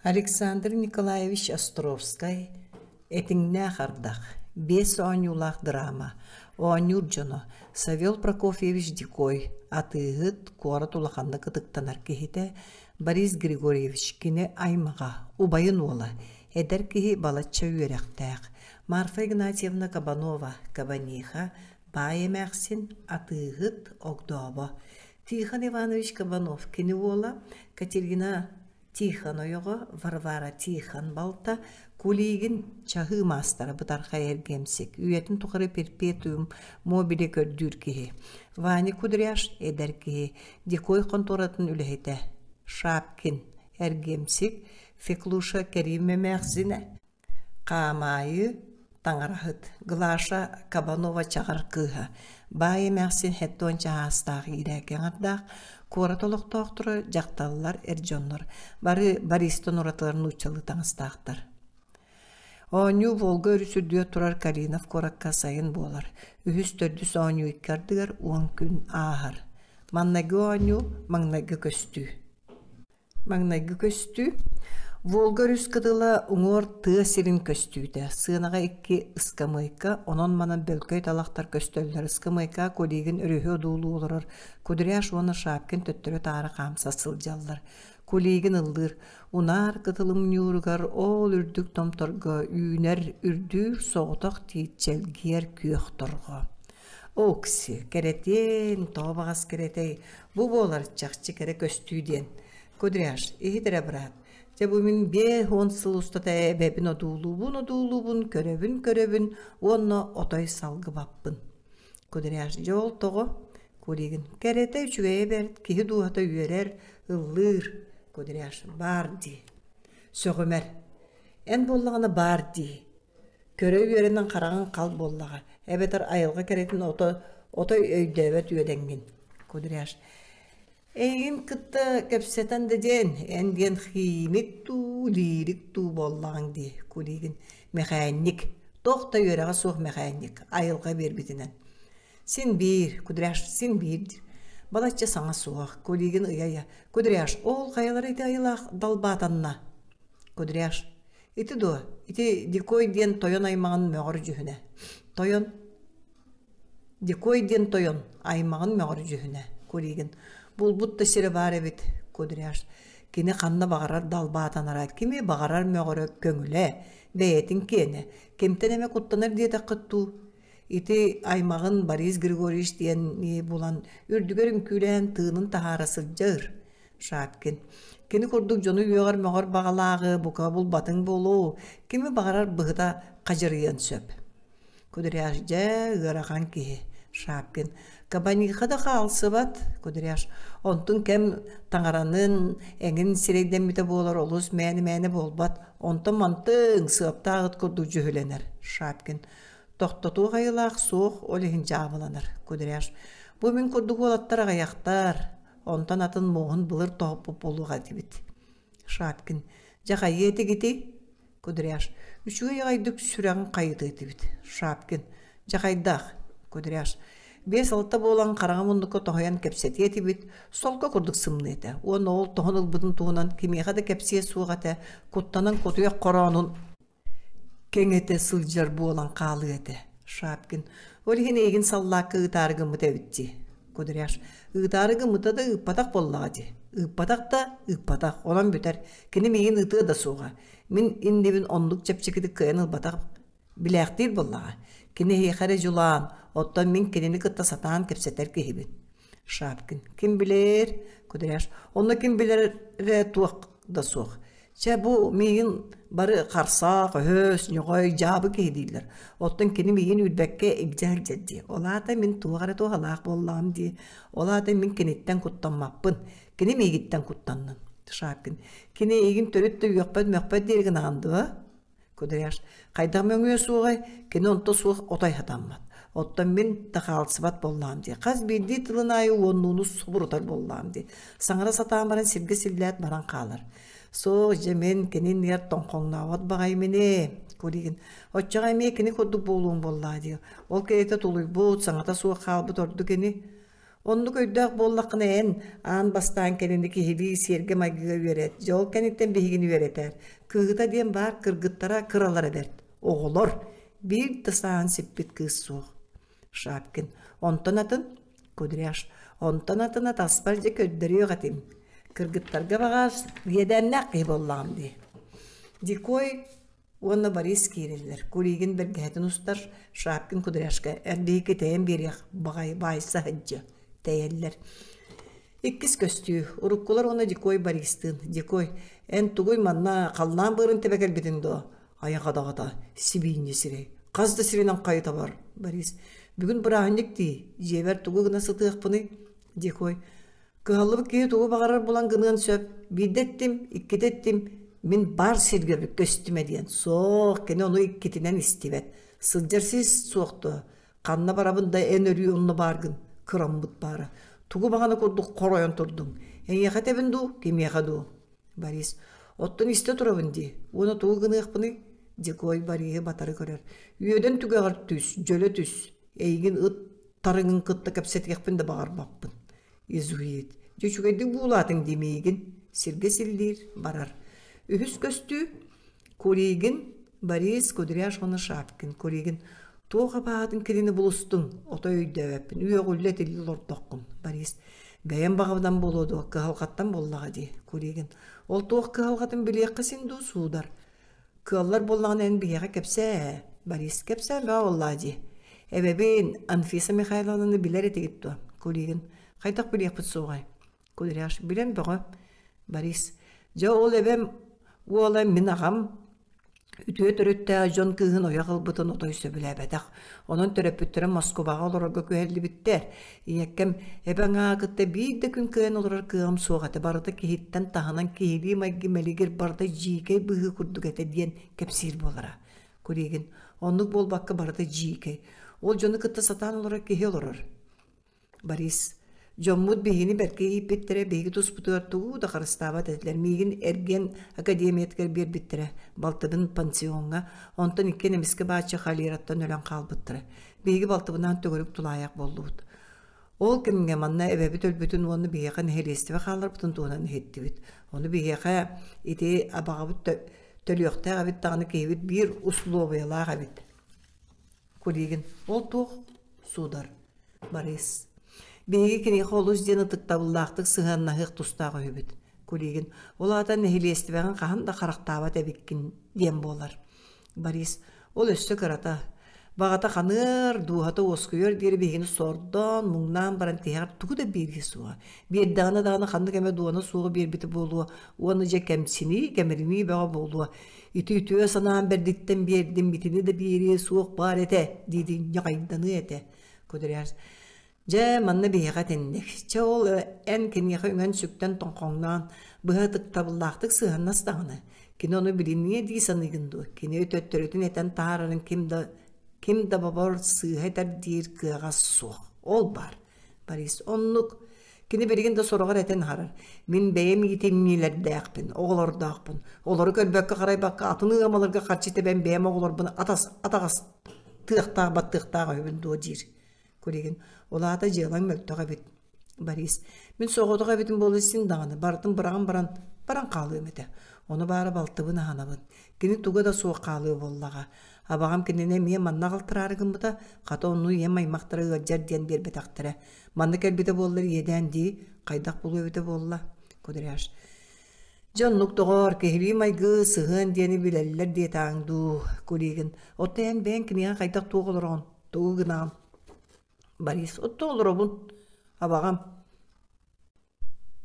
Александр Николаевич Островскай «Этиҥнээх ардах» биэс оонньуулаах драма, оонньуур дьоно Савел Прокофьевич Дикой, атыыһыт, куорат улаханнык ытыктанар киһитэ, Борис Григорьевич кини аймаҕа, убайын уола, эдэр киһи балачча үөрэхтээх, Марфа Игнатьевна Кабанова, Кабаниха, баай эмээхсин, атыыһыт, огдообо, Тихон Иванович Кабанов кини уола, Катерина Тихон ойоҕо Варвара Тихон балта Кулигин чаһыы маастара бытархай эргиэмсик, үйэтин тухары перпетуум мобиле көрдүүр киһи. Ваня Кудряш эдэр киһи, Дикой хонтуоратын үлэһитэ. Шапкин эргиэмсик, Феклуша Кэрим эмээхсинэ, Хаамаайы, таҥараһыт, Глаша Кабанова-Чаҕар кыыһа, баай эмээхсин хэттуон чаһаастаах иирээки аҥардаах, куорат олохтоохторо, дьахталлар, эр дьоннор бары Бористан уратылар нууччалыы таҥастаахтар. Оонньуу Волга өрүс үрдүгэр турар Калинов куоракка сайын буолар. Үһүс-төрдүс оонньуу икки ардыгар 10 күн ааһар. Маннайгы оонньуу, маҥнайгы көстүү. Маҥнайгы көстүү Волга өрүс кытыла уҥуор тыа сирин көстүүтэ. Сыанаҕа икки ыскамыайка, онон-манан бөлкөй талахтар көстөллөр. Ыскамыайка Кулигин өрүһү одуулуу олорор Кудряш уонна Шапкин төттөрү-таары хаамса сылдьаллар. Кулигин ыллыыр: «Унаар кытылым ньууругар ол үрдүк томторго үүнэр үрдүүр соҕотох тиит чэлгиэр күөх торҕо». Окси, кэрэтиэн, тоҕо баҕас кэрэтэй, бу буолар чахчы кэрэ көстүү диэн. Кудряш, иһит эрэ быраат, дьэ бу мин 50 сыл устата эбэбин одуулуубун-одуулуубун, көрөбүн-көрөбүн уонна отой салгыбаппын. Кудряш, дьэ ол тоҕо? Кулигин, кэрэтэ үчүгэйэ бэрт, киһи дууһата үөрэр, ыллыыр. Кудряш, баар дии. Сөҕүмэр. Эн буоллаҕына баар дии. Көрө үөрэнэн хараҕыҥ хал буоллаҕа, эбэтэр айылҕа кэрэтин ото отой өйдөөбөт үөдэҥҥин. Кудряш Эйигин кытта кэпсэтэн да диэн, эн диэн химик дуу, лирик дуу буоллаҕыҥ дии, Кулигин. Мэхээнньик, туох да үөрэҕэ суох мэхээнньик, айылҕа биэрбитинэн. Син биир, Кудряш, син биир диир. Балачча саҥа суох, Кулигин ыйа-ыйа, Кудряш, ол хайалара ити айылаах далбаатанна? Кудряш, Ити дуо? Ити Дикой диэн тойон аймаҕын мөҕөр дьүһүнэ. Тойон Дикой диэн тойон аймаҕын мөҕөр дьүһүнэ. Куригин. Булбут да сирэ баар эбит, Кудряш. Кини ханна баҕарар далбаатанара, кими баҕарар мөҕөрө көҥүлэ, бэйэтин киэнэ. Кимтэн эмэ куттанар диэтэххит дуу? Ити аймаҕын Борис Григорьевич диэн булан, үрдүгэр үҥкүүлээн тыынын таһаара сылдьар. Шапкин. Кини курдук дьону үөҕэр-мөҕөр баҕалааҕы бука булбатыҥ буолуо, кими баҕарар быһыта хадьырыйыан сөп. Кудряш дьэ ыарахан киһи. Шапкин. Кабаниха да хаалсыбат, Кудряш. Онтун кэм таҥаранын эҥин сирэйдэммитэ буолар олус мээнэ-мээнэ буолбат. Онтон мантыҥ сыаптаах ыт курдук дьүһүлэнэр. Шапкин. Тохтотуох айылаах суох, ол иһин дьаабыланар. Кудряш. Бу мин курдук уолаттар аҕыйахтар. Онтон атын муоһун былыр тоһуппут буолуох этибит. Шапкин. Дьэ хайыа этигитий? Кудряш. Үчүгэй аҕайдык сүрэҕин хайытыа этибит. Шапкин. Дьэ хайдах? Кудряш. 5-6 буолан хараҥа муннукка тоһуйан кэпсэтиэ этибит, солко курдук сымныа этэ. Уонна ол тоһун ылбытын туһунан кимиэхэ да кэпсиэ суох этэ, куттанан кутуйах хороонун кэҥэтэ сылдьар буолан хаалыа этэ. Шапкин ол иһин эйигин саллаакка ыытаары гыммыт эбит дии. Кудряш ыытаары гыммыта да ыыппатах буоллаҕа дии. Ыыппатах да ыыппатах, онон бүтэр. Кини миигин ыытыа да суоҕа. Мин иннибин оннук чэпчэкитик кыайан ылбатах билээхтиир буоллаҕа. Кини эһиэхэ эрэ дьулаан, оттон мин кинини кытта сатаан кэпсэтэр киһибин. Шапкин ким билэр? Кудряш онно ким билэрэ туох да суох. Чэ, бу миигин бары харсаах, өһөс, ньоҕой, дьаабы киһи дииллэр. Оттон кини миигин үүрбэккэ илдьэ сылдьар дии. Ол аата мин туох эрэ туһалаах буоллаҕым дии. Ол аата мин киниттэн куттаммаппын. Кини миигиттэн куттаннын. Шапкин. Кини эйигин төрүт да үөхпэт-мөхпөт диэри гынаҕын дуо? Кудряш, хайдах мөҥүө суоҕай, кини онто суох отой хатаммат. Оттон мин да хаалсыбат буоллаҕым дии. Хас биирдии тылын аайы уоннууну субурутар буоллаҕым дии. Саҥара сатаан баран сиргэ силлээт баран хаалар. Суох, дьэ мин кини иннигэр тоҥхоҥнообот баҕайым ини, Кулигин. Оччоҕо эмиэ кини курдук буолуоҥ буоллаҕа дии. Ол кэриэтэ тулуйбут, саҥата суох хаалбыт ордук ини. Оннук өйдөөх буоллаххына эн аан бастаан кэнини киһилии сиэргэ-майгыга үөрэт, дьэ ол кэнниттэн биһигини үөрэтээр. Кыыһыта диэн баар кыргыттара кыралара бэрт. Оҕолор биир да сааһын сиппит кыыс суох. Шапкин. Онтон атын Кудряш. Онтон атына таспар дьэ көрдөрүөх этим. Кыргыттарга баҕас иэдээннээх киһи буоллаҕым дии. Дикой уонна Борис киирэллэр. Кулигин бэргэһэтин устар, Шапкин Кудряшка эр биһикки тэйэн биэриэх баҕайы баайса сылдьа тэйэллэр. Иккис көстүү. Уруккулар уонна Дикой Бористыын. Дикой, эн тугуй манна халлаан быарын тэбэ кэлбитиҥ дуо? Айаҕа даҕата, сибиинньэ сирэй. Хас да сиринэн хайыта бар, Борис. Бүгүн бырааһынньык дии, дьиэбэр тугу гына сытыахпыный? Дикой. Кыһаллыбыт киһи тугу баҕарар булан гыныан сөп. Биирдэ эттим, иккитэ эттим, мин баар сиргэ көстүмэ диэн. Суох, кини ону иккитинэн истибэт. Сылдьар сис суох дуо? Ханна барабын да эн өрүү онно бааргын, кыраммыт баара. Тугу баҕана курдук хоройон турдуҥ. Эйиэхэ этэбин дуу, кимиэхэ дуу? Борис, оттон истэ турабын дии, уонна тугу гыныахпыный? Дикой Бориһы батары көрөр. Үөдэн түгэҕэр түс, дьөлө түс. Эйигин ыт тарыҥын кытта кэпсэтиэхпин да баҕарбаппын. Изуит. Дьэ үчүгэйдик буулаатыҥ дии миигин. Сиргэ силлиир, барар. Үһүс көстүү Куригин, Борис Кудряш уонна Шапкин. Куригин туох абаһатын кинини булустуҥ, отой өйдөөбөппүн, үөҕүллэ этиллэ олордоххун. Борис бэйэм баҕабынан буолуо дуо, кыһалҕаттан буоллаҕа дии. Куригин ол туох кыһалҕатын билиэххэ син дуу суудар. Кыаллар буоллаҕына эн биһиэхэ кэпсээ ээ. Борис кэпсээн бөҕө буоллаа дии. Эбэбин Анфиса Михайловнаны билэр этигит дуо? Куригин хайдах билиэхпит суоҕай? Кудряш билэн бөҕө. Борис дьэ ол эбэм уола мин аҕам үтүө төрүттээх дьон кыыһын ойох ылбытын отой сөбүлээбэтэх. Онон төрөппүттэрим Москубаҕа олорорго күһэллибиттэр. Ийэккэм эбэҥ аҕа кытта биир да күн кыайан олорор кыаҕым суох этэ. Барыта киһиттэн таһынан киһилии майгы мэлигир барыта дьиикэй быһыы курдук этэ диэн кэпсиир буолара. Куригин оннук буолбакка барыта дьиикэй. Ол дьону кытта сатаан олорор киһи олорор. Борис, дьоммут биһигини бэркэ ииппиттэрэ, биһиги туспутугар тугу да харыстаабат этилэр. Миигин эргиэн академиятыгар биэрбиттэрэ, балтыбын пансиоҥҥа, онтон иккиэн эмискэ бааччы холераттан өлөн хаалбыттара. Биһиги балтыбынаан төгүрүк тулаайах буоллубут. Ол кэмҥэ манна эбэбит өлбүтүн уонна биһиэхэ нэһилиэстибэ хаалларбытын туһунан иһиттибит. Ону биһиэхэ ити абаҕабыт төлүөхтээх эбит даҕаны киһибит биир услуобуйалаах эбит. Кулигин ол туох суудар Борис биһиги киниэхэ олус диэн ытыктабыллаахтык сыһыаннаһыах тустаах үһүбүт Кулигин ол аата нэһилиэстибэҕин хаһан да харахтаабат эбиккин диэн буолар Борис ол өссө кырата баҕата ханыар дууһата уоскуйуор диэри биһигини сордоон муҥнаан баран тиһэҕэр тугу да биэрии суоҕа биэрдэҕинэ даҕаны ханнык эмэ дуона суоҕу биэрбитэ буолуо уонна дьэ кэмсинии кэмиринии бөҕө буолуо Ити үтүө санаам бэрдиттэн биэрдим, итини да биэриэ суох баар этэ, диидин ньаҕайданыа этэ. Кудряш дьэ, манна биһиэхэ итинник. Чэ ол эн киниэхэ үҥэн-сүктэн тоҥхоҥноон, быһа ытыктабыллаахтык сыһыаннас даҕаны. Кини ону билиниэ дии саныыгын дуо? Кини төттөрүтүн этэн таһаарарын ким да ким да бобор сыыһа этэр диир кыаҕа суох. Ол баар. Борис оннук Кини билигин да сороҕор этэн аһарар: «Мин бэйэм иитимньилэрдээхпин, оҕолордоохпун. Олору көрбөккө-харайбакка атын ыамаларга харчы тэбэн бэйэм оҕолорбун атас атаҕастыахтаах баттыахтаах үһүбүн дуо» диир. Кулигин: «Ол аата дьыалаҥ мөлтөх эбит». Борис: «Мин соҕотох эбитим буолла син даҕаны, барытын быраҕан баран, баран хаалыам этэ. Ону баара балтыбын аһанабын. Кини туга да суох хаалыа буоллаҕа. Абаҕам кинини эмиэ манна аҕалтараары гыммыта, хата онну ийэм аймахтара ыалдьар диэн биэрбэтэхтэрэ. Манна кэлбитэ буоллар иэдээн дии, хайдах булуо эбитэ буолла, Кудряш. Дьэ оннук доҕоор, киһилии майгы, сыһыан диэни билэллэр диэтээҥ дуу, Кулигин. Оттон эн бэйэҥ киниэхэ хайдах туох олороҕун, тугу гынаҕын? Борис, оттон олоробун, абаҕам.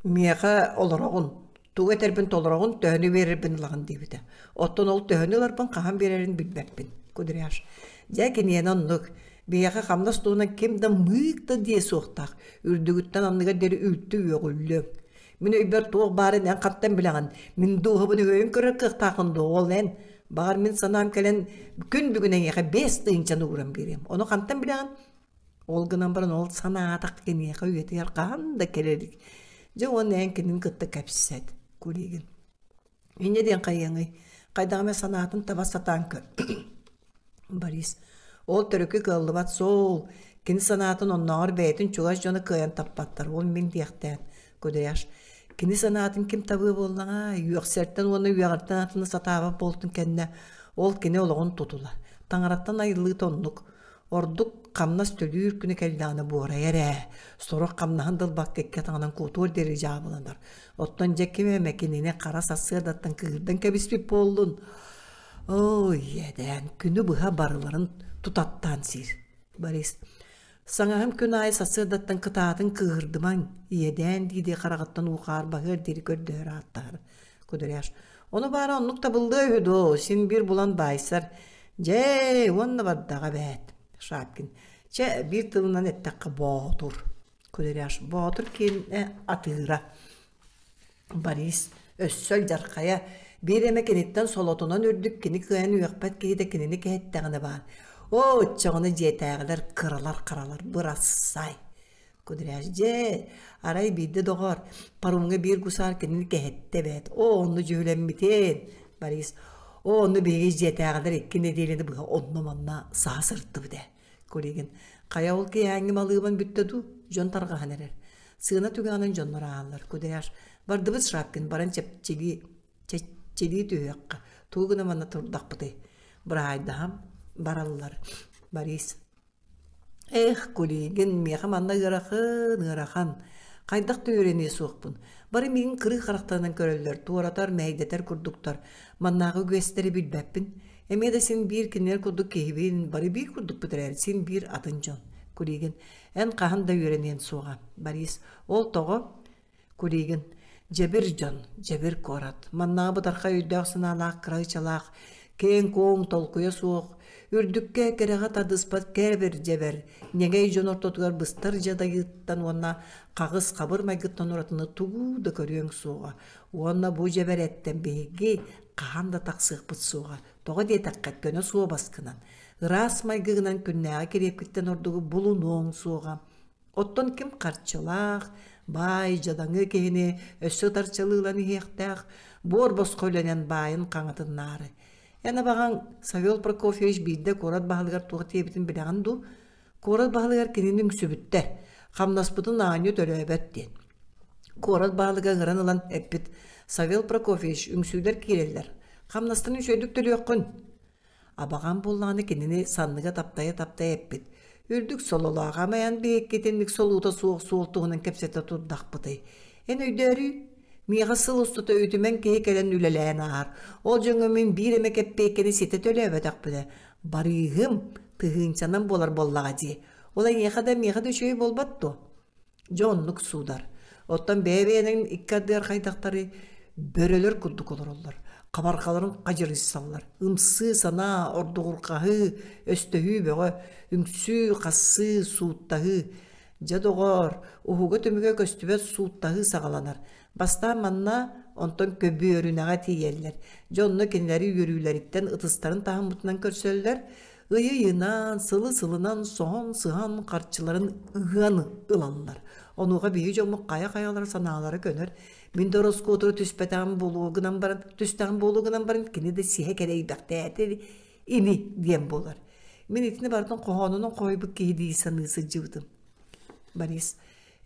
Миэхэ олороҕун, тугу этэрбин толороҕун, төһөнү биэрэрбин ылаҕын диэбитэ. Оттон ол төһөнү ыларбын хаһан биэрэрин билбэппин. Кудряш. Дьэ, киниэнэ оннук. Биһиэхэ хамнас туһунан ким да мыык да диэ суохтаах. Үрдүгүттэн анныгар диэри үлтү үөҕүллүөҥ. Мин өйбөр туох баарын эн хантан билэҕин? Мин дууһабын өйөн көрөр кыахтааххын дуо ол эн? Баҕар мин санаам кэлэн күн бүгүн эйиэхэ 5000-ны ууран биэриэм. Ону хантан билэҕин? Ол гынан баран ол санаатах киниэхэ үйэтигэр хаһан да кэлэ илик. Дьэ уонна эн кинини кытта кэпсэт, Кулигин. Инньэ диэн хайыаҥый? Хайдах эмэ санаатын таба сатаан көр. Борис. Ол төрүкү кыаллыбат суол. Кини санаатын оннооҕор бэйэтин чугас дьоно кыайан таппаттар, ол мин диэхтээн, Кудряш. Кини санаатын ким табыа буоллаҕа, үөхсэртэн уонна үөҕэртэн атыны сатаабат буолтун кэннэ, ол кини олоҕун тутула. Таҥараттан айыллыыта оннук. Ордук хамнас төлүүр күнэ кэллэҕинэ буорайар ээ. Сорох хамнаһын да ылбакка икки атаҕынан куотуор диэри дьаабыланар. Оттон дьэ ким эмэ кинини хара сарсыардаттан кыырдан кэбиспит буоллун. Оо, иэдээн, күнү быһа барыларын тутаттаан сиир. Борис, саҥаһым күн аайы сарсыардаттан кытаатын кыыһырдымаҥ, иэдээн дии-дии хараҕыттан уу хаар баһыар диэри көрдөһөр ааттаһар. Кудряш, ону баара оннук табыллыа үһү дуо, син биир булан баайсар. Дьэ, уонна бардаҕа эбээт. Шапкин, чэ, биир тылынан эттэххэ боотур. Кудряш, боотур киэнэ атыыра. Борис өссө алдьархайа, биир эмэ киниттэн солотунан үрдүк кини кыайан үөхпэт киһитэ кинини кэһэттэҕинэ баар. Оо, оччоҕуна дьиэтээҕилэр кыралар-харалар бырассай. Кудряш дьэ, арай биирдэ доҕоор, паромҥа биир гусар кинини кэһэттэ эбээт. Оо, онно дьүһүлэммитин. Борис, оо, онно биһиги дьиэтээҕилэр икки нэдиэлэни быһа онно-манна саһа сырыттыбыт ээ. Кулигин, хайа ол киэһээҥҥи малыыбан бүттэ дуу, дьон тарҕаһан эрэр. Сыана түгэҕинэн дьоннор ааһаллар. Кудряш, бардыбыт Шапкин, баран чэпчилии, чэччилии түһүөххэ. Тугу гына манна турдахпытый? Быраайдаһам, бараллар. Борис, эх, Кулигин, миэхэ манна ыарахан, ыарахан. Хайдах да үөрэниэ суохпун. Бары миигин кырыы харахтарынан көрөллөр, туоратар, мэһэйдэтэр курдуктар. Маннааҕы үгэстэри билбэппин. Эмиэ да син биир кинилэр курдук киһибин, бары биир курдукпут эрээри, син биир атын дьон. Кулигин, эн хаһан да үөрэниэн суоҕа. Борис, ол тоҕо? Кулигин, дьэбир дьон, дьэбир куорат. Маннааҕы бытархай өйдөөх-санаалаах кыра ычалаах, киэҥ-куоҥ толкуйа суох, үрдүккэ кэрэҕэ тардыспат кээбир-дьэбэр, ньэгэй дьон ортотугар быстар дьадайыыттан уонна хаҕыс хабыр майгыттан уратыны тугу да көрүөҥ суоҕа. Уонна бу дьэбэрэттэн биһиги хаһан да тахсыахпыт суоҕа. Тоҕо диэтэххэ, көнө суобаскынан, ыраас майгыгынан күннээҕи кириэпкиттэн ордугу булунуоҥ суоҕа. Оттон ким харчылаах, баай, дьадаҥы киһини өссө ытарчалыылан иһиэхтээх, буор босхо үлэнэн баайын хаҥатыннаары. Эн абаҕаҥ Савел Прокофьевич биирдэ куорат баһылыгар туох диэбитин билэҕин дуу? Куорат баһылыгар кинини үҥсүбүттэр, хамнаспытын аанньа төлөөбөт диэн. Куорат баһылыга ыҥыран ылан эппит: «Савел Прокофьевич, үҥсүүлэр киирэллэр. Хамнастан үчүгэйдик төлүөххүн». Абаҕам буоллаҕына кинини санныга таптайа-таптайа эппит: «Үрдүк сололоох амайан биһиккитинник солуута суох суол туһунан кэпсэтэ турдахпытый. Эн өйдөөрүүй, миэхэ сыл устата үтүмэн киһи кэлэн үлэлээн ааһар. Ол дьоҥҥо мин биир эмэ кэппиэйкэни ситэ төлөөбөтөхпүнэ, барыыһым тыһыынчанан буолар буоллаҕа дии. Ол эйиэхэ да миэхэ да үчүгэй буолбат дуо? Дьэ оннук суудар. Оттон бэйэ-бэйэлэрин икки ардыгар хайдахтарый бөрөлөр курдук олороллор. Хабарҕаларын хадьырыйсаллар. Ымсыы санаа, ордугурҕаһыы, өстөһүү бөҕө, үҥсүү, хассыы, сууттаһыы. Дьэ доҕоор, уһуга-түмүгэ көстүбэт сууттаһыы саҕаланар. Бастаан манна, онтон көбүөрүнэҕэ тиийэллэр. Дьэ онно кинилэри үөрүүлэриттэн ытыстарын таһыммытынан көрсөллөр, Ыйы-ыйынан, сылы-сылынан соһон-сыһан харчыларын ыһыан ылаллар. Онуоха биһиги дьоммут хайа-хайалара санаалара көнөр. Мин да ороскуотура түспэтэҕим буолуо гынан баран, түстэҕим буолуо гынан баран, кини да сиһэ кэлэйбэхтээтэ ини диэн буолар. Мин итини барытын хоһоонунан хоһуйбут киһи дии саныы сылдьыбытым. Борис,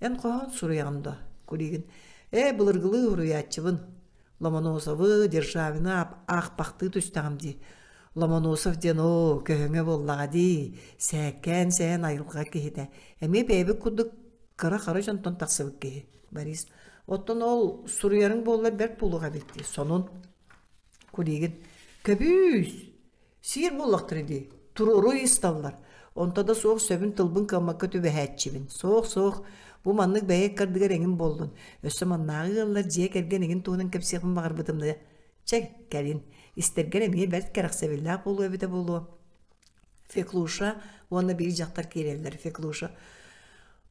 эн хоһоон суруйаҕын дуо? Кулигин, ээ, былыргылыы уруйааччыбын. Ломоносовы, Державины аахпахтыы түстэҕим дии. Ломоносов диэн оо, көһөҥө буоллаҕа дии, сээккээн сэһэн айылҕа киһитэ. Эмиэ бэйэбит курдук кыра-хара дьонтон тахсыбыт киһи, Борис. Оттон ол суруйарыҥ буоллар бэрт буолуох эбит дии, сонун. Кулигин. Көбүүс! Сиир буоллахтара дии, туруору ыйысталлар. Онто да суох сөбүн тылбын кыаммакка түбэһээччибин. Суох-суох, бу маннык бэйэ ыккардыгар эҥин буоллун. Өссө маннааҕы ыаллар дьиэ кэргэн эҥин туһунан кэпсиэхпин баҕарбытым да Чэ, кэлин, истэргэр эмиэ бэрт кэрэхсэбиллээх буолуо эбитэ буолуо. Феклуша уонна биир дьахтар киирэллэр. Феклуша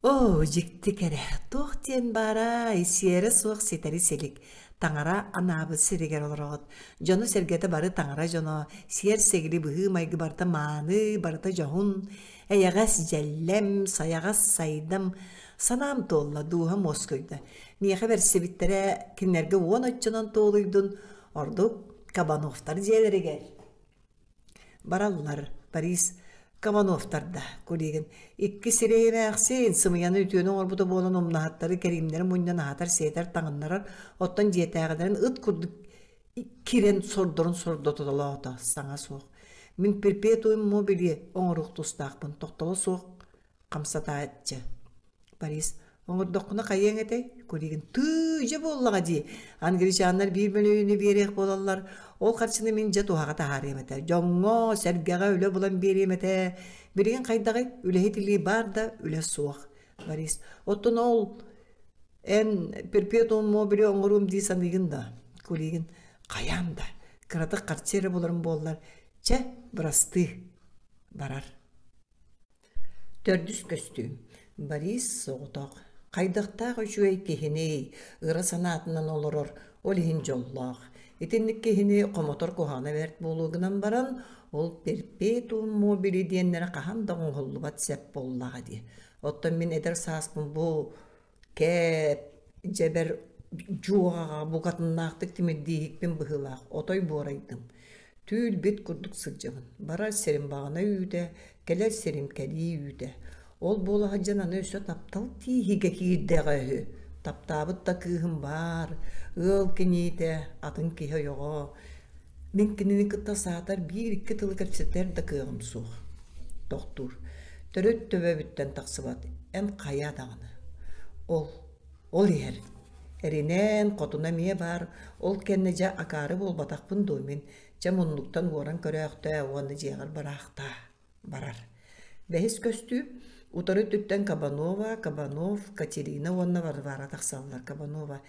«Оо, дьикти кэрэ, туох диэн баарай, сиэрэ суох ситэри силик, таҥара анаабыт сиригэр олороҕут. Дьоно-сэргэтэ бары таҥара дьоно, сиэр-сигили быһыы-майгы барыта мааны, барыта дьоһун, эйэҕэс дьэллэм, сайаҕас сайдам, санаам туолла, дууһам уоскуйда. Миэхэ бэрсибиттэрэ кинилэргэ уон оччонон туолуйдун, ордук Кабановтар дьиэлэригэр. Бараллар, Борис. Кабановтар да, Кулигин, икки сирэйи эмээхсин, сымыйаны үтүөнү оҥорбута буолан умнаһыттары кэриимнэри мунньан аһатар-сиэтэр таҥыннарар, оттон дьиэтээҕилэрин ыт курдук кирэн сордорун сордотолоото, саҥа суох. Мин перпетуум мобили оҥоруох тустаахпын, тохтоло суох хамсатааччы. Борис, оҥордоххуна хайыаҥ этэй? Кулигин, тыы, дьэ буоллаҕа дии. Англичаннар биир мөлүйүөнү биэриэх буолаллар. Ол харчыны мин дьэ туһаҕа таһаарыам этэ. Дьоҥҥо, сэргэҕэ үлэ булан биэриэм этэ. Билигин хайдаҕый? Үлэһит илии баар да, үлэ суох. Борис, оттон ол эн перпетуум мобили оҥоруом дии саныыгын да? Кулигин, хайаан да. Кыратык харчы эрэ буларым буоллар. Чэ, бырастыы. Барар. Төрдүс көстүү Борис соҕотох, хайдахтаах үчүгэй киһиний, ыра санаатынан олорор, ол иһин дьоллоох. Итинник киһини хомотор куһаҕана бэрт буолуо гынан баран, ол перпетуум мобили диэннэрэ хаһан да оҥоһуллубат сэп буоллаҕа дии. Оттон мин эдэр сааспын бу Кээп, дьэбэр дьуоҕаҕа букатыннаахтык тимирдииһикпин быһыылаах, отой буорайдым. Түүл-бит курдук сылдьабын. Барар сирим баҕана үүтэ, кэлэр сирим кэлии үүтэ. Ол буола сылдьан аны өссө таптал тииһигэ киирдэҕэ үһү. Таптаабыт да кыыһым баар, ыал киниитэ, атын киһи ойоҕо. Мин кинини кытта саатар биир-икки тылы кэпсэтэр да кыаҕым суох. Тохтуур. Төрүт төбөбүттэн тахсыбат. Эн хайа даҕаны. Ол, ол иһэр. Эринэн, хотуна эмиэ баар. Ол кэннэ дьэ акаары буолбатахпын дуо мин. Чэ муннуктан уоран көрөөхтөө уонна дьиэҕэр бараахтаа. Барар. Бэһис көстүү утары өттүттэн Кабанова, Кабанов, Катерина уонна Варвара тахсаллар. Кабанова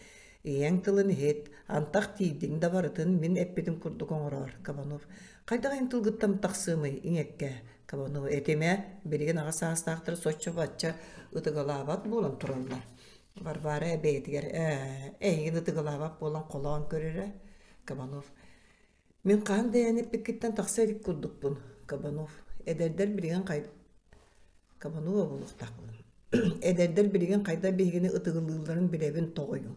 ийэҥ тылын иһит, антах тиийдиҥ да барытын мин эппитим курдук оҥороор. Кабанов хайдах эн тылгыттан тахсыамый иҥэккэ? Кабанова этимэ, билигин аҕа саастаахтар соччо-бачча ытыгалаабат буолан тураллар. Варвара бэйэтигэр ээ, эйигин ытыгалаабат буолан холоон көрөрө. Кабанов Мин хаһан да эн эппиккиттэн тахса илик курдукпун, Кабанов. Эдэрдэр билигин хай... Кабанова буолуохтаахпын. Эдэрдэр билигин хайдах биһигини ытыгылыылларын билэбин тоҕойум.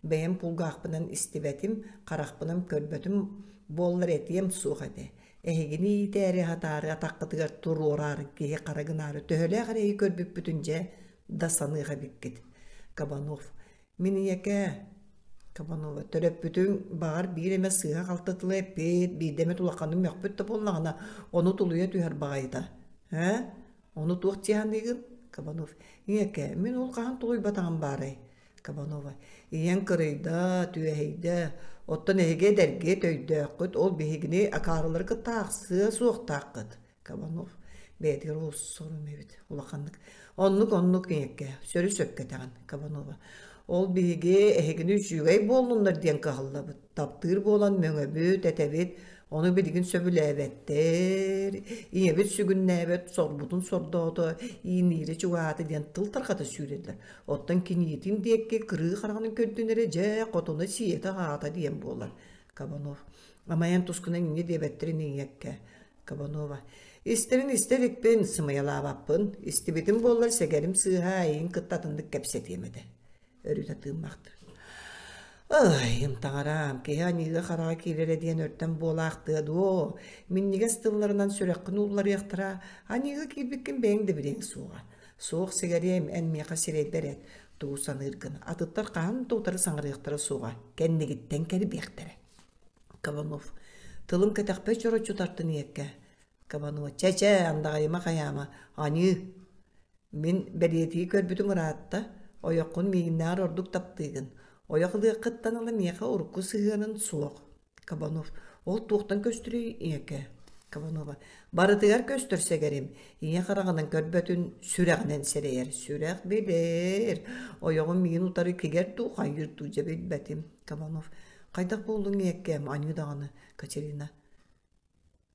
Бэйэм кулгаахпынан истибэтим, харахпынан көрбөтүм буоллар этиэм суох этэ. Эһигини иитээри аһатаары атаххытыгар туруораары киһи хара гынаары төһөлөөх эрэйи көрбүппүтүн дьэ да саныах эбиккит. Кабанов. Мин ийэкээ, Кабанова, төрөппүтүҥ баҕар биир эмэ сыыһа-халты тылы эппит, биирдэ эмит улаханнык мөхпүт да буоллаҕына, ону тулуйа түһэр баҕайыта. Ээ? Ону туох дии саныыгын? Кабанов. Ийэкээ, мин ол хаһан тулуйбатаҕым баарай? Кабанова. Ийэҥ кырыйда, түөһэйдэ. Оттон эһиги эдэргит, өйдөөххүт, ол биһигини акаарылары кытта аахсыа суохтааххыт. Кабанов бэйэтигэр олус сорум эбит улаханнык. Оннук-оннук ийэккэ сөрү-сөпкө этэҕин Кабанова. Ол биһиги эһигини үчүгэй буоллуннар диэн кыһаллабыт. Таптыыр буолан мөҥөбүт, этэбит. Ону билигин сөбүлээбэттэр. Ийэбит сүгүннээбэт, сорбутун сордоото, ииниирэ чугаһаата диэн тыл тарҕата сүүрэллэр. Оттон киниитин диэки кырыы хараҕынан көрдүн эрэ дьэ хотуна сиэтэ-аһаата диэн буолар. Кабанов. Амайан тускунан инньэ диэбэттэрин ийэккэ. Кабанова. Истэрин истэ иликпин, сымыйалаабаппын. Истибитим буоллар сэгэрим сыыһа эйигин кытта атыннык кэпсэтиэм этэ. Өрүтэ тыыммахтыр. Ай, таҥараам, киһи аньыыга-хараҕа киирэрэ диэн өртөн буолаахтыа дуо? Минньигэс тылларынан сүрэххин уулларыахтара, аньыыга киирбиккин бэйэҥ да билиэҥ суоҕа. Суох сигэриэм, эн миэхэ сирэйбэр эт, тугу саныыргын. Атыттар хаһан да утары саҥарыахтара суоҕа, кэннигиттэн кэрбиэхтэрэ. Кабанов. Тылым кэтэхпэр чороччу тартын ийэккэ. Кабанова. Чэ-чэ, андаҕайыма хайаама. Аньыы. Мин бэлиэтии көрбүтүм ыраатта. Ойоххун миигиннээҕэр ордук таптыыгын. Ойох ылыаххыттан ыла миэхэ урукку сыһыанын суох. Кабанов. Ол туохтан көстөрүй ийэкэ? Кабанова. Барытыгар көстөр сэгэрим. Ийэ хараҕынан көрбөтүн сүрэҕинэн сэрэйэр. Сүрэх билэр. Ойоҕум миигин утары кигэр дуу, хайыыр дуу дьэ билбэтим. Кабанов. Хайдах буоллуҥ ийэккээм, аньыы даҕаны, Катерина.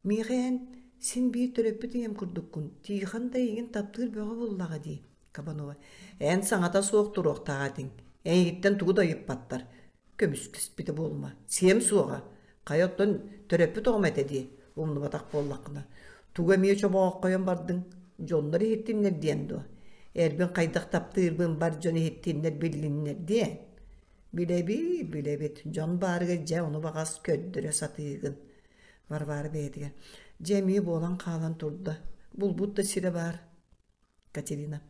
Миэхэ эн син биир төрөппүт ийэм курдуккун, Тихон да эйигин таптыыр бөҕө буоллаҕа дии, Кабанова. Эн саҥата суох туруохтаах этиҥ. Эйигиттэн тугу да ыйыппаттар. Көмүскэспитэ буолума. Сиэм суоҕа. Хайа оттон төрөппүт оҕом этэ дии, умнубатах буоллаххына. Тугу эмиэ чобооххойон бардыҥ? Дьоннор иһиттиннэр диэн дуо? Эрбин хайдах таптыырбын бар дьон иһиттиннэр биллиннэр диэн. Билэбит, билэбит, дьон баарыгар дьэ ону баҕас көрдөрө сатыыгын. Варвара бэйэтигэр, дьэ эмиэ буолан хаалан турда. Булбут да сирэ баар. Катерина.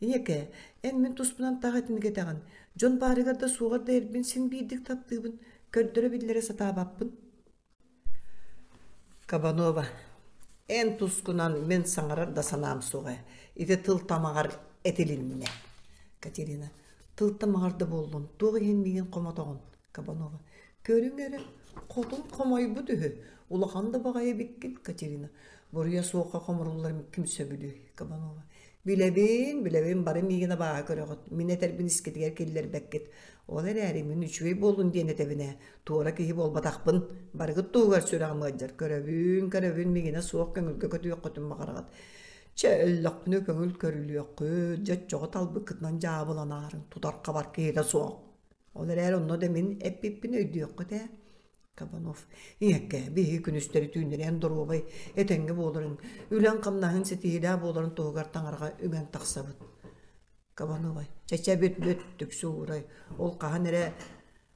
Ийэкээ, эн мин туспунан таах итинник этэҕин. Дьон баарыгар да суоҕар да эрбин син биирдик таптыыбын, көрдөрө-биллэрэ сатаабаппын. Кабанова. Эн тускунан мин саҥарар да санаам суоҕа. Ити тыл тамаҕар этилиннэ. Катерина. Тыл тамаҕар да буоллун, туох иһин миигин хомотоҕун? Кабанова. Көрүҥ эрэ, хотун хомойбут үһү. Улахан да баҕайы эбиккин, Катерина. Буруйа суохха хомуруллар ким сөбүлүөй? Кабанова. Билэбин, билэбин, бары миигин абааһы көрөҕүт. Мин этэрбин искитигэр киллэрбэккит. Ол эрээри мин үчүгэй буоллун диэн этэбин ээ. Туора киһи буолбатахпын. Барыгыт туһугар сүрэҕим ыалдьар. Көрөбүн, көрөбүн, миигинэ суох көҥүлгэ көтүөххүтүн баҕараҕыт. Чэ, өллөхпүнэ көҥүл көрүлүөххүт, дьэ оччоҕо талбыккытынан дьаабыланаарыҥ, тутар-хабар киһитэ суох. Ол эрээри онно да мин эппиппин өйдүөххүт ээ. Кабанов ийэккэ биһиги күнүстэри түүннэри эн доруобай, этэҥҥэ буоларыҥ, үлэҥ-хамнаһыҥ ситиһиилээх буоларын туһугар таҥараҕа үҥэн тахсабыт. Кабанова чэ-чэ бүт-бүт түксү уурай, ол хаһан эрэ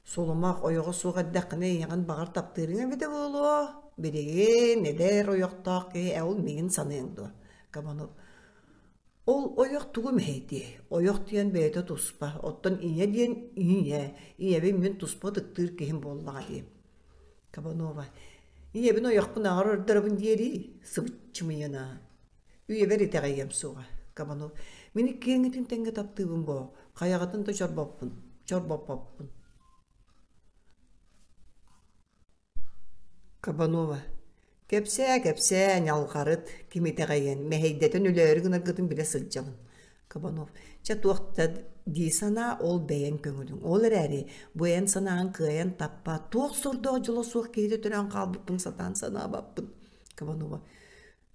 сулумах ойоҕо суох эрдэххинэ ийэҕин баҕар таптыырыҥ эбитэ буолуо. Билигин эдэр ойохтоох киһи ээ ол миигин саныаҥ дуо? Кабанов Ол ойох тугу мэһэйдиэй? Ойох диэн бэйэтэ туспа, оттон ийэ диэн ийэ, ийэбин мин туспа ытыктыыр киһим буоллаҕа дии. Кабанова ийэбин ойохпун аҕар ордоробун диэрий, сыбыччымыйана. Үйэбэр итэҕэйиэм суоҕа. Кабанов мин иккиэҥҥитин тэҥҥэ таптыыбын боо, хайаҕытын да чорбоппун, чорбоппоппун. Кабанова Кэпсээ, кэпсээ, ньалҕарыт, ким итэҕэйэн, мэһэйдэтэн өлөөрү гынаргытын билэ сылдьабын. Кабанов Чэ туох да дии санаа, ол бэйэҥ көҥүлүҥ. Ол эрээри бу эн санааҕын кыайан таппат, туох сордоох дьоло суох киһитэ төрөөн хаалбыппын сатаан санаабаппын. Кабанова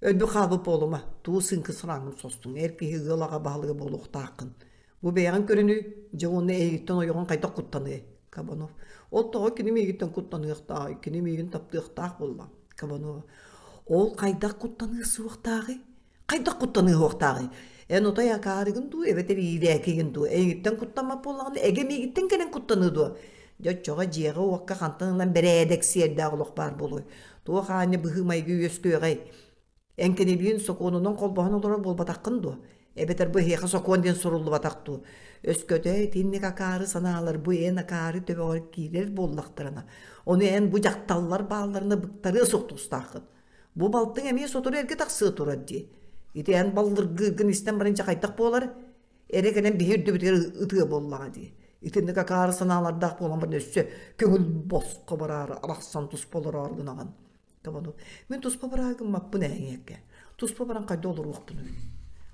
Өлбүт хаалбыт буолума, туу сыыҥкы сырааҥҥын состуҥ, эр киһи ыал аҕа баһылыга буолуохтааххын. Бу бэйэҕин көрүнүй, дьэ уонна эйигиттэн ойоҕун хайдах куттаныай? Кабанов. Ол тоҕо кини миигиттэн куттаныахтааҕый, кини миигин таптыахтаах буолла. Кабанова. Ол хайдах куттаныа суохтааҕый? Хайдах куттаныа суохтааҕый? Эн отой акаарыгын дуу, эбэтэр иирээкигин дуу? Эйигиттэн куттаммат буоллаҕына, эгэ миигиттэн кэлэн куттаныа дуо? Дьэ оччоҕо дьиэҕэ-уокка хантан ылан бэрээдэк сиэрдээх олох баар буолуой? Туох аанньа быһыы-майгы үөскүөҕэй? Эн кинилиин сокуонунан холбоһон олорор буолбатаххын дуо? Эбэтэр бу эһиэхэ сокуон диэн суруллубатах дуу? Өскөтө итинник акаары санаалар бу эн акаары төбөҕөр киирэр буоллахтарына, ону эн бу дьахталлар баалларына быктарыа суох тустааххын. Бу балтыҥ эмиэ сотору эргэ тахсыа турар дии. Ити эн баллыргыыргын истэн баран дьэ хайдах буолар? Эрэ кэлэн биһи үрдүбүтүгэр ытыа буоллаҕа дии. Итинник акаары санаалардаах буолан баран өссө көҥүл босхо бараары арахсан туспа олороору гынаҕын. Кабанов. Мин туспа бараары гыммаппын ээ ийэккэ. Туспа баран хайда олоруохпунуй?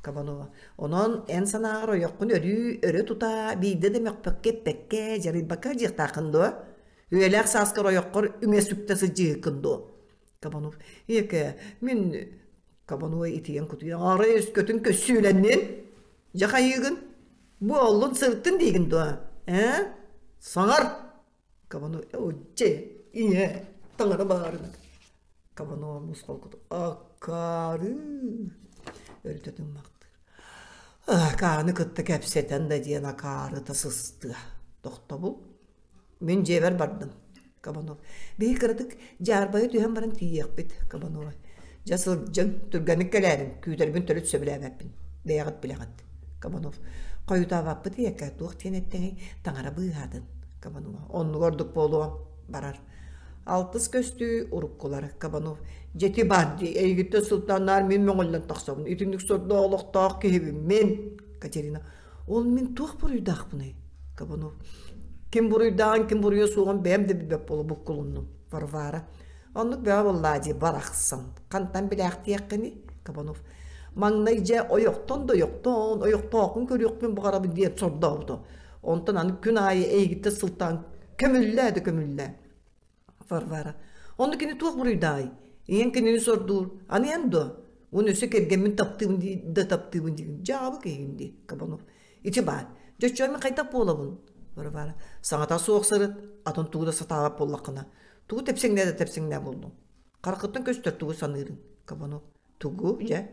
Кабанова. Онон эн санааҕар ойоххун өрүү өрө тута биирдэ да мөхпөккө эппэккэ дьарыйбакка дьиэхтааххын дуо? Үйэлээх сааскар ойоххор үҥэ сүктэ сылдьыһыккын дуо? Кабанов. Ийэкэ, мин Кабанова итийэн кутуйан арай өскөтүн көссүүлэннин? Дьэ хайыыгын? Бу оллун сырыттын диигин дуо? Ээ? Саҥар! Кабанова дьэ, ийэ, таҥара баарына. Кабанова мусхол куту аккаары өрүтэ тыммахтыыр. Акааны кытта кэпсэтэн да диэн акаарыта сыстыа. Тохтобул. Мин дьиэбэр бардым. Кабанов. Биһи кыратык дьаарбайа түһэн баран тиийиэхпит, Кабанова. Дьэ сылдьыҥ, түргэнник кэлээриҥ, күүтэрбин төрүт сөбүлээбэппин. Бэйэҕит билэҕит. Кабанов. Хойутаабаппыт ийэкэ, туох диэн эттэҥий, таҥара быыһаатын. Кабанова. Оннуга ордук буолуо. Барар. Алтыс көстүү уруккулар. Кабанов. Дьэти бар дии, эйигиттэн сылтааннаар мин мөҥүллэн тахсабын. Итинник сордоох олохтоох киһибин мин. Катерина. Ол мин туох буруйдаахпыный? Кабанов. Ким буруйдааҕын, ким буруйа суоҕун бэйэм да билбэт буола буккулуннум. Варвара. Оннук бөҕө буоллаа дии барахсан. Хантан билээхтиэххиний? Кабанов. Маҥнай дьэ ойохтон да ойохтон, ойохтооххун көрүөхпүн баҕарабын диэн сордообута. Онтон аны күн аайы эйигиттэн сылтаан көмүллээ да көмүллээ. Варвара. Онно кини туох буруйдааҕый? Ийэҥ кинини сордуур. Аны эн дуо? Уон өссө кэргэммин таптыыбын дии да таптыыбын диигин. Дьаабы киһигин дии, Кабанов. Ити баар. Дьэ мин хайдах буолабын? Варвара. Саҥата суох сырыт, атын тугу да сатаабат буоллаххына. Тугу тэпсэҥнээ да тэпсэҥнээ буоллуҥ. Хараххыттан көстөр тугу саныырыҥ, Кабанов. Тугу, дьэ?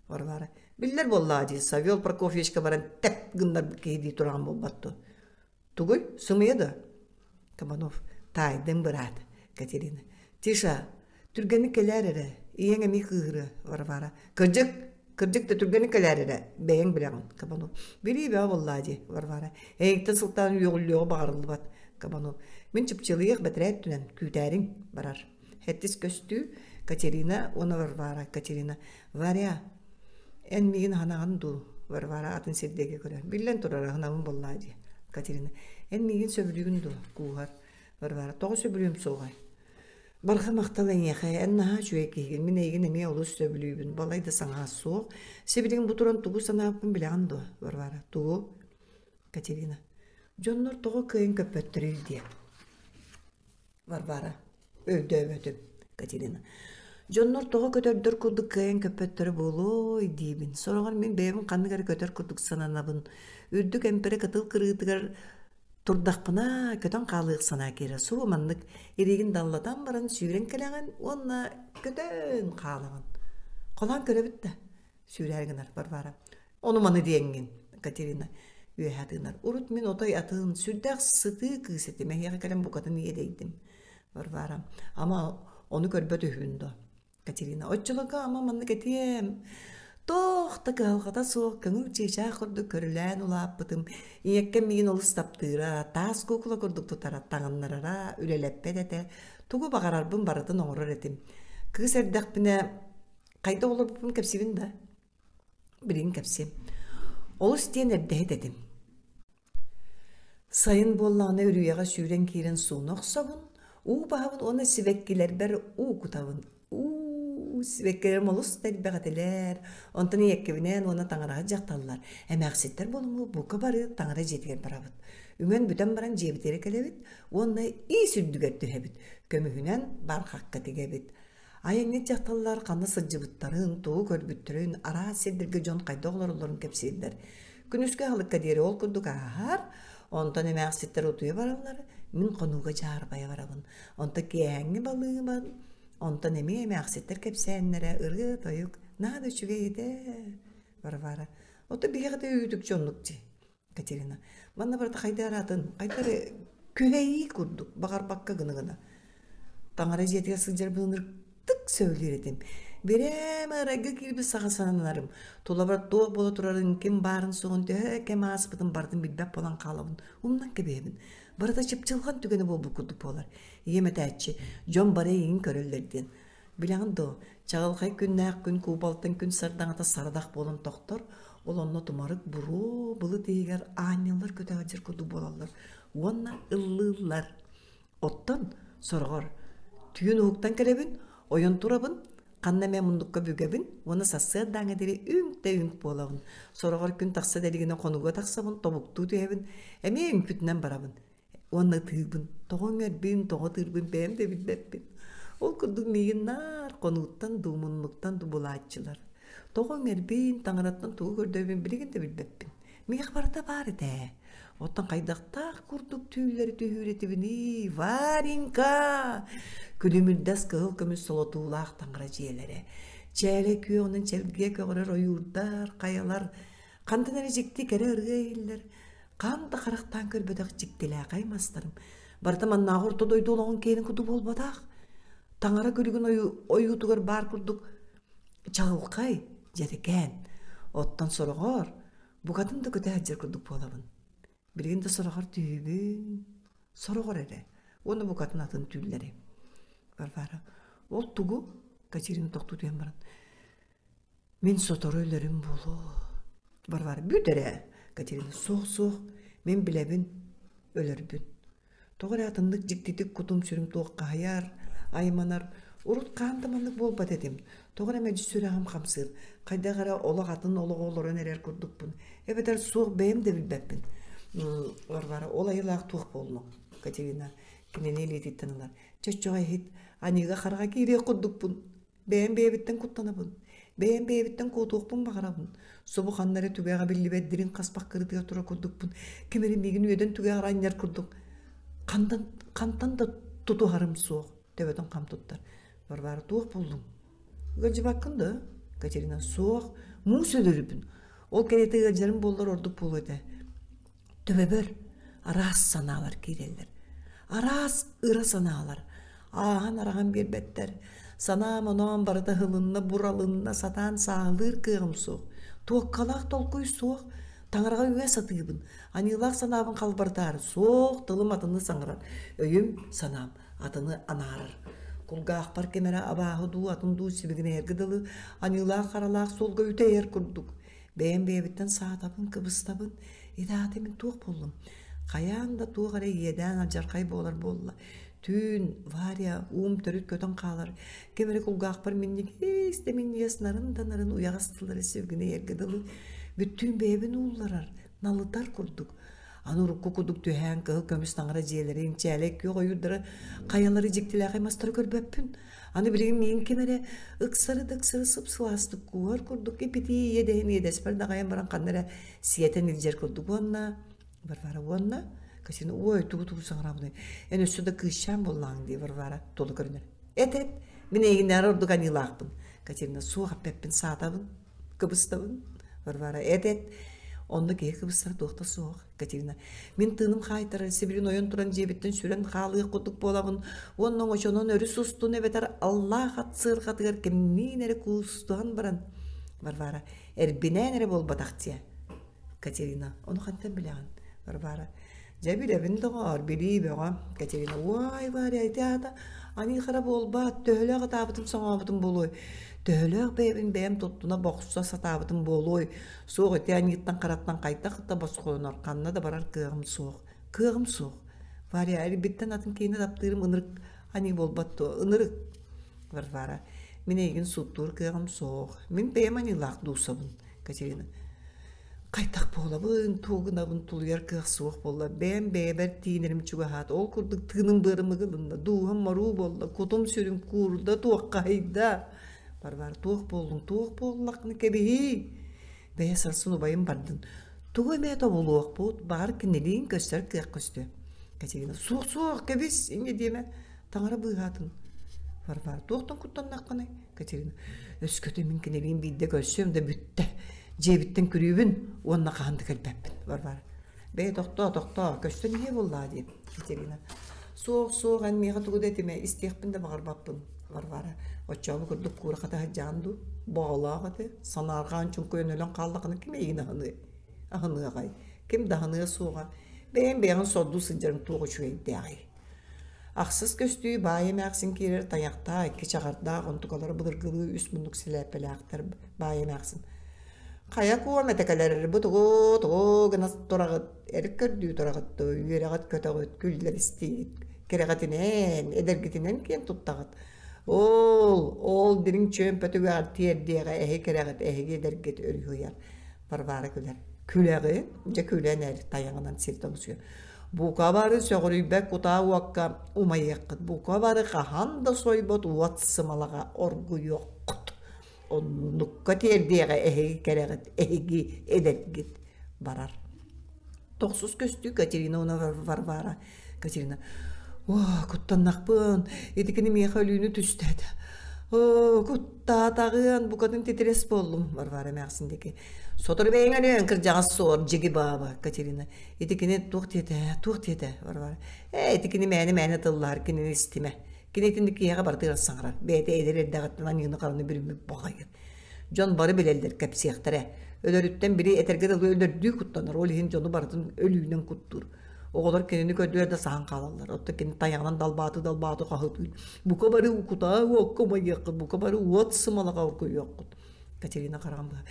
Варвара. Биллэр буоллаҕа дии, Савел Прокофьевичка баран тэп гыннарбыт киһи дии тураҕын буолбат дуо? Тугуй, сымыйа да? Кабанов. Таайдым, быраат. Катерина. Тиша, Түргэнник кэлээр эрэ, ийэҥ эмиэ кыыһырыа, Варвара. Кырдьык, кырдьык да түргэнник кэлээр эрэ, бэйэҥ билэҕин, Кабанов. Билии бөҕө буоллаа дии, Варвара. Эйигиттэн сылтаан үөҕүллүөҕү баҕарыллыбат, Кабанов. Мин чыпчылыйыах бэтэрээт түнэн, күүтээриҥ, барар. Хэттис көстүү, Катерина уонна Варвара. Катерина, Варя, эн миигин аһынаҕын дуу? Варвара атын сирдээги көрөр. Биллэн турар, аһынабын буоллаа дии. Катерина, эн миигин сөбүлүүгүн дуо? Кууһар. Варвара, тоҕо сөбүлүөм суоҕай? Барҕа махтал эйиэхэ, эн наһаа үчүгэй киһигин, мин эйигин эмиэ олус сөбүлүүбүн, балай да саҥаһа суох. Сибилигин бу туран тугу санаабыппын билэҕин дуо, Варвара? Тугу? Катерина. Дьоннор тоҕо кыайан көппөттөрүй диэн. Варвара. Өйдөөбөтүм. Катерина. Дьоннор тоҕо көтөрдөр курдук кыайан көппөттөрө буолуой диибин. Сороҕор мин бэйэбин ханнык эрэ көтөр курдук сананабын. Үрдүк эмпэрэ кытыл кырыытыгар Турдахпына көтөн хаалыах санаа киирэр. Субу маннык илиигин даллатан баран сүүрэн кэлэҕин уонна көтөн хаалаҕын. Холоон көрөбүт да, сүүрээр гынар Варвара. Ону маны диэҥҥин, Катерина үөһэ тыынар. Урут мин отой атын, сүрдээх сытыы кыыс этим, эһиэхэ кэлэн букатын иэдэйдим. Варвара, ама ону көрбөт үһүбүн дуо? Катерина, оччолорго ама маннык этиэм. Туох да кыһалҕата суох көҥүл чыычаах курдук көрүлээн улааппытым. Ийэккэм миигин олус таптыыра, таас куукула курдук тутара, таҥыннарара, үлэлэппэт этэ. Тугу баҕарарбын барытын оҥорор этим. Кыыс эрдэхпинэ хайдах олорбуппун кэпсиибин да? Билигин кэпсиэм. Олус диэн эрдэһит этим. Сайын буоллаҕына үрүйэҕэ сүүрэн киирэн сууна охсобун, уу баһабын уонна сибэккилэрбэр уу кутабын. Уу, сибэккилэрим олус да элбэх этилэр. Онтон ийэккэбинээн уонна таҥараһыт дьахталлар, эмээхситтэр буолуммут бука бары таҥара дьиэтигэр барабыт. Үҥэн бүтэн баран дьиэбитигэр кэлэбит уонна иис үрдүгэр түһэбит, көмүһүнэн бархакка тигэбит. Айанньыт дьахталлар ханна сылдьыбыттарын, тугу көрбүттэрин, араас сирдэргэ дьон хайдах олороллорун кэпсииллэр. Күнүскү аһылыкка диэри ол курдук ааһар, онтон эмээхситтэр утуйа бараллар, мин хонууга дьаарбайа барабын. Онтон киэһээҥҥи балыыбан, онтон эмиэ эмээхситтэр кэпсээннэрэ, ырыа-тойук, наһаа да үчүгэй этэ, Варвара. Ото биһиэхэ да үүтүкчү оннук дии. Катерина, манна барыта хайда араатын, хайда эрэ күһэйии курдук, баҕарбакка гына-гына. Таҥара дьиэтигэр сылдьарбын ынырыктык сөбүлүүр этим. Бирээмэ ырайга киирбит саҕа сананарым. Тулабар туох буола турарын, ким баарын-суоҕун, төһө кэм ааспытын барытын билбэт буолан хаалабын, умнан кэбиһэбин. Барыта чыпчылҕан түгэнэ буолбут курдук буолар. Ийэм этээччи, дьон бары эйигин көрөллөр диэн. Билэҕин дуо, чаҕылхай күннээх күн куубалтан күн сардаҥата сарадах буолан тохтор, ол онно тумарык буруо былыт иһигэр аанньаллар көтөҕүдьэр курдук буолаллар уонна ыллыыллар. Оттон сороҕор түүн уһуктан кэлэбин, ойон турабын, ханна эмэ муннукка бүгэбин уонна сарсыардааҥҥа диэри үҥк да үҥк буолабын. Сороҕор күн тахса да илигинэ хонууга тахсабын, тобуктуу түһэбин, эмиэ үҥпүтүнэн барабын. Уонна ытыыбын, тоҕо үҥэрбин, тоҕо ытыырбын бэйэм да билбэппин. Ол курдук миигин наар хонууттан дуу, муннуктан дуу булааччылар. Тоҕо үҥэрбин, таҥараттан тугу көрдөөбүн билигин да билбэппин. Миэхэ барыта баар этэ ээ. Оттон хайдахтаах курдук түүллэри түһүүр этибиний, Варенька! Күлүмүрдэс кыһыл көмүс солотуулаах таҥара дьиэлэрэ. Чээлэ күөҕүнэн чэлгийэ көҕөрөр ойуурдар, хайалар, хантан эрэ дьикти кэрэ ырыа иһиллэр, Хаан да харахтаан көрбөтөх дьиктилээхэй мастарым барыта маннааҕы орто дойду олоҕун киэнин курдук буолбатах. Таҥара күлүгүн ойуутугар баар курдук чаҕылхай, дьэрэкээн. Оттон сороҕор букатын да көтө сылдьар курдук буолабын. Билигин да сороҕор түһүүбүн, сороҕор эрэ уонна букатын атын түүллэри. Варвара, ол тугу? Катерина тохтуу түһэн баран, Мин сотору өлөрүм буолуо. Варвара, бүт эрэ, Катерина, суох, суох, мин билэбин, өлөрбүн. Тоҕо эрэ атыннык дьиктитик кутум-сүрүм туоххаһыйар, айманар. Урут хаһан да маннык буолбат этим. Тоҕо эрэ мэлдьи сүрэҕим хамсыыр. Хайдах эрэ олох атын олоҕу олорон эрэр курдукпун. Эбэтэр суох бэйэм да билбэппин. Варвара, ол айылаах туох буоллуҥ? Катерина кинини илиититтэн ылар. Чоччоҕо иһит, аньыыга-хараҕа киириэх курдукпун. Бэйэм бэйэбиттэн куттанабын, бэйэм бэйэбиттэн куотуохпун баҕарабын. Субу ханна эрэ түгэҕэ биллибэт дириҥ хаспах кырытыгар турар курдукпун. Ким эрэ миигин үөдэн түгэҕэр анньар курдук. Хантан, хантан да тутуһарым суох, төбөтүн хам туттар. Варвара, туох буллуҥ? Ыалдьыбаккын да? Катерина, суох, муус өлөрүбүн. Ол кэриэтэ ыалдьарым буоллар ордук буолуо этэ. Төбөбөр араас санаалар киирэллэр. Араас ыра санаалар ааһан-араҕан биэрбэттэр. Санаам-оноом барыта ыһылынна, буралынна, сатаан сааһылыыр кыаҕым суох. Туоккалаах толкуй суох. Таҥараҕа үө сатыыбын. Аньыылаах санаабын халбарытаары суох тылым атыны саҥарар. Өйүм, санаам атыны анаарар. Кулгаахпар ким эрэ абааһы дуу, атын дуу сибигинэйэргэ дылы аньыылаах-харалаах суолга үтэйэр курдук. Бэйэм бэйэбиттэн саатабын, кыбыстабын. Итэҕэтэ мин туох буоллум? Хайаан да туох эрэ иэдээн алдьархай буолар буолла. Түүн Варя уум төрүт көтөн хаалар. Ким эрэ кулгаахпар минньигэс да минньигэс нарын да нарын уйаҕас тыллары сибигинэйэргэ дылы бүттүүн бэйэбин уулларар, налытар курдук. Аны урукку курдук түһээн кыһыл көмүс таҥара дьиэлэрин, чээлэй күөх ойуурдары, хайалары дьиктилээхэй мастары көрбөппүн. Аны билигин миигин ким эрэ ыксары да ыксары сып-сылаастык кууһар курдук ипитии иэдэһин иэдэспэр даҕайан баран ханна эрэ сиэтэн илдьэр курдук уонна Варвара уонна Катерина ой тугу-тугу саҥарабыный эн өссө да кыысчаан буоллаҕыҥ дии Варвара тула көрүнэр эт-эт мин эйигиннээҕэр ордук аньыылаахпын Катерина суох эппэппин саатабын кыбыстабын Варвара эт-эт онно киһи кыбыстара туох да суох Катерина мин тыыным хаайтарар сибилин ойон туран дьиэбиттэн сүрэн хаалыах курдук буолабын уонна оҥочонон өрүс устун эбэтэр аллаах ат сыарҕатыгар кимниин эрэ куустуһан баран Варвара эрбинээн эрэ буолбатах диэ Катерина ону хантан билэҕин Варвара дьэ билэбин доҕоор билии бөҕө Катерина уай Варя ити аата аньыы хара буолбаат төһөлөөх ытаабытым соҥообутум буолуой төһөлөөх бэйэбин бэйэм туттуна бохсо сатаабытым буолуой суох ити аньыыттан хараттан хайдах да босхолонор ханна да барар кыаҕым суох кыаҕым суох Варя эрбиттэн атын киһини таптыырым ынырык аньыы буолбат дуо ынырык Варвара мин эйигин сууттуур кыаҕым суох мин бэйэм аньыылаах дуусабын Катерина хайдах буолабын, тугу гынабын тулуйар кыах суох буолла. Бэйэм бэйэбэр тиинэрим чугаһаата. Ол курдук тыыным быарым ыгылынна, дууһам моруу буолла, кутум-сүрүм куурда, туоххаһыйда. Варвара, туох буоллуҥ, туох буоллаххына кэбиһиий. Бэйэ сарсын убайым бардын. Тугу эмэ тобулуохпут, баҕар кинилиин көстөр кыах көстүө. Катерина, суох, суох, кэбис, инньэ диэмэ. Таҥара быыһаатын. Варвара, туохтан куттаннаххыный? Катерина, өскөтө мин кинилиин биирдэ көрсүөм да бүттэ. Дьиэбиттэн күрүүбүн уонна хаһан да кэлбэппин. Варвара, бэйэ тохтоо, тохтоо, көстөн иһиэ буоллаа диэн. Катерина, суох, суох, эн миэхэ тугу да этимэ, истиэхпин да баҕарбаппын. Варвара, оччообу курдук куура хата сылдьаҕын дуу? Боҕолоох этэ, санаарҕаан чуҥкуйан өлөн хааллаххына ким эйигин аһыныай? Аһыныаҕай, ким да аһыныа суоҕа. Бэйэҥ бэйэҕин сордуу сылдьарыҥ туох үчүгэйдээҕий? Ахсыс көстүү баай эмээхсин киирэр тайахтаах икки чаҕардаах онтукалара былыргылыы үс муннук сэлээппэлээхтэр баай эмээхсин хайа куом этэ кэлэр бу тугу тугу гына тураҕыт эр көрдүү тураҕыт дуо үөрэҕит көтөҕүт күллэристиигит кэрэҕитинэн эдэргитинэн киэн туттаҕыт ол ол дириҥ чүөмпэтүгэҕэр тиэрдиэҕэ эһи кэрэҕит эһиги эдэргит өрүһүйэр Варвара күлэр. Күлэҕи, дьэ күлэн эр тайаҕынан сир тоҥсуйар. Бука бары сөҕүрүйбэт кутаа уокка умайыаххыт, бука бары хаһан да сойбот уот сымалаҕа оргуйуоххут. Оннукка тиэрдиэҕэ эһиги кэрэҕит, эһиги эдэргит барар. Тохсус көстүү Катерина уонна Варвара. Катерина, «Оо, куттаннахпын, ити кини миэхэ өлүүнү түстээтэ. Оо, куттаатаҕыан, букатын титирэс буоллум», Варвара эмээхсин диэки. «Сотору бэйэҥ өлүөҥ, кырдьаҕас суор, дьиги бааба», Катерина. «Ити кини туох диэтэ, туох диэтэ?» Варвара. «Ээ, ити кини мээнэ-мээнэ тыллаһар, кинини истимэ. Кини итинник киһиэхэ барытыгар саҥарар, бэйэтэ эдэр эрдэҕиттэн аньыыны-хараны бүрүммүт баҕайы. Дьон бары билэллэр, кэпсиэхтэрэ. Өлөрүттэн били этэргэ дылы өлөрдүү куттанар, ол иһин дьону барытын өлүүнэн куттуур. Оҕолор кинини көрдүлэр да саһан хаалаллар. Оттон кини тайаҕынан далбааты-далбааты хаһытыыр. Бука бары кутаа уокка умайыаххыт, бука бары уот сымалаҕа оргуйуоххут. Катерина хараҕын быһа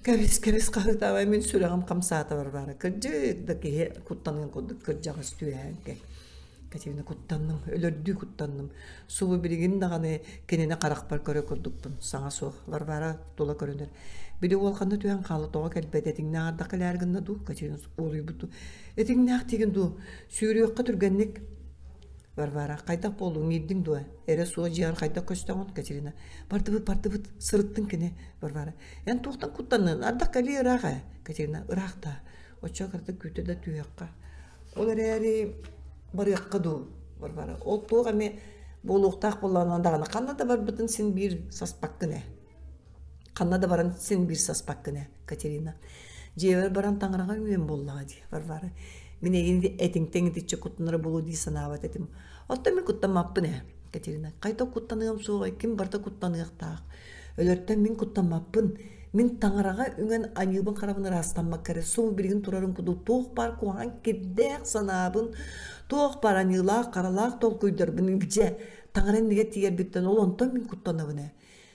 кэбис кэбис хаһыытаабай мин сүрэҕим хамсаата Варвара. Кырдьык да киһи куттаныан курдук кырдьаҕас түөһээн кэл. Катерина куттанным, өлөрдүү куттанным. Субу билигин даҕаны кинини харахпар көрө курдукпун. Саҥа суох. Варвара тула көрүнэр. Били уол ханна түһэн хаалла, тоҕо кэлбэт, этиҥнээх ардах кэлээр гынна дуу? Катерина уолуйбут дуу? Этиҥнээх диигин дуу? Сүүрүөххэ түргэнник. Варвара, хайдах буоллуҥ, иирдиҥ дуо? Эрэ суох дьиэҕэр хайдах көстөҕүн? Катерина, бардыбыт, бардыбыт, сырыттыҥ кини. Варвара, эн туохтан куттаннын? Ардах кэлиэ ыраах ээ. Катерина, ыраах даа. Оччо кыратык күүтэ да түһүөххэ. Ол эрээри барыахха дуу, Варвара. Ол туох эмэ буолуохтаах буоллаҕына даҕаны ханна да барбытын син биир саспаккын ээ. Ханна да баран син биир саспаккын ээ, Катерина. Дьиэбэр баран таҥараҕа үөн буоллаҕа дии, Варвара. Мин эйигин этиҥтэн итиччэ куттанара буолуо дии санаабат этим. Оттон мин куттаммаппын ээ. Катерина, хайдах куттаныам суоҕай, ким барыта куттаныахтаах. Өлөртөн мин куттаммаппын. Мин таҥараҕа үҥэн аньыыбын-харабын ыраастаммакка эрэ субу билигин турарын курдук туох баар куһаҕан кирдээх санаабын, туох баар аньыылаах-харалаах толкуйдарбын илдьэ таҥара иннигэр тиийэрбиттэн ол онтон мин куттанабын ээ.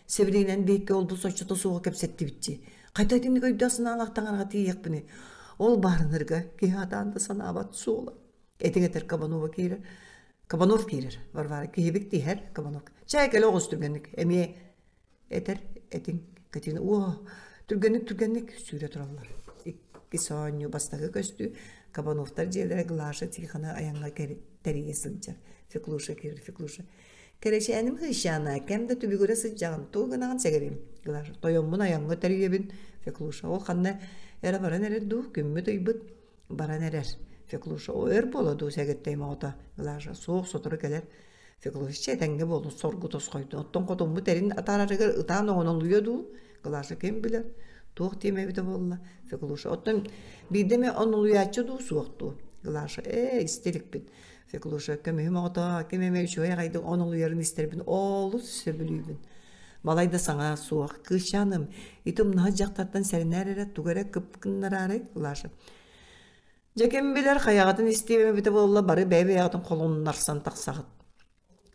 Сибилигинэн биһикки олбу соччото суоҕу кэпсэттибит дии. Хайда итинник өйдөөх санаалаах таҥараҕа тиийиэхпиний? Ол баарынарга киһи атаан да санаабат суола. Этиҥ этэр Кабанова киирэр. Кабанов киирэр. Варвара киһибит тиһэр Кабанов. Чай кэлэ оҕус түргэнник. Эмиэ этэр этиҥ Катина уо түргэнник түргэнник сүүрэ тураллар. Иккис оонньуу бастакы көстүү Кабановтар дьиэлэрэ Глаша Тихона айаҥҥа тэрийэ сылдьар. Феклуша киирэр Феклуша. Кэрэчээним Хыйшаана, кэм да түбүгүрэ сылдьаҕын, тугу гынаҕын сэгэрим? Глаша. Тойоммун айаҥҥа тэрийэбин. Феклуша. Ол ханна эрэ баран эрэр дуу, күммүт ыйбыт баран эрэр. Феклуша. О, өр буола дуу сэгэттэйим оҕото. Глаша. Суох, сотору кэлэр. Феклуша. Чэ, этэҥҥэ буолун, соргу тосхойдун. Оттон хотуммут эрин атаарарыгар ытаан оҥонолуйа дуу? Глаша ким билэр? Туох диэм эбитэ буолла? Феклуша. Оттон биирдэ эмэ онулуйааччы дуу, суох дуу? Глаша. Ээ, истэ иликпин. Феклуша көмүһүм оҕото ким эмэ үчүгэй аҕайдык онолуйарын истэрбин олус сөбүлүүбүн. Балай да саҥа суох. Кыысчааным, ити умнаһыт дьахтартан сэрэнээр эрэ тугу эрэ кып гыннараары Глаша. Дьэ ким билэр хайаҕытын истиэм эбитэ буолла бары бэйэ-бэйэҕитин холуннарсан тахсаҕыт.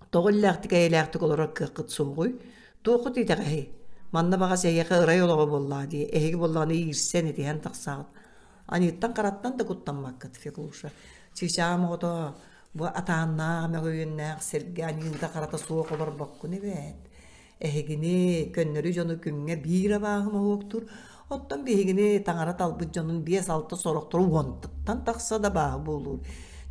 Тоҕо иллээхтик-эйэлээхтик олорор кыаххыт суоҕуй? Туоххут итэҕэһий? Манна баҕас эһиэхэ ырай олоҕо буоллаҕа дии, эһиги буоллаҕына иирсэн, итиһэн тахсаҕыт. Аньыыттан-хараттан да куттаммаккыт, Феклуша. Чыычааҕым оҕото, бу атааннаах, мөҕүөннээх сиргэ аньыыта-харата суох олорбоккун эбээт. Эһигини, көннөрү дьону күҥҥэ биир абааһы моһуоктуур, оттон биһигини таҥара талбыт дьонун биэс-алта сорохтору уонтан тахса да абааһы буолуур.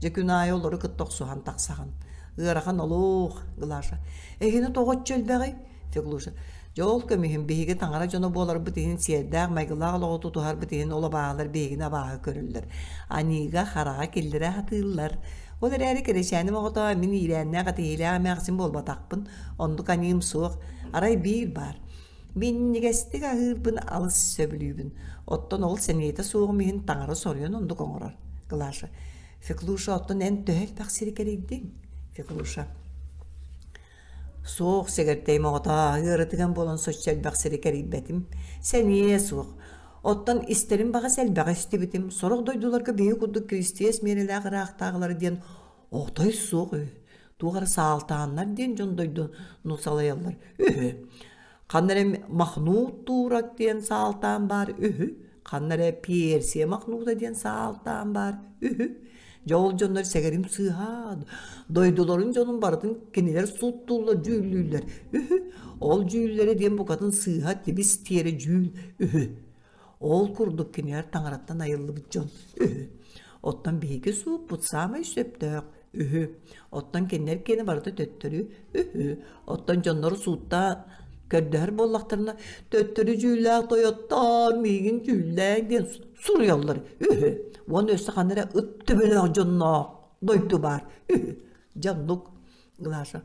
Дьэ күн аайы олору кытта охсуһан тахсаҕын. Ыарахан олох, Глаша. Эһигини тоҕо оччо элбэҕий? Феклуша. Дьэ ол көмүһүм биһиги таҥара дьоно буоларбыт иһин сиэрдээх майгылаах олоҕу тутуһарбыт иһин ол абааһылар биһигини абааһы көрөллөр. Аньыыга хараҕа киллэрэ сатыыллар. Ол эрээри кэрэчээним оҕото мин иирээннээх этиһиилээх эмээхсин буолбатахпын. Оннук аньыым суох. Арай биир баар. Минньигэстик аһыырбын алыс сөбүлүүбүн. Оттон ол сэниэтэ суоҕум иһин таҥара соруйан оннук оҥорор. Глаша. Феклуша, оттон эн төһө элбэх сири кэрийдиҥ? Феклуша. Суох, сэгэртэйим оҕото, ыарытыган буолан соччо элбэх сири кэрийбэтим. Сэниэ суох. Оттон истэрим баҕас элбэҕи истибитим. Сорох дойдуларга биһиги курдук киристиэс миэрэлээх ыраахтааҕылар диэн отой суох үһү. Туох эрэ саалтааннар диэн дьон дойдуну салайаллар үһү. Ханна эрэ Махнут Туурак диэн саалтаан баар үһү. Ханна эрэ Персия Махнута диэн саалтаан баар үһү. Дьэ ол дьоннор сэгэрим сыыһа, дойдуларын дьонун барытын кинилэр сууттууллар, дьүүллүүллэр үһү. Ол дьүүллэрэ диэн букатын сыыһа тибис тиэрэ дьүүл үһү. Ол курдук кинилэр таҥараттан айыллыбыт дьон үһү. Оттон биһиги сууппут саамай сөптөөх үһү. Оттон кинилэр киэнэ барыта төттөрү үһү. Оттон дьоннору сууттаан көрдөһөр буоллахтарына төттөрү дьүүллээх тойоттоор миигин дьүүллээҥ диэн суруйаллар үһү. Уонна өссө ханна эрэ ыт төбөлөөх дьонноох дойду баар үһү. Дьэ оннук Глаша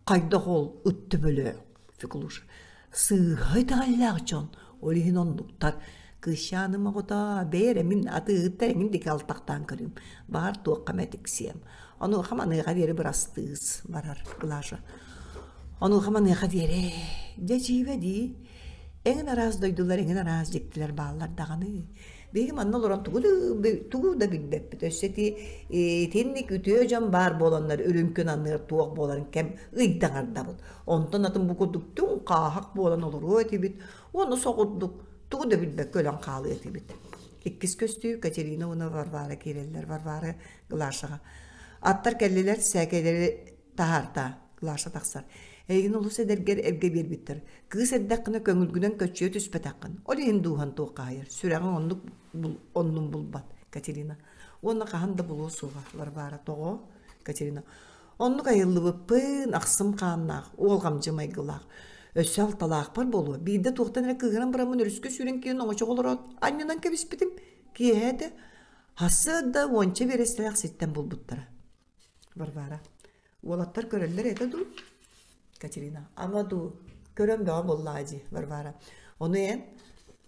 хайдах ол ыт төбөлөөх Феклуша сыыһа итэҕэллээх дьон ол иһин оннуктар кыысчааным оҕото бэйэ эрэ мин атыыһыттар эҥин диэки алтахтаан көрүүм баҕар туохха эмэ тиксиэм онуоха маныаха диэри бырастыыс барар Глаша онуоха маныаха диэри дьэ дьиибэ дии эҥин араас дойдулар эҥин араас дьиктилэр бааллар даҕаны Биһиги манна олорон тугу да, тугу да билбэппит. Өссө ити итинник үтүө дьон баар буоланнар үрүҥ күн анныгар туох буоларын кэм ыйдаҥардабыт. Онтон атын бу курдук түҥ хааһах буолан олоруо этибит. Уонна соҕурдук тугу да билбэккэ өлөн хаалыа этибит. Иккис көстүү Катерина уонна Варвара киирэллэр. Варвара Глашаҕа. Аттар кэллилэр, сээкэйлэри таһаарта. Глаша тахсар. Эйигин олус эдэргэр эргэ биэрбиттэр. Кыыс эрдэххинэ көҥүлгүнэн көччүйэ түспэтэххин. Ол иһин дууһан туоххаһыйар. Сүрэҕиҥ оннук оннун булбат. Катерина. Уонна хаһан да булуо суоҕа. Варвара. Тоҕо? Катерина. Оннук айыллыбыппын, ахсым хааннаах, уолҕамдьы майгылаах. Өссө алталаахпар буолуо. Биирдэ туохтан эрэ кыыһыран бараммын өрүскэ сүүрэн киирэн оҥочоҕо олороот анньынан кэбиспитим. Киэһэ этэ. Сарсыарда уонча биэрэстэлээх сиртэн булбуттара. Варвара. Уолаттар көрөллөр этэ дуу? Катерина. Ама дуу, көрөн бөҕө буоллаҕа дии, Варвара. Ону эн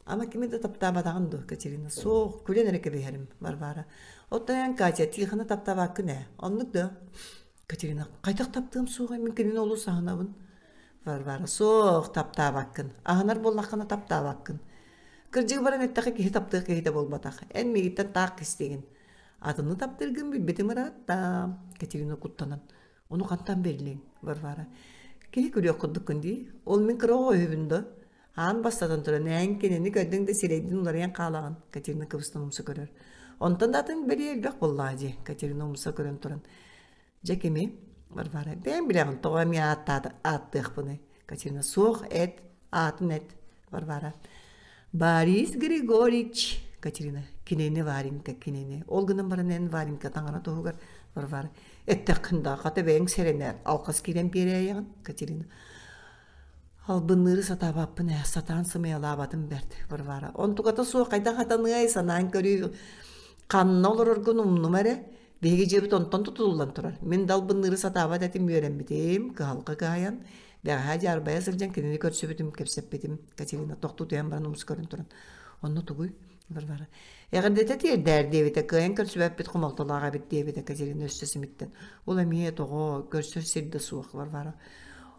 ама кими да таптаабатаҕын дуу, Катерина. Суох, күлэн эрэ кэбиһэрим, Варвара. Оттон эн, Катя, Тихоны таптаабаккын ээ. Оннук да? Катерина, хайдах таптыам суоҕай, мин кинини олус аһынабын. Варвара, суох, таптаабаккын. Аһынар буоллаххына таптаабаккын. Кырдьыгы баран эттэххэ киһи таптыах киһитэ буолбатах. Эн миигиттэн таах кистиигин. Атыны таптыыргын билбитим ыраатта. Катерина куттанан. Ону хантан биллиҥ, Варвара? Киһи күлүөх курдуккун дии. Ол мин кыра оҕо үһүбүн да. Аан бастатан туран, эн кинини көрдүҥ да сирэйдин уларыйан хаалаҕын, Катерина кыбыстан умса көрөр. Онтон да атын бэлиэ элбэх буоллаҕа дии, Катерина умса көрөн туран. Дьэ кими? Варвара, бэйэҥ билэҕин тоҕо эмиэ ааттыахпыный? Катерина, суох, эт, аатын эт. Варвара, Борис Григорьевич. Катерина, кинини Варенька, кинини. Ол гынан баран эн Варенька таҥара туһугар Варвара, эттэххин да, хата бэйэҥ сэрэнээр, алҕас киирэн биэрээйэҕин. Катерина, Албынныыры сатаабаппын ээ, сатаан сымыйалаабатым бэрт, Варвара. Онтуката суох хайдах хатаныай, санаан көрүү, ханна олороргун умнума эрэ. Биһиги дьиэбит онтон тутуллан турар. Мин да албынныыры сатаабат этим үөрэммитим, кыһалҕа кыһайан, бэҕэһээ дьаарбайа сылдьан кинини көрсүбүтүм, кэпсэппитим. Катерина тохтуу түһэн баран умса көрөн туран, онно тугуй? Варвара. Эҕэрдэтэ тиэрдээр диэбитэ, кыайан көрсүбэппит хомолтолоох эбит диэбитэ Катерина өссө симиттэн. Ол эмиэ тоҕо, көрсөр сир да суох, Варвара.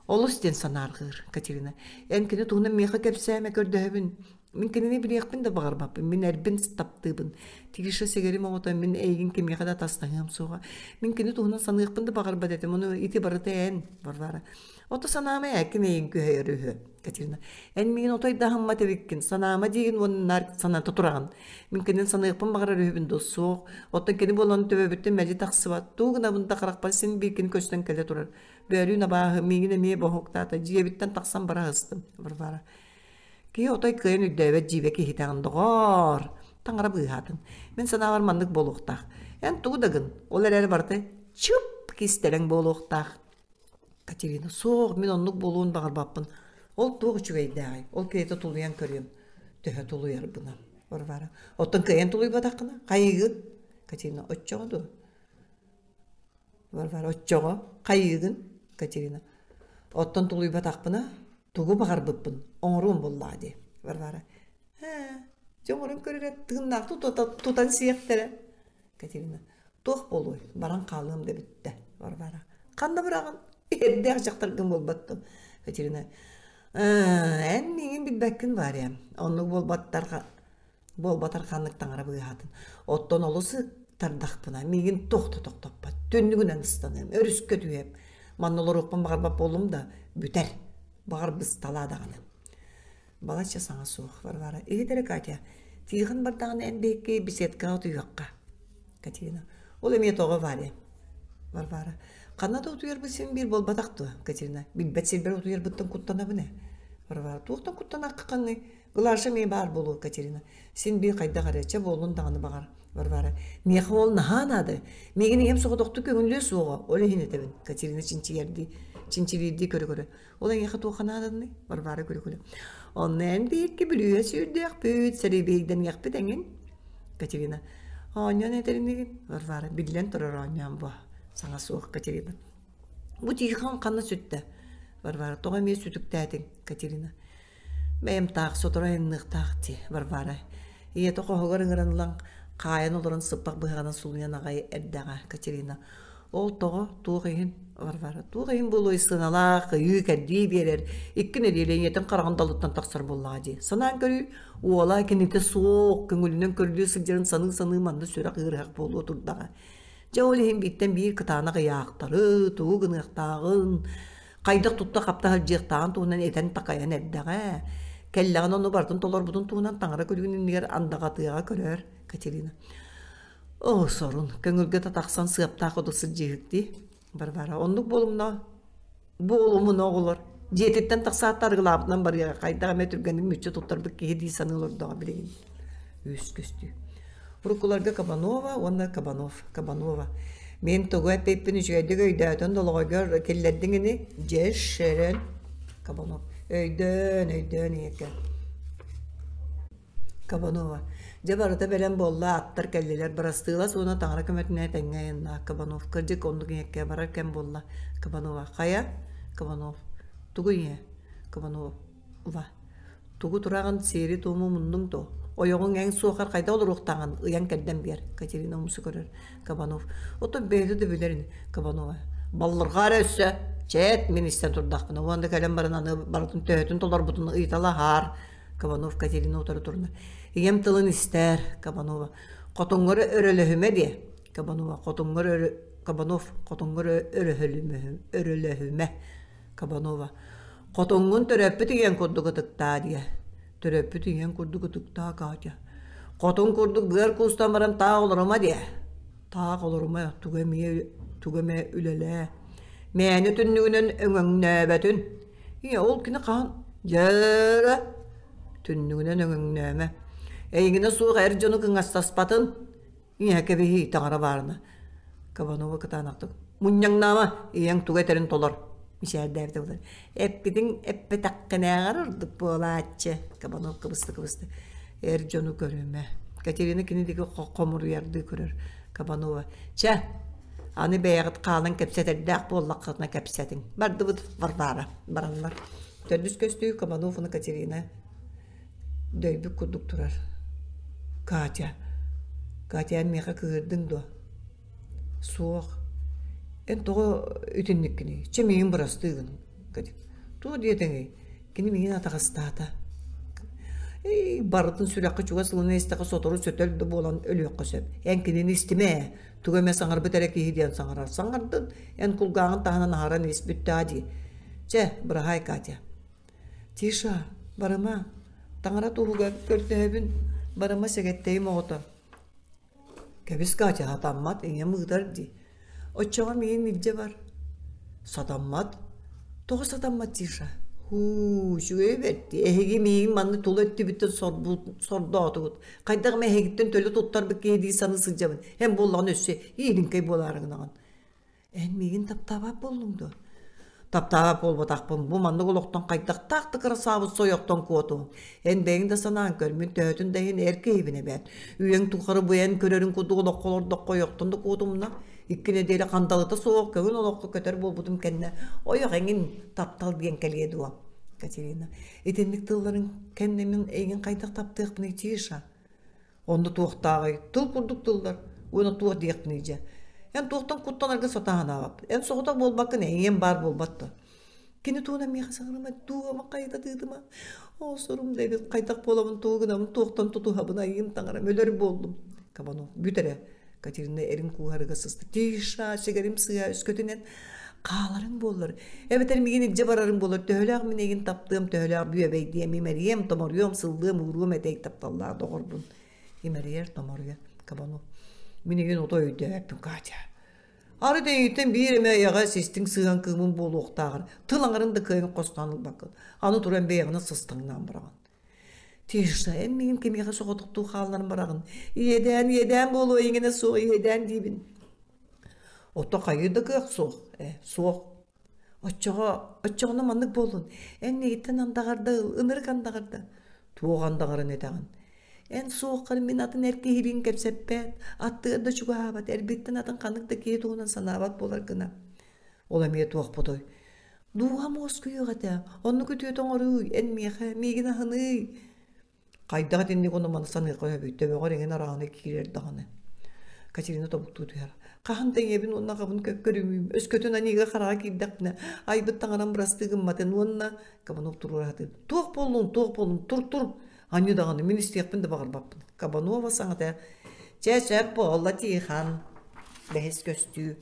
Олус диэн санаарҕыыр Катерина. Эн кини туһунан миэхэ кэпсээмэ көрдөһөбүн. Мин кинини билиэхпин да баҕарбаппын. Мин эрбин таптыыбын. Тиша сэгэрим оҕото мин эйигин кимиэхэ да атастаһыам суоҕа. Мин кини туһунан саныахпын да баҕарбат этим. Ону ити барыта эн, Варвара. Ото санаама ээ, ким эйигин күһэйэр үһү, Катерина. Эн миигин отой да аһыммат эбиккин. Санаама диигин уонна наар саната тураҕын. Мин кинини саныахпын баҕарар үһүбүн дуо? Суох. Оттон кини буолан төбөбүттэн мэлдьи тахсыбат. Тугу гынабын да харахпар син биир кини көстөн кэлэ турар. Бөөлүүн абааһы миигин эмиэ боһуктаата, дьиэбиттэн тахсан бара сыстым, Варвара. Киһи отой кыайан өйдөөбөт дьиибэ киһитэҕин, доҕоор! Таҥара быыһаатын. Мин санаабар маннык буолуохтаах. Эн тугу да гын, ол эрээри барыта чып кистэлэҥ буолуохтаах. Катерина, суох, мин оннук буолуон баҕарбаппын. Ол туох үчүгэйдээҕий? Ол киһитэ тулуйан көрүөм. Төһө тулуйарбынан. Варвара, оттон кыайан тулуйбатаххына, хайыыгын? Катерина, оччоҕо дуо? Варвара, оччоҕо хайыыгын? Катерина, оттон тулуйбатахпына, тугу баҕарбыппын оҥоруом буоллаҕа дии. Варвара, ээ, дьэ оҥорон көр эрэ, тыыннаахтыы тутан сиэхтэрэ. Катерина, туох буолуой, баран хаалыам да бүттэ. Варвара, ханна быраҕын? Эрдээх дьахтаргын буолбат дуо? Катерина, ээ, эн миигин билбэккин Варя, оннук буолбаттар Буолбатар ханнык таҥара быыһаатын. Оттон олус ыктардахпына, миигин туох да тохтоппот. Түннүгүнэн ыстаныам, өрүскэ түһүөм. Манна олоруохпун баҕарбат буоллум да, бүтэр. Баҕар бысталаа даҕаны. Балачча саҥа суох, Варвара. Иһит эрэ, Катя, Тихон бардаҕына эн биһикки беседкаҕа утуйуохха. Катерина. Ол эмиэ тоҕо Варя? Варвара. Ханна да утуйарбыт син биир буолбатах дуо, Катерина? Билбэт сирбэр утуйарбыттан куттанабын ээ. Варвара. Туохтан куттанаххыный? Глаша эмиэ баар буолуо, Катерина. Син биир хайдах эрэ, чэ буоллун даҕаны баҕар, Варвара. Миэхэ ол наһаа наада. Миигин ийэм соҕотохтук көҥүллүө суоҕа, ол иһин этэбин, Катерина чинчийэрдии, чинчилиирдии көрө-көрө. Ол эйиэхэ туохха нааданый? Варвара күлэ-күлэ. Онно эн биһикки бүлүүһэ сүүрдүөхпүт, сэрэбиэйдэниэхпит эҥин. Катерина. Оонньоон этэринигин? Варвара. Биллэн турар оонньоон буо. Саҥа суох, Катерина. Бу Тихон ханна сүттэ? Варвара. Тоҕо эмиэ сүтүктээтиҥ, Катерина. Бэйэм таах сотору айанныахтаах дии, Варвара. Ийэтэ хоһугар ыҥыран ылан, хаайан олорон сыппах быһаҕынан сулуйан аҕай эрдэҕэ, Катерина. Ол тоҕо, туох иһин? Варвара. Туох иһин буолуой сыаналаах, ыйыы-кэрдии биэрэр, икки нэдиэлэ ийэтин хараҕын далыттан тахсар буоллаҕа дии. Санаан көрүү, уола кинитэ суох, көҥүлүнэн көрүлүү сылдьарын саныы-саныы манна сүрэх ыарыһах буолуо турдаҕа. Дьэ ол иһин бииртэн биир кытаанах ыйаахтары, тугу гыныахтааҕын, хайдах тутта-хапта сылдьыахтааҕын туһунан этэн-такайан эрдэҕэ. Кэллэҕинэ ону барытын толорбутун туһунан таҥара күлүгүн иннигэр андаҕатыаҕа көрөөр Катерина. Оо, сорун, көҥүлгэ да тахсан сыаптаах оту сылдьыыһык дии. Варвара, оннук буолумна буолумуна оҕолор. Дьиэтиттэн тахсаат арыгылаабытынан барыаҕа, хайдах эмэ түргэнник мүччү туттарбыт киһи дии саныы олордоҕо билигин. Үс көстүү. Уруккуларга Кабанова уонна Кабанов. Кабанова. Мин тугу эппиппин үчүгэйдик өйдөөтөн долоҕойгор киллэрдиҥ ини? Дьэ, шерен. Кабанов. Өйдөөн, өйдөөн ийэкэ. Кабанова. Дьэ барыта бэлэм буолла, аттар кэллилэр. Бырастыылас уонна таҥара көмөтүнэн тэҥҥэ айаннаах Кабанов. Кырдьык оннук ийэккэ барар кэм буолла. Кабанова. Хайа? Кабанов. Тугу ийэ? Кабанова. Тугу тураҕын, сиэри-туому муннуҥ дуо? Ойоҕуҥ эн суохар хайдах олоруохтааҕын ыйан-кэрдэн биэр, Катерина умса көрөр. Кабанов. Оттон бэйэтэ да билэр ини, Кабанова. Баллырҕаа эрэ өссө чээт мин истэн турдахпына уонна кэлэн баран аны барытын төһөтүн толорбутун ыйыталаһаар Кабанов Катерина утары турна. Ийэм тылын истээр Кабанова. Хотуҥҥар өрөлөһүмэ диэ. Кабанова хотуҥҥар өрө Кабанов хотуҥҥар өрөлөһүмэ. Кабанова. Хотуҥҥун төрөппүт ийэҥ курдук ытыктаа диэ. Төрөппүт ийэҥ курдук ытыктаа Катя. Хотун курдук быар куустан баран таах олорума диэ. Таах олорума, тугу эмиэ тугу эмэ үлэлээ. Мээнэ түннүгүнэн өҥөҥнөөбөтүн. Ийэ, ол кини хаһан дьээрэ түннүгүнэн өҥөҥнөөмө. Эйигинэ суох эр дьону кыҥастаспатын. Ийэ кэбиһии таҥара баарына. Кабанова кытаанахтык мунньаҥнаама, ийэҥ тугу этэрин толор. Мичээрдээбитэ буолар. Эппитиҥ эппэтэххинээҕэр ордук буолааччы. Кабанов кыбыста-кыбыста. Эр дьону көрүмэ. Катерина кини диэки хомуруйардыы көрөр. Кабанова. Чэ, аны бэйэҕит хаалан кэпсэтэрдээх буоллаххытына кэпсэтиҥ. Бардыбыт Варвара. Бараллар. Төрдүс көстүү Кабанов уонна Катерина дөйбүт курдук турар. Катя, Катя эн миэхэ кыыһырдыҥ дуо? Суох. Эн тоҕо итинниккиний? Чэ миигин бырастыы гын. Туох диэтэҥий? Кини миигин атаҕастаата. Эй, барытын сүрэххэ чугас ылына истэххэ сотору сөтөл да буолан өлүөххэ сөп. Эн кинини истимэ ээ. Тугу эмэ саҥарбыт эрэ киһи диэн саҥарар. Саҥардын, эн кулгааҕын таһынан аһаран ис бүттээ дии. Чэ, быраһаай Катя. Тиша, барыма. Таҥара туһугар көрдөһөбүн, барыма сэгэттэйим оҕото. Кэбис Катя, сатаммат, ийэм ыытар дии. Оччоҕо миигин илдьэ бар. Сатаммат. Тоҕо сатаммат Тиша? Һуу, үчүгэй бэрт дии. Эһиги миигин манна тула өттүбүттэн сордоотугут. Хайдах эмэ эһигиттэн төлө туттарбыт киһи дии саныы сылдьабын. Эн буоллаҕына өссө иилиҥкэй буолаары гынаҕын. Эн миигин таптаабат буоллуҥ дуо? Таптаабат буолбатахпын. Бу маннык олохтон хайдахтаах да кырасаабыт сойохтон куотуҥ. Эн бэйэҥ да санаан көр, мин төһөтүн да иһин эр киһибин эбээт. Үйэҥ тухары бу эн көрөрүҥ курдук олоххо олордоххо ойохтон да куотумна. Икки нэдиэлэ хандалыта суох көҥүл олоххо көтөр буолбутум кэннэ ойох эҥин таптал диэн кэлиэ дуо? Катерина, итинник тылларыҥ кэннэ мин эйигин хайдах таптыахпыный Тиша? Онно туохтааҕый? Тыл курдук тыллар. Уонна туох диэхпиний дьэ? Эн туохтан куттанарга сатаан аҕап. Эн соҕотох буолбаккын, эйиэм баар буолбат да. Кини туһунан миэхэ саҥарыма, дууһама хайыта тыытыма. Оо, сорум да эбит, хайдах буолабын, тугу гынабын, туохтан тутуһабын, айыым таҥарам, өлөр буоллум. Кабанов, бүт эрэ. Катерина эрин кууһарыга сыста. Тиша, сигэрим сыа өскөтүнэн хааларыҥ буоллар. Эбэтэр миигин илдьэ барарыҥ буоллар, төһөлөөх мин эйигин таптыам, төһөлөөх бүөбэйдиэм, имэрийиэм, томоруйуом, сыллыам, ууруом этэй тапталлаах доҕорбун. Имэрийэр, томоруйар. Кабанов. Мин эйигин ото өйдөөбөппүн, Катя. Арыт эйигиттэн биир эмэ эйэҕэс истиҥ сыһыан кыымын буолуохтааҕар, тыл аҥарын да кыайан хостоон ылбаккын. Аны туран бэйэҕинэн сыстаҥнаан бараҕын. Тиша, эн миигин кимиэхэ соҕотохтуу хаалларан бараҕын? Иэдээн, иэдээн буолуо, эйигинэ суох иэдээн диибин. Ото хайыы да кыах суох, ээ, суох. Оччоҕо, оччоҕуна маннык буоллун. Эн миигиттэн андаҕарда ыл, ынырык андаҕарда. Туох андаҕарын этэҕин? Эн суоххар мин атын эр киһилиин кэпсэппэт, аттыгар да чугаһаабат, эрбиттэн атын ханнык да киһи туһунан санаабат буолар гына. Ол эмиэ туохпутуй? Дууһам уоскуйуох этэ, оннук үтүөтэ оҥорууй, эн миэхэ, миигин аһыныый. Хайдах итинник ону маны саныахха сөбүй, төбөҕөр эҥин араҕаны киирэр даҕаны. Катерина тобуктуу түһэр. Хаһан да ийэбин уонна аҕабын көрүмүүм, өскөтүн аньыыга хараҕа киирдэхпинэ, айбыт таҥарам бырастыы гымматын уонна Кабанов туруора сатыыр. Туох буоллуҥ, туох буоллуҥ, тур-тур! Анньыы даҕаны, мин истиэхпин да баҕарбаппын. Кабанова саҥата «Чэ, сөп буолла, Тихон!» Бэһис көстүү.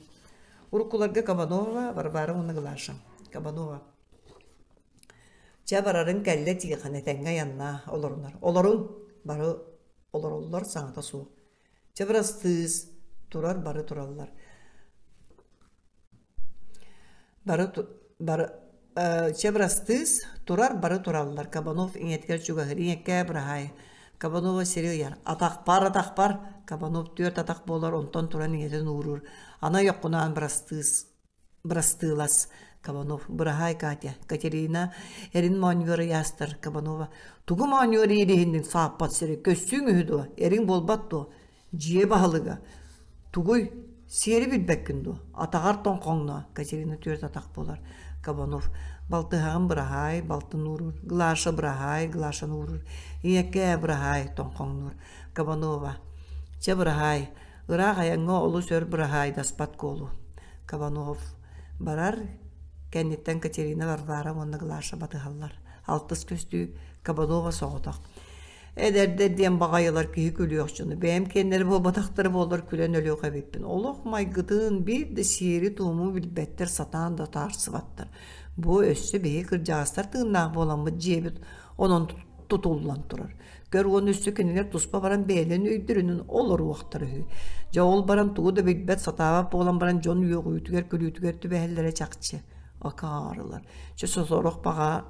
Уруккуларга Кабанова, Варвара уонна Глаша. Кабанова. Чэ, барарыҥ кэллэ Тихон, этэҥҥэ айаннаа, олорунар. Олоруҥ! Бары олороллор, саҥата суох. Чэ, бырастыыс, турар бары тураллар. Бары, бары, чэ, бырастыыс, турар бары тураллар. Кабанов ийэтигэр чугаһыыр. Ийэккээ быраһаай. Кабанова сири ыйар. Атахпар, атахпар! Кабанов түөрт атах буолар, онтон туран ийэтин ууруур. Аны ойоххунаан бырастыыс, бырастыылас. Кабанов, быраһаай, Катя. Катерина эрин моонньугар ыйаастар. Кабанова, тугу моонньугар иириһинниҥ сааппат сири, көссүүҥ үһү дуо? Эриҥ буолбат дуо? Дьиэ баһылыга «Тугуй, сиэри билбэккин дуо? Атаҕар тоҥхоҥно» Катерина түөрт атах буолар. Кабанов «Балтыһаҕын быраһаай, балтын ууруур, Глаша быраһаай, Глашаны ууруур, ийэкээ быраһаай, тоҥхоҥнуур». Кабанова «Чэ быраһаай, ыраах айаҥҥа олус өр быраһаайдаспат куолу». Кабанов. Барар кэнниттэн Катерина Варвара уонна Глаша батыһаллар. Алтыс көстүү Кабанова соҕотох. Эдэрдэр диэн баҕайылар киһи күлүөх дьону. Бэйэм киэннэрэ буолбатахтара буоллар күлэн өлүөх эбиппин. Олох майгытын биир да сиэри-туому билбэттэр, сатаан да таарсыбаттар. Бу өссө биһиги кырдьаҕастар тыыннаах буоламмыт дьиэбит онон тутуллан турар. Көр уонна өссө кинилэр туспа баран бэйэлэрин өйдөрүнэн олоруохтара үһү. Дьэ ол баран тугу да билбэт, сатаабат буолан баран дьон үөҕүүтүгэр, күлүүтүгэр түбэһэллэрэ чахчы. Акаарылар. Чэ сорох баҕа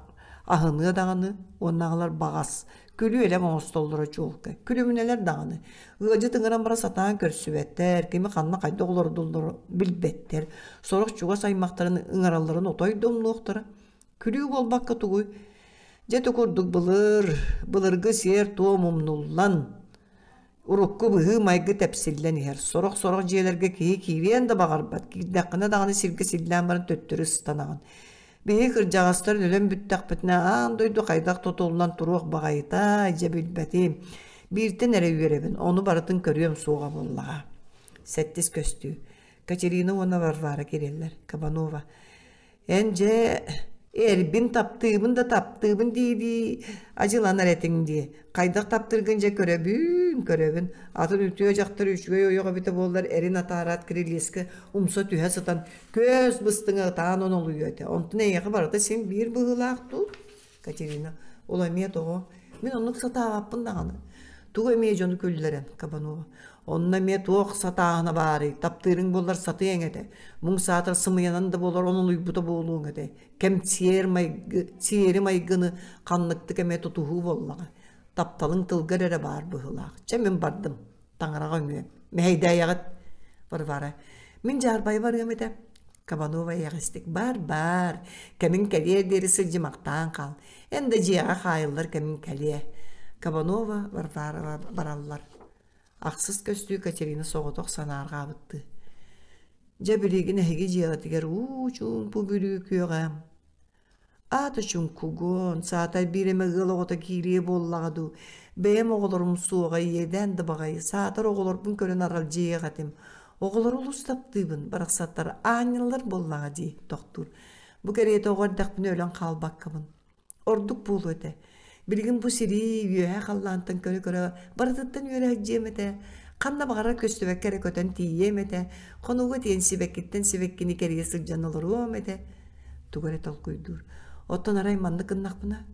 аһыныа даҕаны уоннаҕылар баҕас күлүү-элэк оҥостоллоро чуолкай. Күлүмүнэлэр даҕаны. Ыалдьыт ыҥыран бара сатаан көрсүбэттэр, кими ханна хайдах олордулларын билбэттэр. Сорох чугас аймахтарын ыҥыралларын отой да умнуохтара. Күлүү буолбакка тугуй? Дьэ ити курдук былыр, былыргы сиэр-туом умнуллан, урукку быһыы-майгы тэпсиллэн иһэр. Сорох-сорох дьиэлэргэ киһи киириэн да баҕарбат, киирдэххинэ даҕаны сиргэ силлээн баран төттөрү ыстанаҕын. Биһиги кырдьаҕастар өлөн бүттэхпитинэ аан дойду хайдах тутуллан туруох баҕайытай, дьэ билбэтим. Бииртэн эрэ үөрэбин, ону барытын көрүөм суоҕа буоллаҕа. Сэттис көстүү. Катерина уонна Варвара киирэллэр. Кабанова. Эн дьэ эрбин таптыыбын да таптыыбын дии-дии адьыланар этиҥ дии. Хайдах таптыыргын дьэ көрөбүн, көрөбүн. Атын үтүө дьахтар үчүгэй ойох эбитэ буоллар эрин атаараат кирилиэскэ умса түһэ сытан көс быстыҥа ытаан онолуйуо этэ. Онтон эйиэхэ барыта син биир быһыылаах дуу? Катерина, ол эмиэ тоҕо? Мин оннук сатаабаппын даҕаны. Тугу эмиэ дьону күллэрэн, Кабанова. Онно эмиэ туох сатааһына баарый? Таптыырыҥ буоллар сатыаҥ этэ. Муҥ саатар сымыйанан да буолар онолуйбута буолуоҥ этэ. Кэм сиэр майгы, сиэри майгыны ханныктык эмэ тутуһуу буоллаҕа. Тапталыҥ тылгар эрэ баар быһыылаах. Чэ мин бардым. Таҥараҕа үҥүөм. Мэһэйдээйэҕит. Варвара. Мин дьаарбайа барыам этэ. Кабанова эйэҕэстик бар-бар, кэмиҥ кэлиэр диэри сылдьымахтаан хаал. Эн да дьиэҕэ хаайыллар кэмиҥ кэлиэ. Кабанова, Варварова бараллар. Ахсыс көстүү Катерина соҕотох санаарҕаабыттыы. Дьэ билигин эһиги дьиэҕитигэр уу чуумпу бүрүү күөҕэ Аата чуҥкугун, саатар биир эмэ ыал оҕото киириэ буоллаҕа дуу, бэйэм оҕолорум суоҕа иэдээн да баҕайы, саатар оҕолорбун көрөн аралдьыйыах этим. Оҕолору олус таптыыбын, барахсаттар аанньаллар буоллаҕа дии, тохтуур. Бу кэриэтэ оҕо эрдэхпинэ өлөн хаалбаккабын. Ордук буолуо этэ. Билигин бу сири үөһэ халлаантан көрө-көрө барытыттан үөрэ сылдьыам этэ. Ханна баҕарар көстүбэккэ эрэ көтөн тиийиэм этэ. Хонууга тиийэн сибэккиттэн сибэккини кэрийэ сылдьан олоруом этэ. Тугу эрэ толкуйдуур. Оттон арай маннык гыннахпына,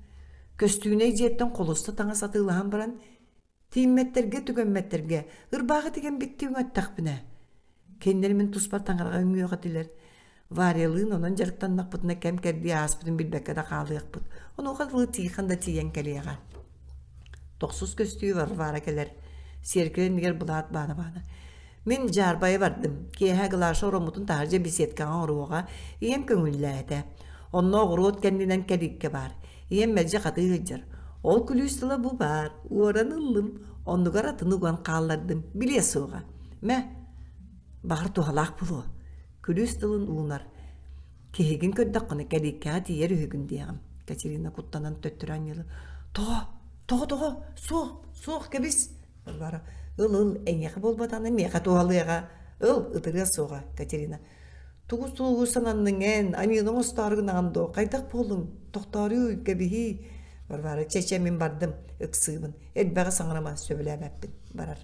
көстүүнэй дьиэттэн холуста таҥас атыылаһан баран, тииммэттэргэ, түгэммэттэргэ ырбаахы тигэн биттии үҥэттэхпинэ, кинилэр мин туспар таҥараҕа үҥүөх этилэр. Варялыын онон дьарыктаннахпытына кэм-кэрдии ааспытын билбэккэ да хаалыахпыт. Онуоха дылы Тихон да тиийэн кэлиэҕэ. Тохсус көстүү Варвара кэлэр. Сиэркилэ иннигэр былаат баана-баана. Мин дьаарбайа бардым. Киэһэ Глаша ороммутун таһырдьа беседкаҕа оҥоруоҕа. Ийэм көҥүллээтэ. Онно оҕуруот кэннинэн кэлииккэ баар. Ийэм мэлдьи хатыы сылдьар. Ол күлүүс тыла бу баар. Уоран ыллым. Оннугар атын уган хааллардым. Билиэ суоҕа. Мэ, баҕар туһалаах буолуо. Күлүүс тылын уунар. Киһигин көрдөххүнэ кэлииккэҕэ тиийэр үһүгүн диэҕим. Катерина куттанан төттөрү анньыла. Тоҕо? Тоҕо тоҕо? Суох, суох кэбис. Варвара ыл ыл эйиэхэ буолбатаҕына миэхэ туһалыаҕа. Ыл ытырыа суоҕа Катерина. Тугу тугу сананныҥ эн, аньыыны оҥостоору гынаҕын дуо? Хайдах буоллуҥ? Тохтооруй, кэбиһиий. Варвара чэ чэ мин бардым, ыксыыбын. Элбэҕи саҥарыма, сөбүлээбэппин. Барар.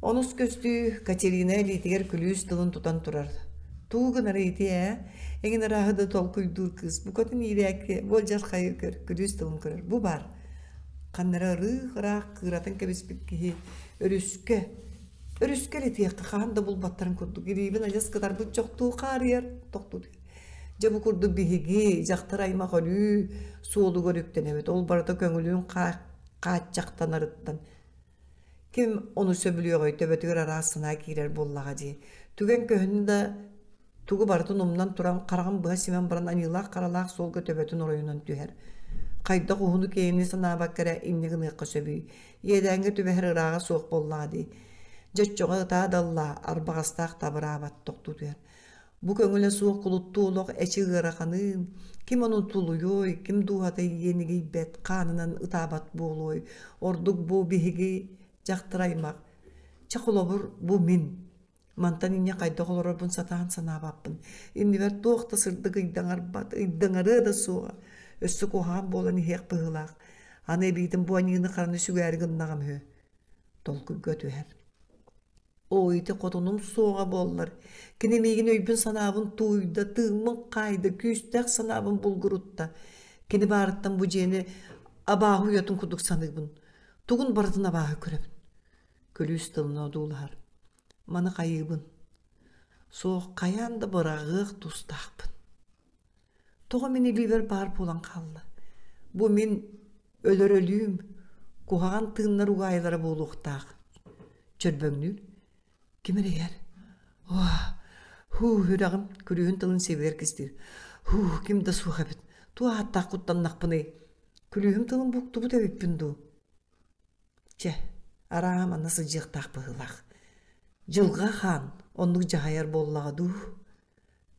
Онус көстүү Катерина илиитигэр күлүүс тылын тутан турар. Тугу гынар ити ээ? Эҥин арааһы да толкуйдуур кыыс букатын иирээки буолдьархайы көр, күлүүс тылын көрөр. Бу баар. Ханна эрэ ырыых-ыраах кыыратын кэбиспит киһи өрүскэ, өрүскэ илитиэххэ хаһан да булбаттарын курдук илиибин адьас кытарбыт чохтуу хаарыйар, тохтуу Дьэ бу курдук биһиги дьахтар аймах өлүү суолугар үктэнэбит. Ол барыта көҥүлүн хааччахтанарыттан Ким ону сөбүлүөҕүй төбөтүгэр араас санаа киирэр буоллаҕа дии. Түгэн көһүннэ да тугу барытын умнан туран хараҕын быһа симэн баран аньыылаах-харалаах суолга төбөтүн оройунан түһэр. Хайдах уһуну-киэҥи санаабакка эрэ инньэ гыныахха сөбүй? Иэдээҥҥэ түбэһэр ырааҕа суох буоллаҕа дии. Дьэ оччоҕо ытаа да ыллаа, арбаҕастаах табыраабат тохтуу түһэр. Бу көҥүлэ суох кулуттуу олох эчи ыараханыын, ким ону тулуйуой, ким дууһата иэнигийбэт, хаанынан ытаабат буолуой, ордук бу биһиги дьахтар аймах. Чэ холобур, бу мин. Мантан инньэ хайдах олорорбун сатаан санаабаппын. Иннибэр туох да сырдык ыйдаҥарбат, ыйдаҥарыа да суоҕа. Өссө куһаҕан буолан иһиэх быһыылаах. Аны эбиитин бу аньыыны-хараны сүгээри гыннаҕым үһү. Толкуйга түһэр. Оо, ити хотунум суоҕа буоллар, кини миигин өйбүн-санаабын тууйда, тыыммын хаайда, күүстээх санаабын булгурутта. Кини баарыттан бу дьиэни абааһы уйатын курдук саныыбын. Тугун барытын абааһы көрөбүн. Күлүүс тылын одуулаһар. Маны хайыыбын? Суох, хайаан да быраҕыах тустаахпын. Тоҕо мин илиибэр баар буолан хаалла? Бу мин өлөр өлүүм, куһаҕан тыыннар угаайылара буолуохтаах. Чөрбөҥнүүр. Ким эрэ иһэр? Уа, һуу, үрэҕим күлүүһүн тылын сиэбигэр кистиир. Һуу, ким да суох эбит. Туох ааттаах куттаннахпыный? Күлүүһүм тылын буктубут эбиппин дуу? Чэ, арааһа манна сылдьыахтаах быһыылаах. Дьылҕа хаан оннук дьаһайар буоллаҕа дуу?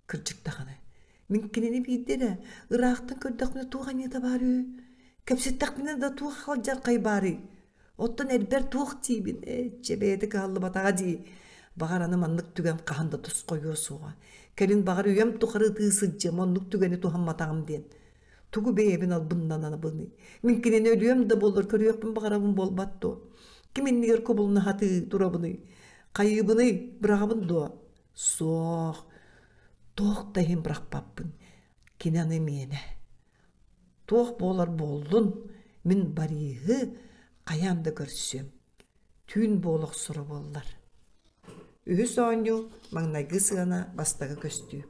Кырдьык даҕаны, мин кинини биирдэ эрэ ыраахтан көрдөхпүнэ туох аньыыта баар үһү? Кэпсэттэхпинэ да туох алдьархай баарый? Оттон эрбэр туох диибин? Ээ, чэ, бэйэтэ кыһаллыбатаҕа дии. Баҕар аны маннык түгэн хаһан да тосхойуо суоҕа. Кэлин баҕар үйэм тухары ытыы сылдьыам, оннук түгэни туһамматаҕым диэн. Тугу бэйэбин албыннанабыный? Мин кинини өлүөм да буоллар көрүөхпүн баҕарабын буолбат дуо? Ким иннигэр кубулуна сатыы турабыный? Хайыыбыный? Быраҕабын дуо? Суох. Туох да иһин бырахпаппын. Кини аны миэнэ. Туох буолар буоллун, мин Бориһы хайаан да көрсүөм. Түүн буола охсоро буоллар. Үһүс оонньуу маҥнайгы сыана бастакы көстүү.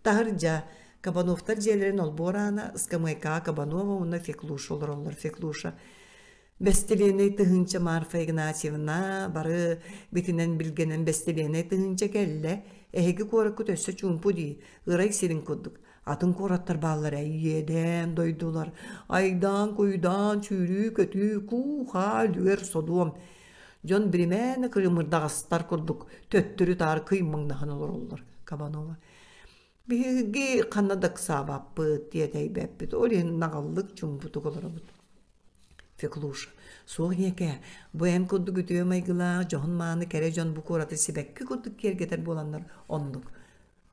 Таһырдьа Кабановтар дьиэлэрин олбуор аана ыскамыайкаҕа Кабанова уонна Феклуша олороллор. Феклуша Бэстилиэнэй тыһыынча Марфа Игнатьевна бары битинэн билгэнэн бэстилиэнэй тыһыынча кэллэ. Эһиги куораккыт өссө чуумпу дии, ырай сирин курдук. Атын куораттар бааллар ээ, иэдээн дойдулар, айдаан-куйдаан, сүүрүү-көтүү, куу-хаа үлүгэр содуом. Дьон биримээнэ кырымырдаҕастар курдук төттөрү-таары кыймаҥнаһан олороллор Кабанова. Биһиги ханна да ыксаабаппыт, тиэтэйбэппит, ол иһин наҕыллык чуумпутук олоробут. Феклуша, суох ийэкээ, бу эн курдук үтүө майгылаах, дьоһун-мааны кэрэ дьон бу куораты сибэкки курдук киэргэтэр буоланнар оннук.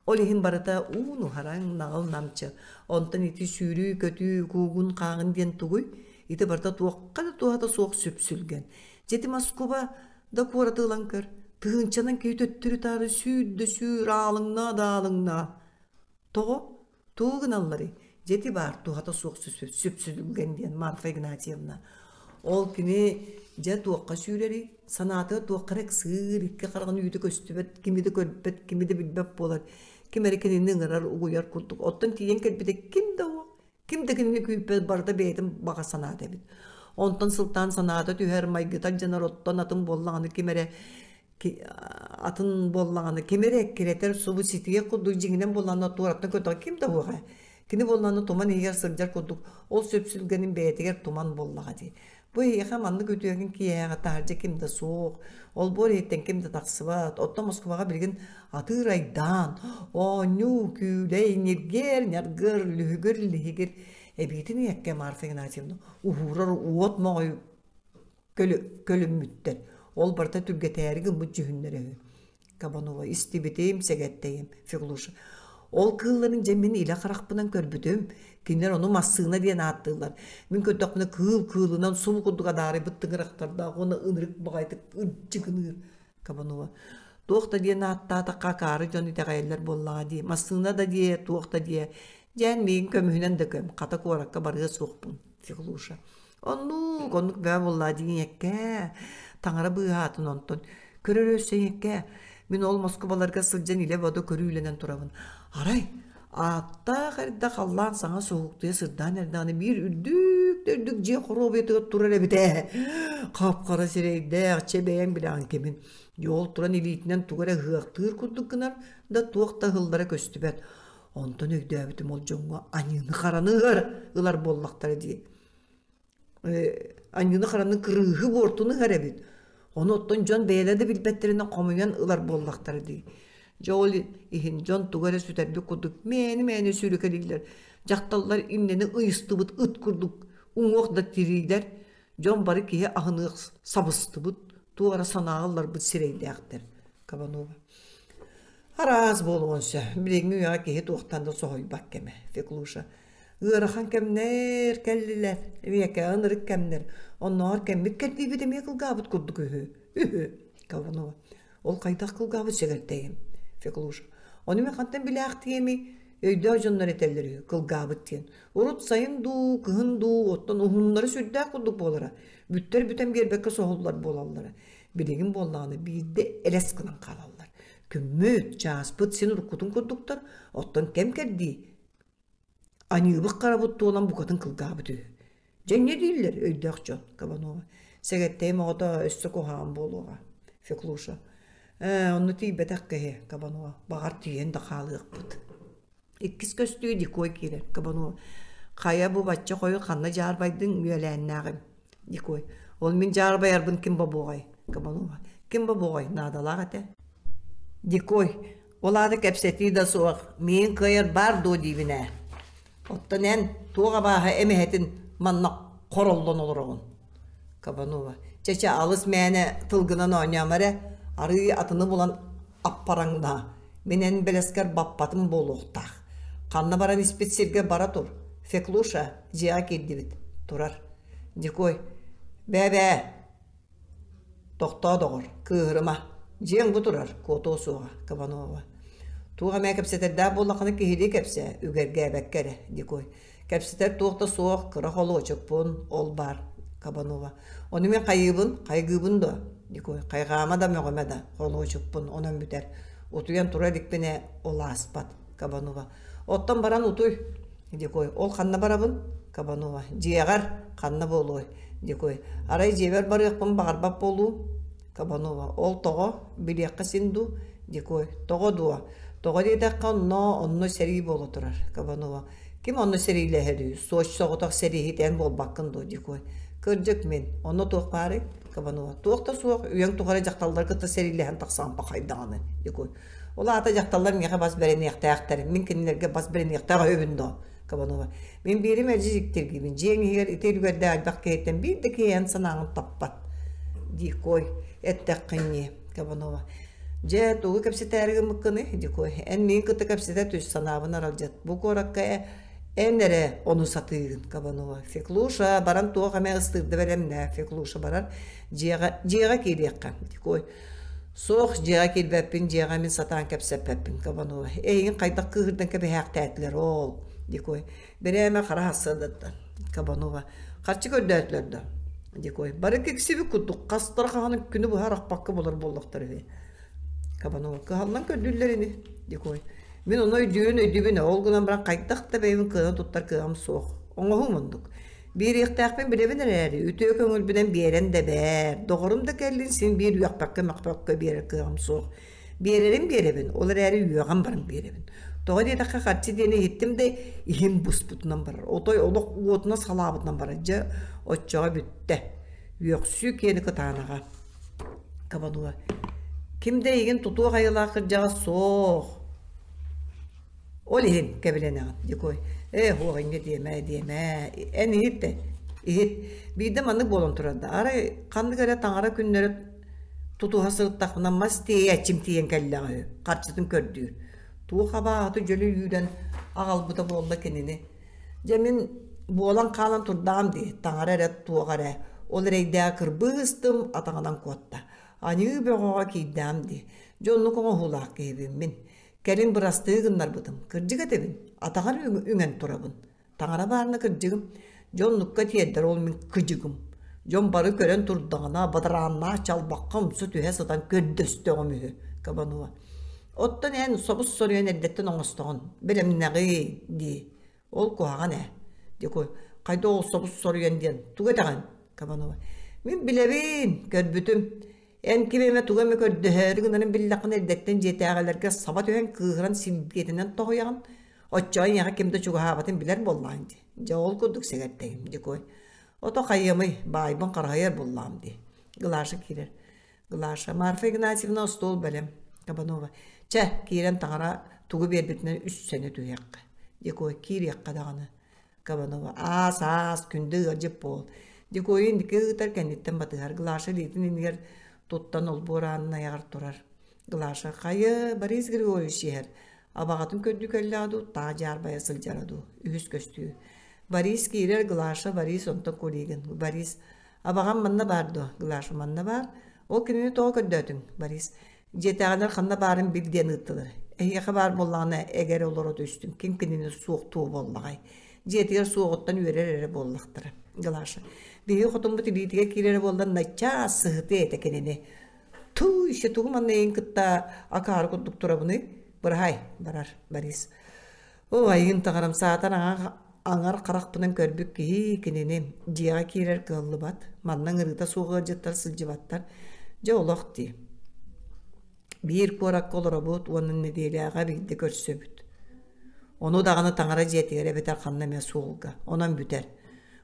Ол иһин барыта уун-уһараҥ, наҕыл-намчы. Онтон ити сүүрүү-көтүү, куугун-хааҕын диэн тугуй? Ити барыта туохха да туһата суох сүпсүлгэн. Дьэ ити Москуба да куораты ылан көр. Тыһыынчанан киһи төттөрү-таары сүүр да сүүр, аалыҥнаа да аалыҥнаа. Тоҕо? Тугу гыналларый? Дьэ ити баар туһата суох сүпсүлгэн диэн Марфа Игнатьевна. Ол кини дьэ туохха сүүрэрий? Санаатыгар туохха эрэ ыксыыр, икки хараҕын үүтэ көстүбэт, кими да көрбөт, кими да билбэт буолар. Ким эрэ кинини ыҥырар, угуйар курдук. Оттон тиийэн кэлбитэ ким да уох, ким да кинини күүппэт, барыта бэйэтин баҕа санаата эбит. Онтон сылтаан санаата түһэр, майгыта алдьанар, оттон атын буоллаҕына ким эрэ атын буоллаҕына ким эрэ эккирэтэр субу ситиэх курдук дьиҥинэн буоллаҕына туораттан көрдөҕө ким да уоҕа кини буоллаҕына туман иһигэр сылдьар курдук ол сүпсүлгэнин бэйэтигэр туман буоллаҕа дии бу эһиэхэ маннык үтүөкэн киэһэҕэ таһырдьа ким да суох олбуор иһиттэн ким да тахсыбат оттон Москваҕа билигин атыыр айдаан оонньуу күүлэй ньиргиэр ньаргыр лүһүгүр лиһигир эбиитин ийэккэ Марфа Игнатьевна уһуурар уот моҕой көлүммүттэр. Ол барыта түргэтээри гыммыт дьүһүннэрэ үһү. Кабанова истибитим, сэгэттэйим, Феклуша. Ол кыылларын дьэ мин илэ харахпынан көрбүтүм. Кинилэр ону массыына диэн ааттыыллар. Мин көрдөхпүнэ кыыл кыылынан субу курдук адаарыйбыт тыҥырахтардаах уонна ынырык баҕайытык ырдьыгыныыр. Кабанова. Туох да диэн ааттаатахха акаары дьон итэҕэйэллэр буоллаҕа дии. Массыына да диэ, туох да диэ. Дьээн миигин көмүһүнэн да көм, хата куоракка барыа суохпун. Феклуша. Оннук, оннук бөҕө буоллаа диэҥэккээ, таҥара быыһаатын онтон. Көрөр өссө ийэккээ, мин ол Москубаларга сылдьан илэ-бодо көрүүлэнэн турабын. Арай, ааттаах эрдэ халлаан саҥа суһуктуйа сырдаан эрдэҕинэ биир үрдүк да үрдүк дьиэ хоруобуйатыгар турар эбит ээ. Хап-хара сирэйдээх, чэ бэйэҥ билэҕин кимин. Дьэ ол туран илиитинэн тугу эрэ ыһыахтыыр курдук гынар да туох да ыһыллара көстүбэт. Онтон өйдөөбүтүм ол дьоҥҥо аньыыны-хараны ыһар ылар буоллахтара дии. Аньыыны-хараны кырыыһы буортуну ыһар эбит. Ону оттон дьон бэйэлэрэ да билбэттэринэн хомуйан ылар буоллахтара дии. Дьэ ол иһин дьон тугу эрэ сүтэрбит курдук мээнэ-мээнэ сүүрэкэлииллэр. Дьахталлар иннэни ыйыстыбыт ыт курдук уҥуох да тириилэр. Дьон бары киһи аһыныах сабыстыбыт, туох эрэ санааҕа ылларбыт сирэйдээхтэр. Кабанова. Араас буолуон сөп. Билиҥҥи үйэҕэ киһи туохтан да соһуйбат кэмэ. Феклуша. Ыарахан кэмнэр кэллилэр. Үйэкэ ынырык кэмнэр. Оннооҕор кэммит кэрдиибит эмиэ кылгаабыт курдук үһү. Үһү. Кабанова. Ол хайдах кылгаабыт сэгэртэйим? Феклуша. Ону мин хантан билээхтиэмий? Өйдөөх дьоннор этэллэр үһү, кылгаабыт диэн. Урут сайын дуу, кыһын дуу, оттон уһуннары сүрдээх курдук буолара. Бүттэр бүтэн биэрбэккэ соһуллар буолаллара. Билигин буоллаҕына биирдэ элэс гынан хаалаллар. Күммүт, чааспыт син уруккутун курдуктар, оттон кэм кэрдии Аньыыбыт харабыт туолан букатын кылгаабыт үһү. Дьэ инньэ дииллэр өйдөөх дьон, Кабанова. Сэгэттэйим оҕото өссө куһаҕан буолуоҕа. Феклуша. Ээ, онно тиийбэтэх киһи, Кабанова. Баҕар тиийэн да хаалыахпыт. Иккис көстүү Дикой киирэр. Кабанова. Хайа бу бачча хойу ханна дьаарбайдыҥ үөлээннээҕим? Дикой. Ол мин дьаарбайарбын ким бобуоҕай? Кабанова. Ким бобуоҕай? Наадалаах этэ. Дикой. Ол аата кэпсэтии да суох, миигин кыайар баар дуо диибин ээ. Оттон эн туох абааһы эмэһэтин манна хороллон олороҕун? Кабанова. Чэ-чэ, алыс мээнэ тылгынан оонньоомо эрэ, арыый атыны булан аппараҥнаа. Мин эн бэлэскэр баппатым буолуохтаах. Ханна баран испит сиргэ бара тур. Феклуша, дьиэҕэ киирдибит. Турар. Дикой. Бээ-бээ, Тохтоо, доҕор, кыыһырыма. Дьиэҥ бу турар, куотуо суоҕа, Кабанова. Туох эмэ кэпсэтэрдээх буоллаххына киһилии кэпсээ, үгэргээбэккэ эрэ, Дикой. Кэпсэтэр туох да суох, кыра холуочукпун, ол баар, Кабанова. Ону мин хайыыбын, хайгыыбын дуо? Дикой. Хайҕаама да мөҕүмэ да, холуочукпун, онон бүтэр. Утуйан тура иликпинэ, ол ааспат, Кабанова. Оттон баран утуй, Дикой. Ол ханна барабын? Кабанова. Дьиэҕэр ханна буолуой? Дикой. Арай дьиэбэр барыахпын баҕарбат буолуум? Кабанова. Ол тоҕо? Билиэххэ син дуу? Дикой. Тоҕо дуо? Тоҕо диэтэххэ онно, онно сэрии буола турар. Кабанова. Ким онно сэриилэһэрий? Суоч соҕотох сэрииһит эн буолбаккын дуо? Дикой. Кырдьык мин. Онно туох баарый? Кабанова. Туох да суох. Үйэҥ тухары дьахталлары кытта сэриилэһэн тахсан пахайдаҕаны. Дикой. Ол аата дьахталлар миэхэ бас бэриниэхтээхтэр, мин кинилэргэ бас бэриниэхтээх өйбүн доо, Кабанова. Мин биирим мэлдьи дьиктиргиибин, дьиэҥ иһигэр ити үлүгэрдээх элбэх киһиттэн биир да киһи эн санааҕын таппат. Дикой, эттэххин ньии, Кабанова. Дьэ, тугу кэпсэтээри гыммыккыный, Дикой? Эн миигин кытта кэпсэтэ түс, санаабын аралдьыт. Бу куоракка эн эрэ ону сатыыгын, Кабанова. Феклуша, баран туох эмэ ыстыырда бэлэмнээ. Феклуша барар, дьиэҕэ, дьиэҕэ киириэххэ. Дикой, Суох, дьиэҕэ киирбэппин, дьиэҕэ мин сатаан кэпсэппэппин, Кабанова. Эйигин хайдах кыыһырдан кэбиһээхтээтилэр ол, Дикой. Бирээмэ хара сарсыардаттан, Кабанова. Харчы көрдөөтүлэр да, Дикой. Бары киксибит курдук, хастара хаһан күнү быһа арахпакка булар буоллахтар үһү. Кабанова. Кыһаллан көрдүүллэр ини, Дикой. Мин ону өйдүүрүн өйдүүбүн, ол гынан баран хайдах да бэйэбин кыана туттар кыаҕым суох. Оҥоһуум оннук. Биэриэхтээхпин билэбин эрээри, үтүө көҥүлбүнэн биэрэн да бээр, доҕорум да кэллин син биир үөхпэккэ-мөхпөккө биэрэр кыаҕым суох. Биэрэрин биэрэбин, ол эрээри үөҕэн баран биэрэбин. Тоҕо диэтэххэ харчы диэни иһиттим да иһим буспутунан барар, отой олох уотунан салаабытынан барар. Дьэ, оччоҕо бүттэ. Үөхсүү киэни кытаанаҕа. Кабануа. Ким да эйигин тутуох айылаах кырдьаҕас суох. Ол иһин кэбилэнэҕин, Дикой. Ээ, һуох инньэ диэмэ, диэмэ. Эн иһит да, иһит. Биирдэ маннык буолан турар да, арай ханнык эрэ таҥара күннэрэ тутуһа сырыттахпына мас тиэйээччим тиийэн кэллэҕэ үһү, харчытын көрдүүр. Туох абааһыты дьөлө үүрэн аҕалбыта буолла кинини. Дьэ мин буолан хаалан турдаҕым дии, таҥара эрэ туох эрэ. Ол эрэйдээҕи кырбыы ыстым, атаҕынан куотта. Аньыы бөҕөҕө киирдэҕим дии. Дьэ оннук оҥоһуулаах киһибин мин. Кэлин бырастыы гыннарбытым. Кырдьык этэбин, атаҕар үҥэн турабын. Таҥара баарына кырдьыгым. Дьон оннукка тиэрдэр ол мин кыдьыгым. Дьон бары көрөн турдаҕына, бадарааннаах чалбахха умса түһэ сытан көрдөстөҕүм үһү, Кабанова. Оттон эн собус соруйан эрдэттэн оҥостоҕун, бэлэмнэҕий дии. Ол куһаҕан ээ. Дикой, хайда ол собус соруйан диэн тугу этэҕин? Кабанова. Мин билэбин, көрбүтүм. Эн ким эмэ тугу эмэ көрдөһөөрү гынарын биллэххинэ эрдэттэн дьиэтээҕилэргэ саба түһэн кыыһыран силбиэтинэн тоһуйаҕын. Оччоҕо эйиэхэ ким да чугаһаабатын билэр буоллаҕыҥ дии. Дьэ ол курдук сэгэртэйим, Дикой. Ото хайыамый, баайбын хараһыйар буоллаҕым дии. Глаша киирэр. Глаша, Марфа Игнатьевна остуол бэлэм. Кабанова. Чэ, киирэн таҥара тугу биэрбитинэн үссэнэ түһүөххэ. Дикой, киириэххэ даҕаны. Кабанова. Аас, аас, күндү ыалдьыт буол. Дикойу инники ыытар кэнниттэн батыһар. Глаша илиитин иннигэр туттан олбуор аанын айаҕар турар. Глаша хайа Борис Григорьевич иһэр. Абаҕатын көрдүү кэллэҕэ дуу, таах дьаарбайа сылдьара дуу. Үһүс көстүү. Борис киирэр, Глаша, Борис, онтон Кулигин. Борис, абаҕам манна баар дуо? Глаша манна баар. Ол кинини тоҕо көрдөөтүҥ? Борис, дьиэтээҕилэр ханна баарын бил диэн ыыттылар. Эһиэхэ баар буоллаҕына, эгэр олоро түстүм. Ким кинини суохтуо буоллаҕай? Дьиэтигэр суоҕуттан үөрэр эрэ буоллахтара. Глаша, биһиги хотуммут илиитигэр киирэрэ буоллар, начаас сыһытыа этэ кинини. Туу, еще тугу манна эйигин кытта акаары курдук турабыный? Быраһай, барар Борис. Оо, айыын таҥарам саатар аҥар харахпынан көрбүт киһи кинини дьиэҕэ киирэр кыаллыбат. Манна ыҥырыыта суох ыалдьыттар сылдьыбаттар. Дьэ олох дии. Биир куоракка олоробут уонна нэдиэлэҕэ биирдэ көрсөбүт. Ону даҕаны таҥара дьиэтигэр эбэтэр ханна эмэ суолга. Онон бүтэр.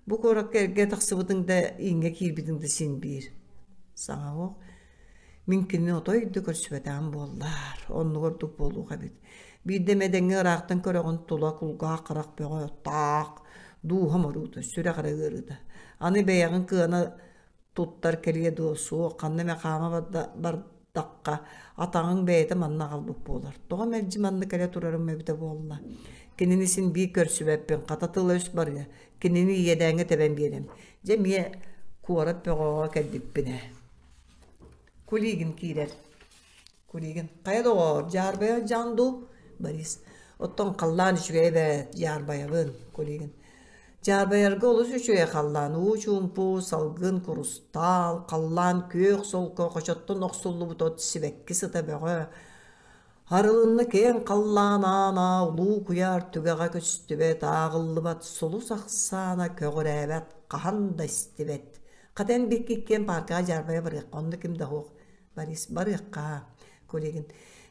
Бу куоракка эргэ тахсыбытыҥ да, ииҥҥэ киирбитиҥ да син биир. Саҥа оһох. Мин кинини отой да көрсүбэтэҕим буоллар, оннук ордук буолуох эбит. Биирдэ эмэ дэҥҥэ ыраахтан көрөҕүн тула кулгаах харах бөҕө таах, дууһам оруута, сүрэх эрэ ыарыыта. Аны бэйэҕин кыана туттар кэлиэ дуо суох, ханна эмэ хаама бардахха атаҕыҥ бэйэтэ манна аҕалбыт буолар. Тоҕо мэлдьи манна кэлэ турарым эбитэ буолла. Кинини син биир көрсүбэппин, хата тыла-өс барыа, кинини иэдээҥҥэ тэбэн биэрэм. Дьэ эмиэ куорат бөҕөҕө кэлбиппин ээ. Кулигин киирэр. Кулигин хайа доҕоор, дьаарбайа дьаҥ дуу? Борис оттон халлаан үчүгэй эбээт, дьаарбайабын. Кулигин дьаарбайарга олус үчүгэй халлаан, уу чуумпу, салгын курустаал, халлаан күөх солко, хочоттон охсуллубут от сибэкки сыта бөҕө. Арылынна киэҥ халлаан аана улуу куйаар түгэҕэ көстүбэт, ааҕыллыбат сулус ахсаана көҕүрээбэт, хаһан да истибэт. Хата эн биһикки иккиэн пааркаҕа дьаарбайа барыахха, онно ким да суох. Борис барыахха, Кулигин.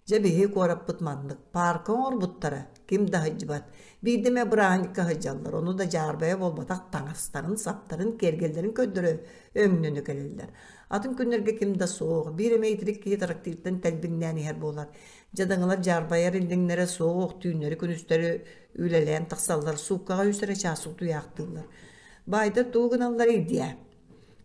Дьэ биһиги куораппыт маннык. Паарка оҥорбуттара, ким да сылдьыбат. Биирдэ эмэ бырааһынньыкка сылдьаллар, ону да дьаарбайа буолбатах таҥастарын, саптарын, киэргэллэрин көрдөрө өҥнөнө кэлэллэр. Атын күннэргэ ким да суох, биир эмэ итирик киһи трактиртан тэлбиҥнээн иһэр буолар. Дьадаҥылар дьаарбайар иллэҥнэрэ суох, түүннэри-күнүстэри үлэлээн тахсаллар, сууккаҕа үс эрэ чаас утуйаахтыыллар. Баайдар тугу гыналларый диэ?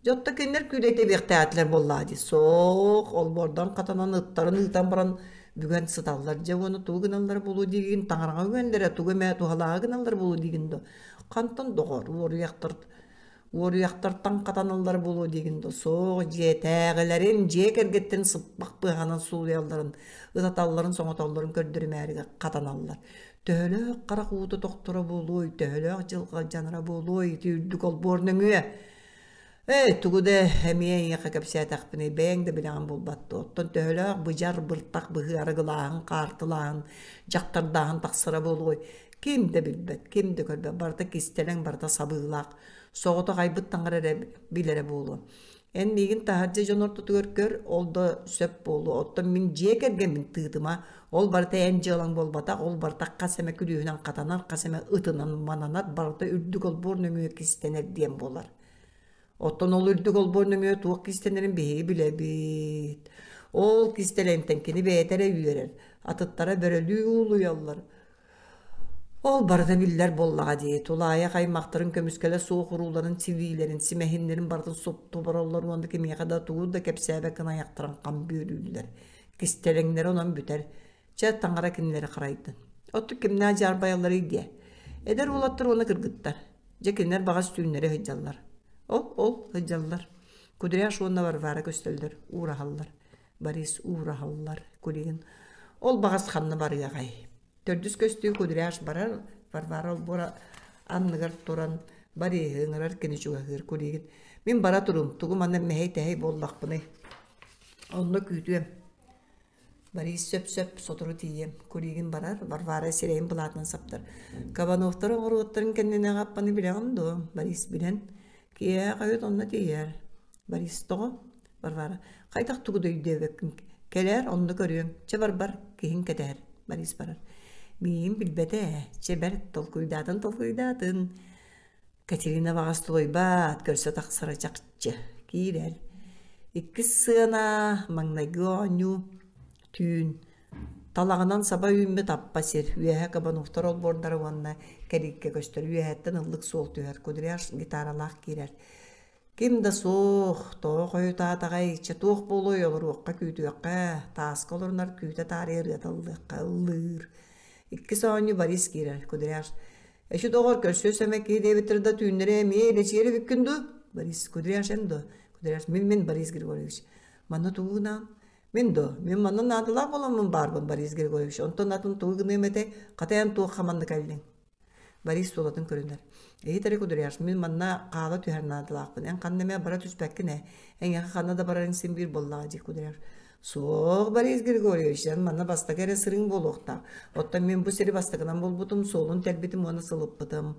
Дьэ оттон кинилэр күүлэй тэбиэхтээтилэр буоллаа дии. Суох, олбуордан хатанан ыттарын ыытан баран бүгэн сыталлар. Дьэ уонна тугу гыналлара буолуо диигин, таҥараҕа үҥэллэрэ, тугу эмэ туһалааҕы гыналлара буолуо диигин дуо? Хантан доҕор, уоруйахтар уоруйахтартан хатаналлара буолуо диигин дуо? Суох, дьиэтээҕилэрин, дьиэ кэргэттэрин сыппах быһаҕынан суулуйалларын, ытаталларын, соҥотоллорун көрдөрүмээри хатаналлар. Төһөлөөх харах уута тохторо буолуой, төһөлөөх дьылҕа алдьанара буолуой ити үрдүк олбуор нөҥүө? Ээ, тугу да эмиэ эйиэхэ кэпсээтэхпиний, бэйэҥ да билэҕин буолбат дуо? Оттон төһөлөөх быдьар, быртах быһыы арыгылааһын, хаартылааһын, дьахтардааһын тахсара буолуой? Ким да билбэт, ким да көрбөт, барыта кистэлэҥ, барыта сабыылаах. Соҕотох айбыт таҥара эрэ билэрэ буолуо. Эн миигин таһырдьа дьон ортотугар көр, ол да сөп буолуо. Оттон мин дьиэ кэргэммин тыытыма, ол барыта эн дьыалаҥ буолбатах, ол барыта хас эмэ күлүүһүнэн хатанар, хас эмэ ытынан мананар, барыта үрдүк олбуор нөҥүө кистэнэр диэн буолар. Оттон ол үрдүк олбуор нөҥүө туох кистэнэрин биһиги билэбит. Ол кистэлэҥтэн кини бэйэтэ эрэ үөрэр, атыттара бөрөлүү уулуйаллар. Ол барыта биллэр буоллаҕа дии, тулаайах аймахтарын көмүскэлэ суох урууларын, силиилэрин, симэһиннэрин барытын супту обороллор уонна кимиэхэ да тугу да кэпсээбэт гына айахтарын хам бүөлүүллэр. Кистэлэҥнэрэ онон бүтэр. Чэ, таҥара кинилэри харайдын. Оттон кимнээх дьаарбайалларый диэ? Эдэр уолаттар уонна кыргыттар. Дьэ, кинилэр баҕас түүннэри сылдьаллар. Ол, ол сылдьаллар. Кудряш уонна Варвара көстөллөр, уураһаллар. Борис уураһаллар. Кулигин ол баҕас ханна барыаҕай? Төрдүс көстүү Кудряш барар, Варвара олбуора анныгар туран Бориһы ыҥырар кини чугаһыыр Кулигин мин бара турум, тугу манна мэһэй-тэһэй буоллахпыный? Онно күүтүөм. Борис сөп-сөп сотору тиийиэм. Кулигин барар, Варвара сирэйин былаатынан саптар. Кабановтар оҥоруоттарын кэннинээҕи аппаны билэҕин дуо? Борис билэн. Киэһэ хойут онно тиийэр. Борис тоҕо? Варвара хайдах тугу да өйдөөбөккүн кэлээр онно көрүөҥ чэ барбар киһиҥ кэтэһэр Борис барар миигин билбэтэ ээ чэ бэрт толкуйдаатын толкуйдаатын Катерина баҕас тулуйбат көрсө тахсара чахчы киирэр иккис сыана маҥнайгы оонньуу түүн талаҕынан саба үүммүт аппа сир үөһэ Кабановтар олбуордара уонна кэлииккэ көстөр үөһэттэн ыллык суол түһэр Кудряш гитаралаах киирэр. Ким да суох, тоҕо хойутаатаҕай, чэ туох буолуой олоруохха күүтүөххэ, тааска олорунар күүтэ таарыйа ырыата ыллыахха ыллыыр. Иккис оонньуу Борис киирэр, Кудряш. Эчи доҕор, көрсүө сэмэ киһи диэбиттэр да түүннэри эмиэ илэчиэр эбиккин дуу? Борис, Кудряш эн дуо? Кудряш, мин-мин Борис Григорьевич. Манна тугу гынаан? Мин дуо? Мин манна наадалаах буоламмын баарбын Борис Григорьевич. Онтон атын тугу гыныам этэй? Хата эн туохха манна кэллиҥ? Борис суолатын көрүнэр. Иһит эрэ Кудряш, мин манна хаала түһэр наадалаахпын. Эн ханна эмэ бара түспэккин ээ. Эйиэхэ ханна да барарыҥ син биир буоллаҕа дии Кудряш. Суох, Борис Григорьевич, эн манна бастакы эрэ сырыыҥ буолуохтаах. Оттон мин бу сири бастакынан булбутум, суолун тэлбитим уонна сылыппытым.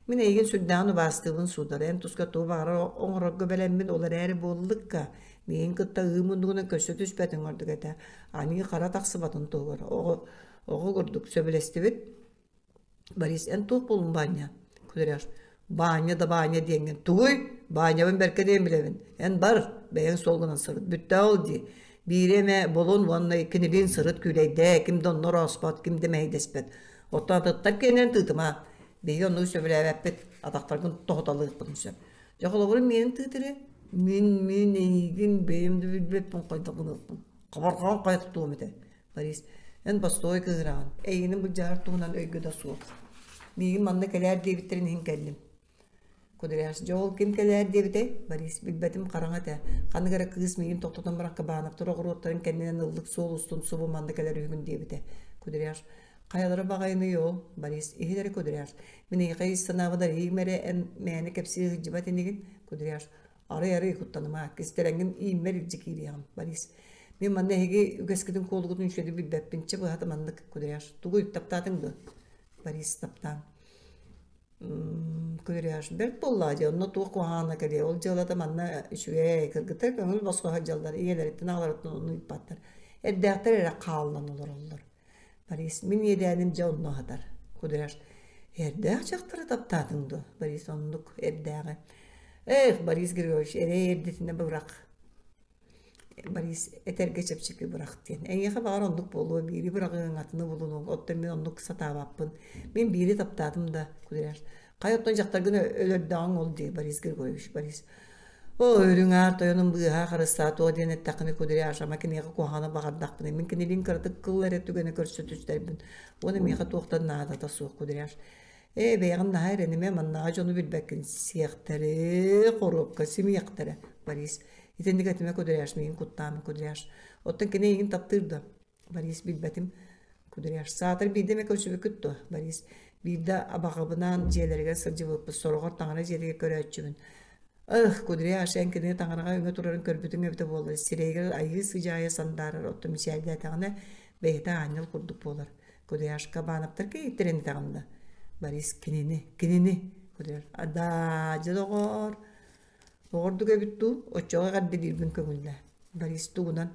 Мин эйигин сүрдээҕин убаастыыбын, сударь. Эн туска тугу баҕарар оҥорорго бэлэммин, ол эрээри буоллукка. Миигин кытта ыы муннугунан көрсө түспэтиҥ ордук этэ. Аньыы хара тахсыбатын туһугар. Оҕо, оҕо курдук сөбүлэстибит. Борис, эн туох буоллуҥ Баанньа? Кудряш, Баанньа да Баанньа диэҥҥин. Тугуй? Баанньабын бэркэ диэн билэбин. Эн бар, бэйэҥ суолгунан сырыт. Бүттэ ол дии. Биири эмэ булун уонна кинилиин сырыт күүлэйдээ, ким да онно орооспот, ким да мэһэйдэспэт. Оттон атыттар киэннэрин тыытыма. Биһиги оннугу сөбүлээбэппит, атахтаргын тоһуталыахпытын сөп. Дьэ холобурум миэнин тыытыры. Мин, мин эйигин бэйэм да билбэппин хайдах гыныахпын. Хабарҕаҕын хайа тутуом этэ. Борис, эн бостуой кыыһыраҕын, эйигин былдьаһар туһунан өйгө да суох. Миигин манна кэлээр диэбиттэрин иһин кэллим. Кудряш, дьэ ол ким кэлээр диэбитэй? Борис, билбэтим хараҥа этэ. Ханнык эрэ кыыс миигин тохтотон баран Кабановтар оҕуруоттарын кэннинэн ыллык суол устун субу манна кэлэр үһүгүн диэбитэ. Кудряш, хайалара баҕайыный ол? Борис, иһит эрэ Кудряш, мин эйиэхэ ис санаабын арыйыым эрэ эн мээнэ кэпсии сылдьыбат инигин? Кудряш, Арый-арый куттаныма, кистэлэҥҥин ииммэр илдьэ киириэҕим, Борис. Мин манна эһиги үгэскитин куолугутун үчүгэйдик билбэппин, чэ быһата маннык, Кудряш. Тугуй, таптаатыҥ дуо? Борис таптаан. Кудряш, бэрт буоллаа дии, онно туох куһаҕана кэлиэ, ол дьыалата манна үчүгэй, кыргыттар көҥүл босхо сылдьаллар, ийэлэриттэн аҕаларыттан ону ыйыппаттар. Эрдээхтэр эрэ хааллан олороллор. Борис, мин иэдээним дьэ онно аһатар. Кудряш, эрдээх дьахтары таптаатыҥ дуо? Борис оннук эрдээҕи. Эх, Борис Григорьевич, эрэй эрдэтинэ бырах. Борис этэргэ чэпчэки бырах диэн. Эйиэхэ баҕар оннук буолуо, биири быраҕыаҥ, атыны булунуоҥ. Оттон мин оннук сатаабаппын. Мин биири таптаатым да, Кудряш. Хайа оттон дьахтаргын өлөрдөҕүҥ ол дии, Борис Григорьевич, Борис. Оо, үрүҥ аар тойонум быыһаа харыстаа туох диэн эттэххинэ Кудряш, ама киниэхэ куһаҕаны баҕардахпына, мин кинилиин кыратык кыл эрэ түгэнэ көрсө түстэрбин. Уонна миэхэ туохтан наадата суох, Кудряш. Ээ, бэйэҕин наһаа эрэнимэ, маннааҕы дьону билбэккин сиэхтэри, хоруопка симиэхтэрэ, Борис. Итинник этимэ, Кудряш, миигин куттаама, Кудряш. Оттон кини эйигин таптыыр дуо? Борис билбэтим. Кудряш, саатар биирдэ эмэ көрсүбүккүт дуо? Борис, биирдэ абаҕабынаан дьиэлэригэр сылдьыбыппыт, сороҕор таҥара дьиэтигэр көрөөччүбүн. Ых, Кудряш, эн кинини таҥараҕа өҥө турарын көрбүтүҥ эбитэ буоллар, сирэйигэр айыы сыдьаайа сандаарар, оттон мичээрдээтэҕинэ, бэйэтэ аанньал курдук буолар. Кудряшка Баанаптар кийииттэрин этэҕин да? Борис, кинини, кинини. Кудряш, даа, дьэ доҕоор, Оҕордук эбит дуу, оччоҕо эҕэрдэлиирбин көҥүллээ. Борис тугунан?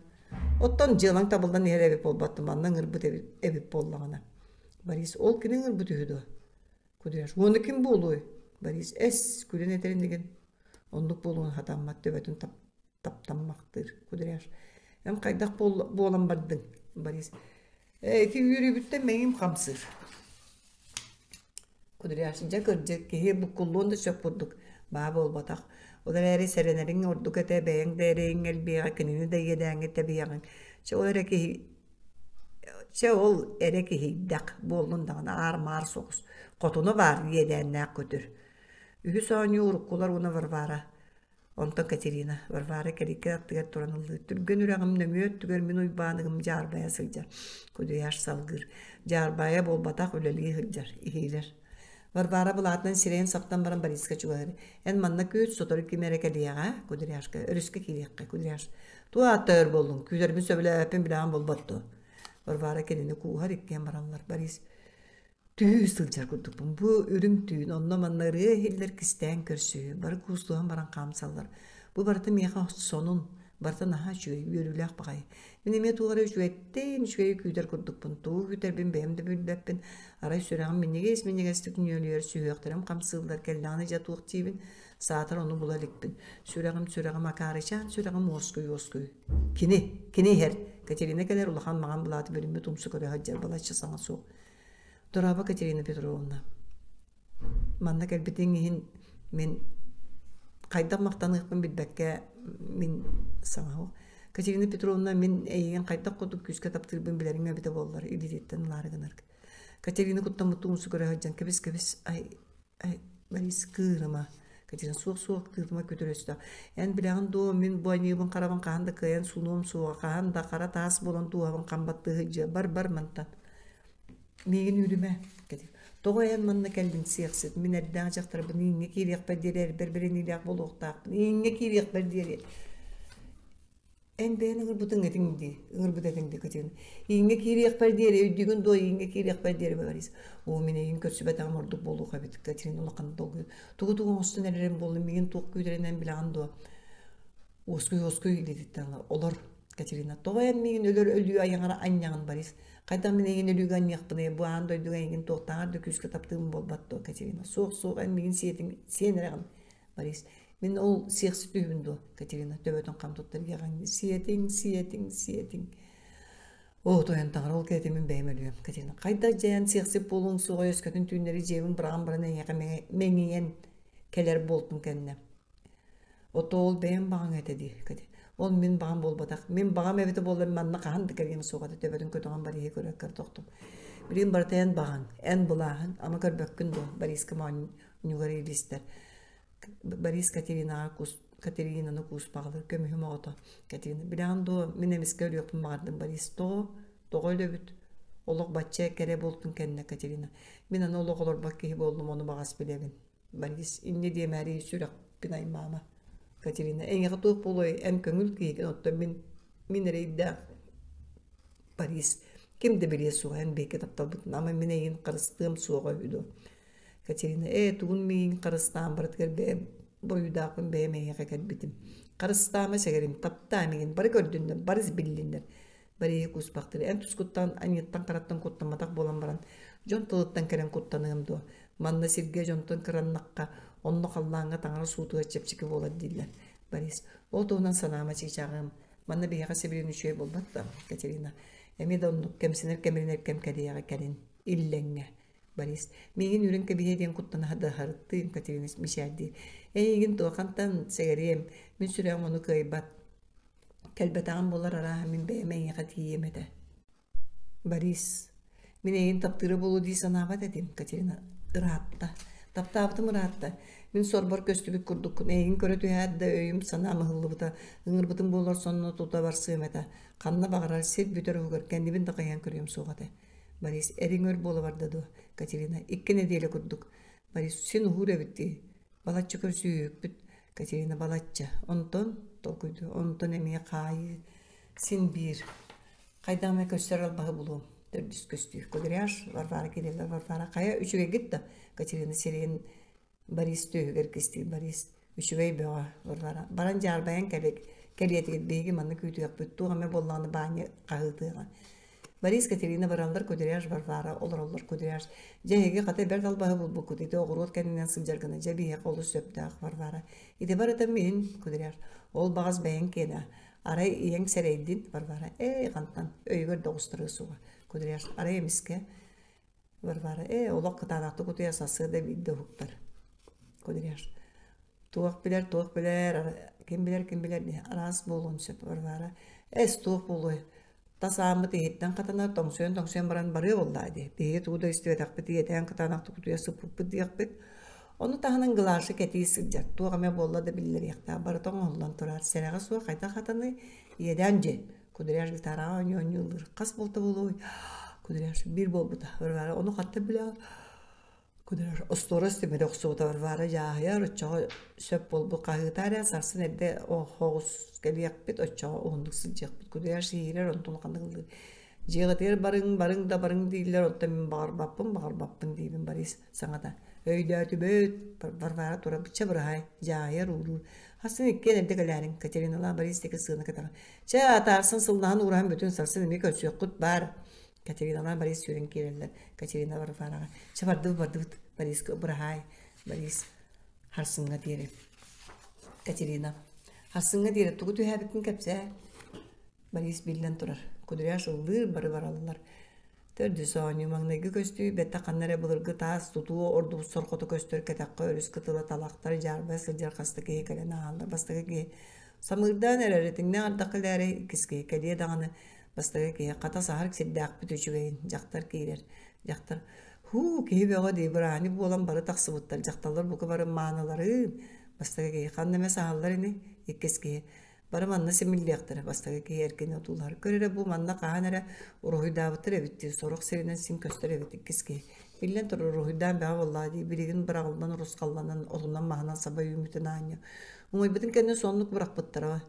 Оттон дьыалаҥ табыллан иһэр эбит буолбат манна ыҥырбыт эбит, эбит буоллаҕына. Борис ол кини ыҥырбыт үһү дуо? Кудряш уонна ким буолуой? Борис эс күлэн этэр инигин. Оннук буолуон хатаммат төбөтүн тап, таптаммахтыыр. Кудряш эн хайдах буолан бардыҥ? Борис ээ ити үөрүүбүттэн мэйиим хамсыыр. Кудряш, дьэ кырдьык, киһи буккуллуон да сөп курдук, баа буолбатах. Ол эрээри сэрэнэриҥ ордук этэ, бэйэҥ да эрэйиҥ элбиэҕэ, кинини да иэдээҥҥэ тэбиэҕиҥ. Чэ ол эрэ киһи чэ ол эрэ киһийдэх буоллун даҕаны аар-маар соҕус. Хотуна баар иэдээннээх көтөр. Үһүс оонньуу уруккулар уонна Варвара Онтон Катерина Варвара кэлииккэ аттыгар туран ыллыыр. Түргэн үрэҕим нөҥүө өттүгэр мин Уйбааныгым дьаарбайа сылдьар. Кудуйаш салгыыр. Дьаарбайа буолбатах үлэлии сылдьар. Иһиилэр. Варвара былаатынан сирэйин саптан баран Бориска чугаһыыр. Эн манна күүт, сотору ким эрэ кэлиэҕэ, Кудряшка. Өрүскэ киириэххэ, Кудряш. Туох аатта өр буоллуҥ? Күүтэрбин сөбүлээбэппин билэҕин буолбат дуо? Варвара кинини кууһар иккиэн бараллар. Борис Түһүү сылдьар курдукпун. Бу үрүҥ түүн, онно-манна ырыа иһиллэр кистээн көрсүһүү, бары куустуһан баран хаамсаллар. Бу барыта миэхэ сонун, барыта наһаа үчүгэй, үөрүүлээх баҕайы. Мин эмиэ туох эрэ үчүгэйтэн үчүгэйи күүтэр курдукпун. Тугу күүтэрбин бэйэм да билбэппин. Арай сүрэҕим минньигэс-минньигэстик нүөлүйэр, сүһүөхтэрим хамсыыллар, кэллэҕинэ дьэ туох диибин, саатар ону була иликпин. Сүрэҕим, сүрэҕим акаарычаан, сүрэҕим уоскуй-уоскуй. Кини, кини иһэр. Катерина кэлэр улахан маҥан былааты бүрүммүт умсу көрө сылдьар балачча саҥа суох. Дорообо, Катерина Петровна. Манна кэлбитиҥ иһин мин Хайдах махтаныахпын билбэккэ мин саҥа Катерина Петровна мин эйигин хайдах курдук күүскэ таптыырбын билэриҥ эбитэ буоллар илиититтэн ылаары гынар. Катерина куттаммыттыы умсу көрө сылдьан кэбис кэбис ай ай Борис кыырыма Катерина суох суох тыытыма күтүр өстөөх эн билэҕин дуо мин бу аньыыбын харабын хаһан да кыайан сунуом суоҕа хаһан да хара таас буолан дууһабын хам баттыы сылдьыа бар бар мантан Миигин үүрүмэ, кэтит. Тоҕо эн манна кэллиҥ сиэхсит? Мин эрдээх дьахтарбын ииҥҥэ киириэхпэр диэри эрбэр бэриниилээх буолуохтаахпын. Ииҥҥэ киириэхпэр диэри. Эн бэйэн ыҥырбытыҥ этиҥ дии, ыҥырбыт этиҥ дии Катерина. Ииҥҥэ киириэхпэр диэри, өйдүүгүн дуо, ииҥҥэ киириэхпэр диэри Борис. Оо, мин эйигин көрсүбэтэҕим ордук буолуох эбит, Катерина улахан долгуйан. Тугу-тугу оҥостон эрэрим буолла, миигин туох күүтэринэн билэҕин дуо? Уоскуй, уоскуй илиититтэн ыла. Олор, Катерина, тоҕо эн миигин өлөр өлүү айаҕар анньаҕын, Борис? Хайдах мин эйигин өлүүгэ анньыахпыный, бу аан дойдуга эйигин туохтааҕар да күүскэ таптыыбын буолбат дуо, Катерина? Суох, суох, эн миигин сиэтиҥ, сиэн эрэҕин, Борис. Мин ол сиэхсит үһүбүн дуо, Катерина төбөтүн хам туттар иэҕэҥнии. Сиэтиҥ, сиэтиҥ, сиэтиҥ. Оо, тойон таҥара, ол кэриэтэ мин бэйэм өлүөм, Катерина. Хайдах дьайан сиэхсит буолуоҥ суоҕа өскөтүн түүннэри дьиэбин быраҕан баран эйиэхэ мэҥийэн кэлэр буолтум кэннэ. Ото ол бэйэм баҕаҥ этэ дии, Катя. Ол мин баҕам буолбатах. Мин баҕам эбитэ буоллар манна хаһан да кэлиэм суох этэ төбөтүн көтөҕөн Бориһы көрө тохтум. Билигин барыта эн баҕаҥ, эн былааһыҥ, ама көрбөккүн дуо, Бориска моонньугар илистэр. Борис Катеринаҕа кус Катеринаны кууспаҕалыыр көмүһүм оҕото. Катерина, билэҕин дуо, мин эмискэ өлүөхпүн баҕардым, Борис. Тоҕо? Тоҕо өлөбүт? Олох бачча кэрэ буолтун кэннэ, Катерина. Мин аны олох олорбот киһи буоллум, ону баҕас билэбин. Борис, инньэ диэмээри сүрэхпин аймаама. Катерина, эйиэхэ туох буолуой, эн көҥүл киһигин, оттон мин, мин эрэйдээх Борис, ким да билиэ суоҕа, эн биһиги тапталбытын, ама мин эйигин харыстыам суоҕа үһү дуо? Катерина, ээ, тугун миигин харыстаан барытыгар бэйэм буруйдаахпын бэйэм эйиэхэ кэлбитим. Харыстаама сэгэрим, таптаа миигин, бары көрдүннэр, барыс биллиннэр. Барыйы кууспахтыыр. Эн тускуттан, аньыыттан-хараттан куттамматах буолан баран, дьон тылыттан кэлэн куттаныам дуо? Манна сиргэ дьонтон кыраннахха, онно халлааҥҥа таҥара суутугар чэпчэки буолар дииллэр. Борис, ол туһунан санаама чыычааҕым. Манна биһиэхэ сибилигин үчүгэй буолбат да, Катерина. Эмиэ да оннук кэмсинэр кэмиринэр кэм кэлиэҕэ кэлин. Иллэҥҥэ. Борис, миигин үүрэн кэбиһиэ диэн куттана саһарыттыым, Катерина мичээрдии. Эйигин туохантан сэгэриэм, мин сүрэҕим ону кыайбат. Кэлбэтэҕим буоллар арааһа мин бэйэм эйиэхэ тиийиэм этэ. Борис, мин эйигин таптыыра буолуо дии санаабат этим, Катерина ыраатта. Таптаабытым ыраатта. Мин сорбор көстүбүт курдуккун. Эйигин көрө түһээт да өйүм санаам ыһыллыбыта. Ыҥырбытым буоллар сонно тута барсыам этэ. Ханна баҕарар сир бүтэр уһугар кэннибин да хайан көрүөм суох этэ. Борис, эриҥ өр буола барда дуо? Катерина, икки нэдиэлэ курдук. Борис, син уһуур эбит дии. Балачча көрсүһүүкпүт. Катерина балачча. Онтон толкуйдуу. Онтон эмиэ хаайыы. Син биир. Хайдах эмэ көстөр албаһы булуом. Төрдүс көстүү. Кудряш, Варвара Кирилловна, Варвара. Хайа үчүгэйгит да? Катерина сирэйин Борис түөһүгэр кистиир. Борис үчүгэй бөҕө. Варвара. Баран дьаарбайан кэлик. Кэлиэтигит биһиги манна күүтүөхпүт. Туох эмэ буоллаҕына Баанньа хаһыытыаҕа. Борис, Катерина бараллар, Кудряш, Варвара олороллор, Кудряш. Дьэ, эһиги хата бэрт албаһы булбуккут, ити оҕуруот кэннинэн сылдьар гына, дьэ, биһиэхэ олус сөптөөх, Варвара. Ити барыта мин, Кудряш. Ол баҕас бэйэҥ киэнэ. Арай ийэҥ сэрэйдин, Варвара. Ээ, хантан, өйүгэр да оҕустарыа суоҕа, Кудряш. Арай эмискэ, Варвара. Ээ, олох кытаанахтык утуйар сарсыарда биирдэ уһуктар, Кудряш. Туох билэр, туох билэр, ким билэр, ким билэр, араас буолуон сөп, Варвара. Эс, туох буолуой? Тас ааммыт иһиттэн хатанар, тоҥсуйан-тоҥсуйан баран барыа буоллаа дии. Биһиги тугу да истибэтэхпит, ийэтээн кытаанахтык утуйа сыппыппыт диэхпит. Ону таһынан Глаша кэтии сылдьар, туох эмэ буолла да биллэриэхтээх, барыта оҥоһуллан турар. Сэрэҕэ суох хайдах хатаный? Иэдээн дьиэ. Кудряш гитараҕа оонньуу-оонньуу ыллыыр. Хас буолта буолуой? Кудряш биир буолбута. Варвара ону хантан билэҕин? Кудряш остуорас тимири охсубута Варвара дьааһыйар, оччоҕо сөп буолбут хаһыытаа эрэ, сарсын эрдэ оһоҕус кэлиэхпит, оччоҕо уһуннук сылдьыахпыт. Кудряш иһиирэр, онтун улаханнык ыллыыр. Дьиэҕитигэр барыҥ, барыҥ да барыҥ дииллэр, оттон мин баҕарбаппын, баҕарбаппын диибин Борис саҥата. Өйдөөтүбүт, Варвара тура бычча быраһаай, дьааһыйар ууруур. Хассын иккиэн эрдэ кэлээриҥ, Катериналаах Борис диэки сыана кэтэҕин. Чэ, атаарсан сыллаһан уураһан бүтүн, сарсын эмиэ көрсүөххүт баар. Катериналаан Борис сүүрэн киирэллэр. Катерина Варвараҕа «Чэ, бардыбыт, бардыбыт, Бориска быраһаай, Борис харсыҥҥа диэри». Катерина «Харсыҥҥа диэри тугу түһээбиккин кэпсээ». Борис биллэн турар. Кудряш ыллыыр, бары бараллар. Төрдүс оонньуу маҥнайгы көстүү бэттэх ханна эрэ былыргы таас тутуу ордубут сорҕото көстөр кэтэххэ өрүс кытыла талахтар дьаарбайа сылдьар хаста киһи кэлэн ааһаллар. Бастакы киһи самыырдаан эрэр этиҥнээх ардах кэлээри иккис киһи кэлиэ даҕаны бастакы киһи хата саһар сирдээхпит үчүгэйин дьахтар киирэр. Дьахтар һуу киһи бөҕө дии бырааһынньык буолан бары тахсыбыттар дьахталлар бука бары мааныларын бастакы киһи ханна эмэ саһаллар ини иккис киһи Бары манна симиллиэхтэрэ, бастакы киһи эркини отуулаһар. Көр эрэ бу манна хаһан эрэ уруһуйдаабыттар эбит дии, сорох сиринэн син көстөр эбит иккис киһи. Биллэн турар уруһуйдаан бөҕө буоллаҕа дии, билигин быраҕыллан урусхалланан, отунан-маһынан саба үүммүтүн аанньа. Умайбытын кэннэ соннук бырахпыттара.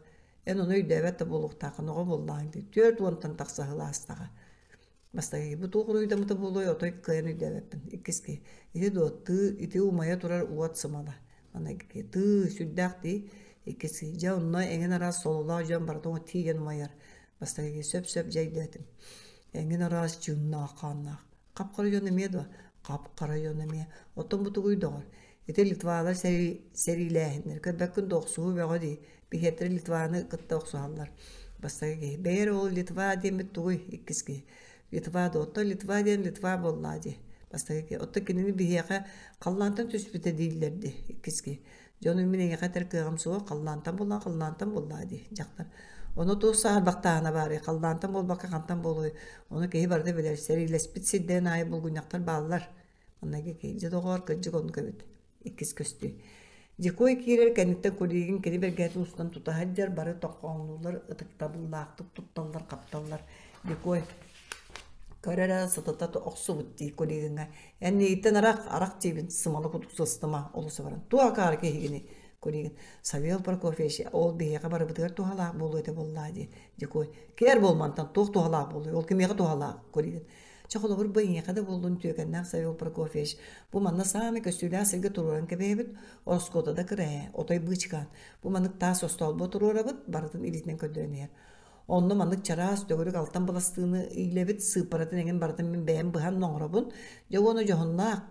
Эн ону өйдөөбөт да буолуохтааххын, оҕо буоллаҕыҥ дии, 40-тан тахса сыл аастаҕа. Бастакы бу туох уруйдаммыта буолуой, отой кыайан өйдөөбөппүн. Иккис киһи ити дуо, тыы, ити умайа турар уот сымала. Маннык тыы, сүрдээх дии. Иккис киһи дьэ онно эҥин араас сололоох дьон барыта тиийэн умайар. Бастакы киһи сөп-сөп дьэ өйдөөтүм. Эҥин араас чыыннаах хааннаах. Хап-хара дьон эмиэ дуо? Хап-хара дьон эмиэ. Оттон бу тугуй доҕор? Ити Литвалар сэриилээһиннэр. Көрбөккүн да охсуһуу бөҕө дии. Биһиэттэрэ Литваны кытта охсуһаллар. Бастакы киһи. Бэйэ эрэ ол Литва диэммит тугуй? Иккис киһи. Литва да оттон Литва диэн Литва буоллаа дии. Бастакы киһи. Оттон кинини биһиэхэ халлаантан түспүтэ дииллэр дии. Иккис киһи. Дьону мин эйиэхэ этэр кыаҕым суох, халлаантан буоллаа, халлаантан буоллаа дии. Дьахтар. Ону туох саарбахтааһына баарый? Халлаантан буолбакка хантан буолуой? Ону киһи барыта билэр. Сэриилэспит сирдэрин аайы булгунньахтар бааллар. Манна дьэ доҕоор, кырдьык оннук эбит. Иккис көстүү. Дьокуой киирэр кэнниттэн Кулигин кини бэргэһэтин устан тута сылдьар, бары тоххооҥнууллар, ытыктабыллаахтык тутталлар-хапталлар. Дьокуой көр эрэ сытыта охсубут дии Кулигиҥҥа. Эн миигиттэн арах, арах диибин, сымала курдук сыстыма, олус баран. Туох акаары киһигиний? Кулигин Савел Прокофьевич, ол биһиэхэ барыбытыгар туһалаах буолуо этэ буоллаа дии. Дьокуой кээр буолмантан туох туһалаах буолуой? Ол кимиэхэ туһалаах? Кулигин Чэ, холобур, бу эйиэхэ да буоллун үтүөкэннээх Савел Прокофьевич, бу манна саамай көстүүлээх сиргэ туруоран кэбиһэбит, ороскуота да кыра ээ, отой быычыкаан. Бу маннык таас остоолбо туруорабыт, барытын илиитинэн көрдөрөн иһэр. Онно маннык чараас, төгүрүк алтан быластыыны иилэбит, сыыппаратын эҥин барытын мин бэйэм быһан оҥоробун. Дьэ уонна дьоһуннаах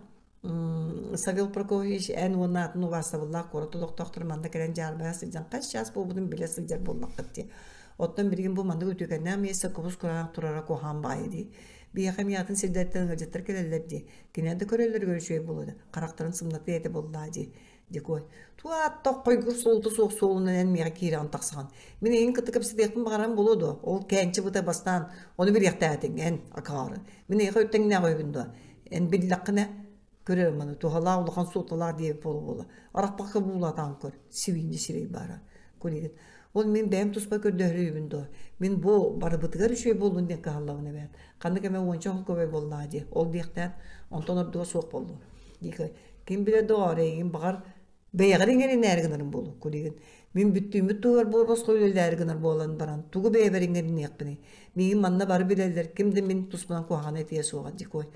Савел Прокофьевич эн уонна атын убаастабыллаах куорат олохтоохторо манна кэлэн дьаарбайа сылдьан хас чаас буолбутун билэ сылдьар буоллаххыт дии. Оттон билигин бу маннык үтүөкэннээх миэстэ кубус кураанах турара куһаҕан баайы дии. Биһиэхэ эмиэ атын сирдэртэн ыалдьыттар кэлэллэр дии. Кинилэр да көрөллөрүгэр үчүгэй буолуо да, харахтарын сымнатыа этэ буоллаа дии. Дикой, туаатта хойгур суолта суох суолунан эн миэхэ киирэҕин тахсаҕын. Мин эйигин кытта кэпсэтиэхпин баҕаран буолуо дуо? Ол кээнчи быта бастаан ону билиэхтээтиҥ эн, акаары. Мин эйиэхэ үттэҥнээх үһүбүн дуо? Эн биллэххинэ, көрөр маны туһалаах улахан суолталаах диэбит буола-буола. Арахпакка буулатаан көр, сибиинньэ сирэй баара. Кулигин. Ол мин бэйэм туспа көрдөһөрүүбүн дуо? Мин бу барыбытыгар үчүгэй буоллун диэн кыһаллабын эбээт. Ханнык эмэ уонча холкуобай буоллаҕа дии. Ол диэхтээн, онтон ордуга суох буоллун. Диэки ким билэр доҕоор эйигин баҕар бэйэҕэр иҥэринээри гынарым буолуо кулигин. Мин бүттүүммүт туһугар буор босхо үлэлээри гынар буолан баран тугу бэйэбэр иҥэриниэхпиний? Миигин манна бары билэллэр, ким да мин туспунан куһаҕаны этиэ суоҕа дикой.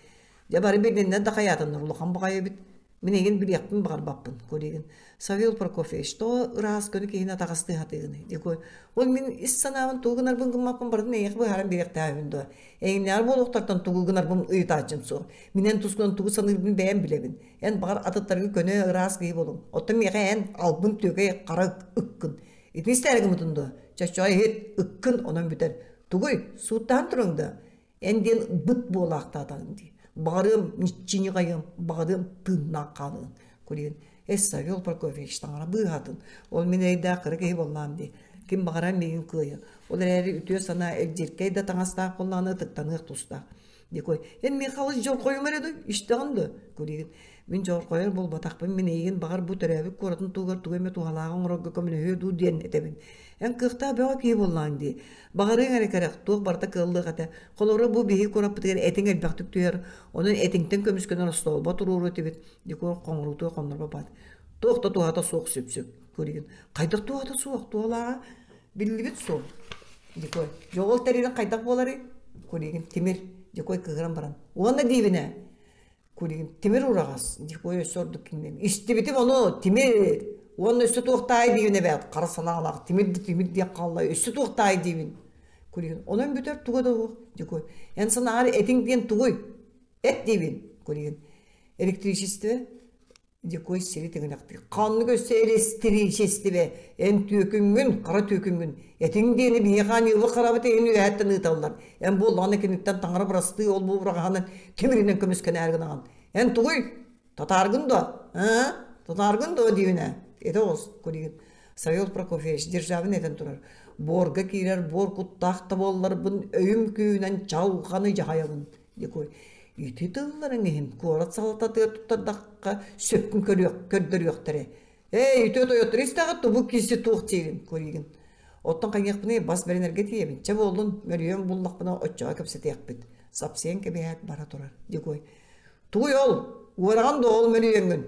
Дьэ бары билиннэр да хайаатыннар улахан баҕайы эбит. Мин эйигин билиэхпин баҕарбаппын, Кулигин. Савел Прокофьевич, тоҕо ыраас көнө киһини атаҕастыы сатыыгыный? Дикой. Ол мин ис санаабын тугу гынарбын гыммаппын барытын эйиэхэ быһааран биэриэхтээхпин дуо? Эйигиннээҕэр буолуохтартан тугу гынарбын ыйытааччым суох. Мин эн тускунан тугу саныырбын бэйэм билэбин. Эн баҕар атыттарга көнө ыраас киһи буолуҥ. Оттон миэхэ эн албын түөкэй хара ыккын. Итини истээри гыммытын дуо? Чоччоҕо иһит, ыккын онон бүтэр. Тугуй, сууттаһан туруҥ да? Эн диэн быт буолаахтаатаҕыҥ дии. Баҕарыам ниччини хайыам, баҕарыам тыыннаах хаалыаҥ. Кулин, эс Савел Прокофьевич таҥара быыһаатын. Ол мин эрэйдээх кыра киһи буоллаам дии. Ким баҕарар миигин кыайа. Ол эрээри үтүө санаа илдьиркэй да таҥастаах буоллаҕына ытыктаныах тустаах. Дикой, эн Михалыч дьолхойум эрэ дуй, истэҕин дуо? Кулигин, мин дьолхойор буолбатахпын, мин эйигин баҕар бу төрөөбүт куоратын туһугар тугу эмэ туһалааҕы оҥорорго көмөлөһүө дуу диэн этэбин. Эн кыахтаах бөҕө киһи буоллаҕыҥ дии. Баҕарыаҥ эрэ кэрэх, туох барыта кыаллыах этэ. Холобура бу биһиги куораппытыгар этиҥ элбэхтик түһэр, онон этиҥтэн көмүскэнэр остоолбо туруоруо этибит. Дикой хоҥоруутугар хоннорбоппат. Туох да туһата суох сүпсүк. Кулигин, хайдах туһата суох, туһалааҕа Биллибит суол. Дикой. Дьоҕул тэрилин хайдах буоларый? Кулигин тимир. Дикой кыыһыран баран. Уонна диибинэ. Кулигин тимир ураҕас. Дикой өссө ордук кинилэн. Истибитим ону тимир. Уонна өссө туохтаай диибин эбээт. Хара санаалаах тимир да тимир диэх хаалла. Өссө туохтаай диибин. Кулигин. Онон бүтэр туга да суох. Дикой. Эн санааҕар этиҥ диэн тугуй? Эт диибин. Кулигин. Электричество. Дьокуой сири тыгынахтыы ханнык өссө эрэстириичэстибэ эн түөкүҥҥүн, хара түөкүҥҥүн этиҥ диэни биһиэхэ аньыылы харабыт иһин үөһэттэн ыыталлар. Эн буоллаҕына киниттэн таҥара бырастыы ол-бу ураҕаһынан тимиринэн көмүскэнээри гынаҕын. Эн тугуй? Татааргын дуо? Аа? Татааргын дуо диибин ээ? Этэ оҕус, Кулигин. Савел Прокофьевич Державин этэн турар. Буорга киирэр буор куттаах да буолларбын өйүм күүһүнэн чалҕаны дьаһайабын. Дикой. Ити тылларыҥ иһин куорат салалтатыгар туттардахха сөпкүн көрдөрүөхтэрэ. Эй, үтүө тойоттор истэҕит тубу киси туох диигин, Куригин. Оттон хайыахпыный бас бэринэргэ тиийэбин. Чэ буоллун, мөлүйүөн буллахпына оччоҕо кэпсэтиэхпит. Сапсыйан кэбиһээт бара турар. Дикой. Тугуй ол? Уораҕын да ол мөлүйүөҥҥүн.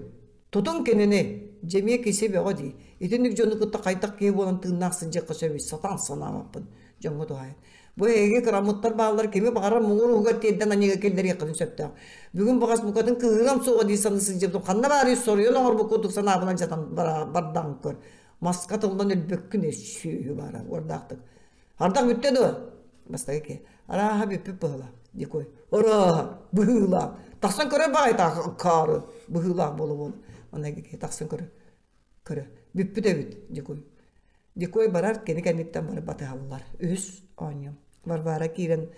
Тутуҥ кинини. Дьэмиэ киси бөҕө дии. Итинник дьону кытта хайдах киһи буолан тыыннаах сылдьыахха сөбүй сатаан санаабаппын. Дьоҥҥо туһаайан. Бу эһиги кыраммыттар бааллар кими баҕарар муҥур уһугар тиэрдэн аньыыга киллэриэххитин сөптөөх. Бүгүн баҕас букатын кыыһырыам суоҕа дии саныы сылдьыбытым ханна баарый соруйан оҥорбут курдук санаабынан дьатан бардаҕын көр. Маска тыллан өлбөккүн сүөһү баара уордаахтык. Ардах бүттэ дуо? Бастакы киһи. Арааһа бүппүт быһыылаах. Дикой. Арааһа быһыылаах. Тахсан көрөр баҕайытаах акаары быһыылаах буола-буола. Манна киһи тахсан көрөр. Көрө. Бүппүт эбит, Дикой. Дикой барар, кини кэнниттэн бары батыһаллар. Үһүс оонньуу. Варвара киирэн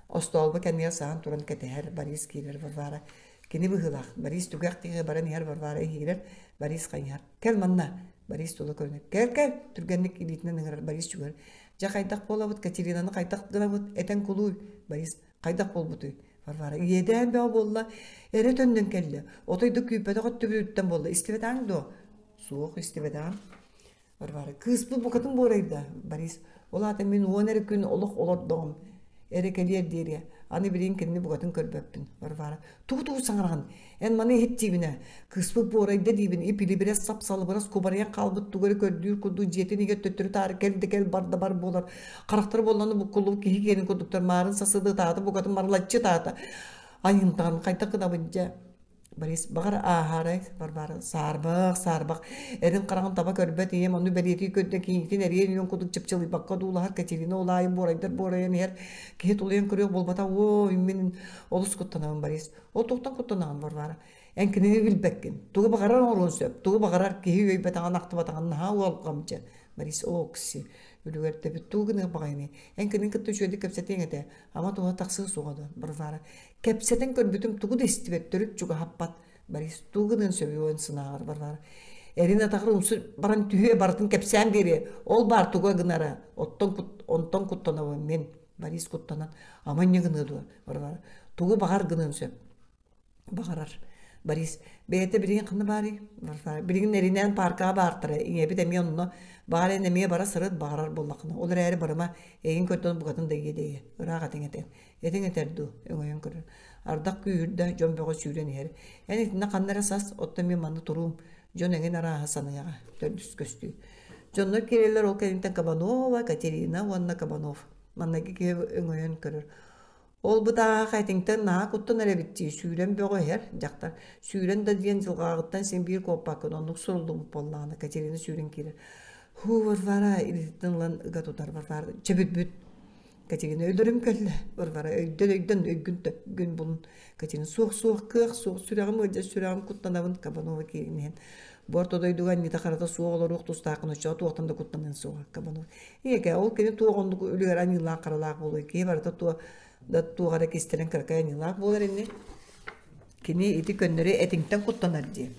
остоолбо кэннигэр саһан туран кэтэһэр. Борис киирэр Варвара. Кини быһыылаах. Борис түгэх диэки баран иһэр Варвара иһиирэр. Борис хайыһар. Кэл манна. Борис тула көрүнэр. Кэл, кэл! Түргэнник илиитинэн ыҥырар Борис чугар. Дьэ хайдах буолабыт, Катеринаны хайдах гынабыт? Этэн кулууй. Борис хайдах буолбутуй? Варвара иэдээн бөҕө буолла, эрэ төннөн кэллэ. Отой да күүппэтэх өттүбүтүттэн буолла. Истибэтэҕиҥ дуо? Суох, истибэтэҕим. Варвара кыыспыт букатын буорайда. Борис ол аата мин уон эрэ күн олох олордоҕум. Эрэ кэлиэр диэри. Аны билигин кинини букатын көрбөппүн. Варвара тугу-тугу саҥараҕын? Эн маны иһит диибин ээ. Кыыспыт буорайда диибин, ип-илибирэс сап-салыбырас кубарыйан хаалбыт тугу эрэ көрдүүр курдук дьиэтин иһигэр төттөрү-таары кэл да кэл бар да бар буолар. Харахтара буолланы буккуллубут киһи киэнин курдуктар маарын сасыды ытаата букатын марылаччы ытаата. Айымтаҕын хайдах гынабын дьэ? Борис, баҕар ааһаарай, Варвара, саарбах, саарбах, эрин хараҕын таба көрбөт ийэм ону бэлиэтии көрдө кийиитин эриэн үөн курдук чыпчылыйбакка одуулаһар Катерина ол аайы буорайдар буорайан иһэр киһи тулуйан көрүөх буолбата оо мин олус куттанабын Борис ол туохтан куттанаҕын Варвара эн кинини билбэккин тугу баҕарар оҥоруон сөп тугу баҕарар киһи үөйбэтэҕин ахтыбатаҕын наһаа уолҕамдьы Борис окси үлүгэрдэбит тугу гыныах баҕайыный эн кинини кытта үчүгэйдик кэпсэтиэҥ этэ ама туһа тахсыа суоҕа дуо Варвара Кэпсэтэн көрбүтүм тугу да истибэт, төрүт чугаһаппат. Борис тугу гыныан сөбүй сынааҕар Варвара. Эрин атаҕар умсу баран түһүө барытын кэпсээн биэриэ. Ол баар туга гынара. Оттон кут, онтон куттанабын мин. Борис куттанан ама инньэ гыныа дуо Варвара. Тугу баҕар гыныан сөп. Баҕарар. Борис бэйэтэ билигин ханна баарый? Варвара билигин эринээн пааркаҕа баартара. Ийэбит эмиэ онно. Баҕар эн эмиэ бара сырыт баҕарар буоллаххына. Ол эрээри барыма эйигин көрдөөн букатын да иэдэйэ. Ыраах этиҥ этэ. Этиҥ этэр дуу, өҥөйөн көрөр. Ардах күүһүрдэ, дьон бөҕө сүүрэн иһэр. Эн итиннэ ханна эрэ сас, оттон мин манна туруум. Дьон эҥин арааһа саныаҕа. Төрдүс көстүү. Дьоннор киирэллэр ол кэнниттэн Кабанова, Катерина уонна Кабанов. Маннайгы киһи өҥөйөн көрөр. Ол бытааһах этиҥтэн наһаа куттанар эбит дии, сүүрэн бөҕө иһэр дьахтар. Сүүрэн да диэн дьылҕааҕыттан син биир куоппаккын, оннук суруллубут буоллаҕына Катерина сүүрэн киирэр. Һуу, Варвара илиититтэн ылан ыга тутар Варвара. Чэ бүт-бүт. Катерина өлөрүм кэллэ. Варвара өйдөн өйдөн өйгүн төпкүн булун. Катерина суох суох кыах суох сүрэҕим ыалдьар сүрэҕим куттанабын Кабанова киирин иһэн. Бу орто дойдуга анньыта харата суох олоруох тустааххын оччоҕо туохтан да куттаныан суоҕа Кабанов. Ийэкэ ол кини туох оннук үлүгэр аньыылаах харалаах буолуой киһи барыта туох да туох эрэ кистэлэҥ кыракый аньыылаах буолар ини. Кини ити көннөрү этиҥтэн куттанар дии.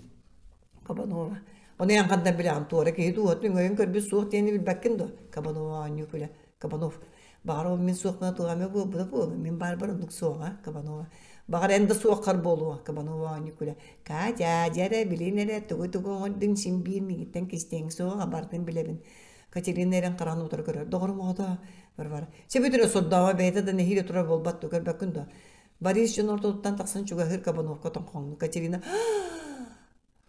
Кабанова. Ону эн хандан билэҕин туора киһи дууһатын өҥөйөн көрбүт суох диэни билбэккин дуо? Кабанова оонньуу күлэ. Кабанов. Баҕар ол мин суохпуна туох эмэ буолбута буолуо. Мин баарбар оннук суоҕа, Кабанова. Баҕар эн да суоххар буолуо, Кабанова оонньуу күлэ. Катя, дьэ эрэ, билин эрэ, тугу-тугу оҥордуҥ син биир миигиттэн кистиэҥ суоҕа, барытын билэбин. Катерина эрэн хараҕын утары көрөр. Доҕорум оҕото, Варвара. Чэ бүтүрэ сордооҕо бэйэтэ да нэһиилэ турар буолбат дуо, көрбөккүн дуо? Борис дьон ортотуттан тахсан чугаһыыр Кабановка тоҥхоҥну. Катерина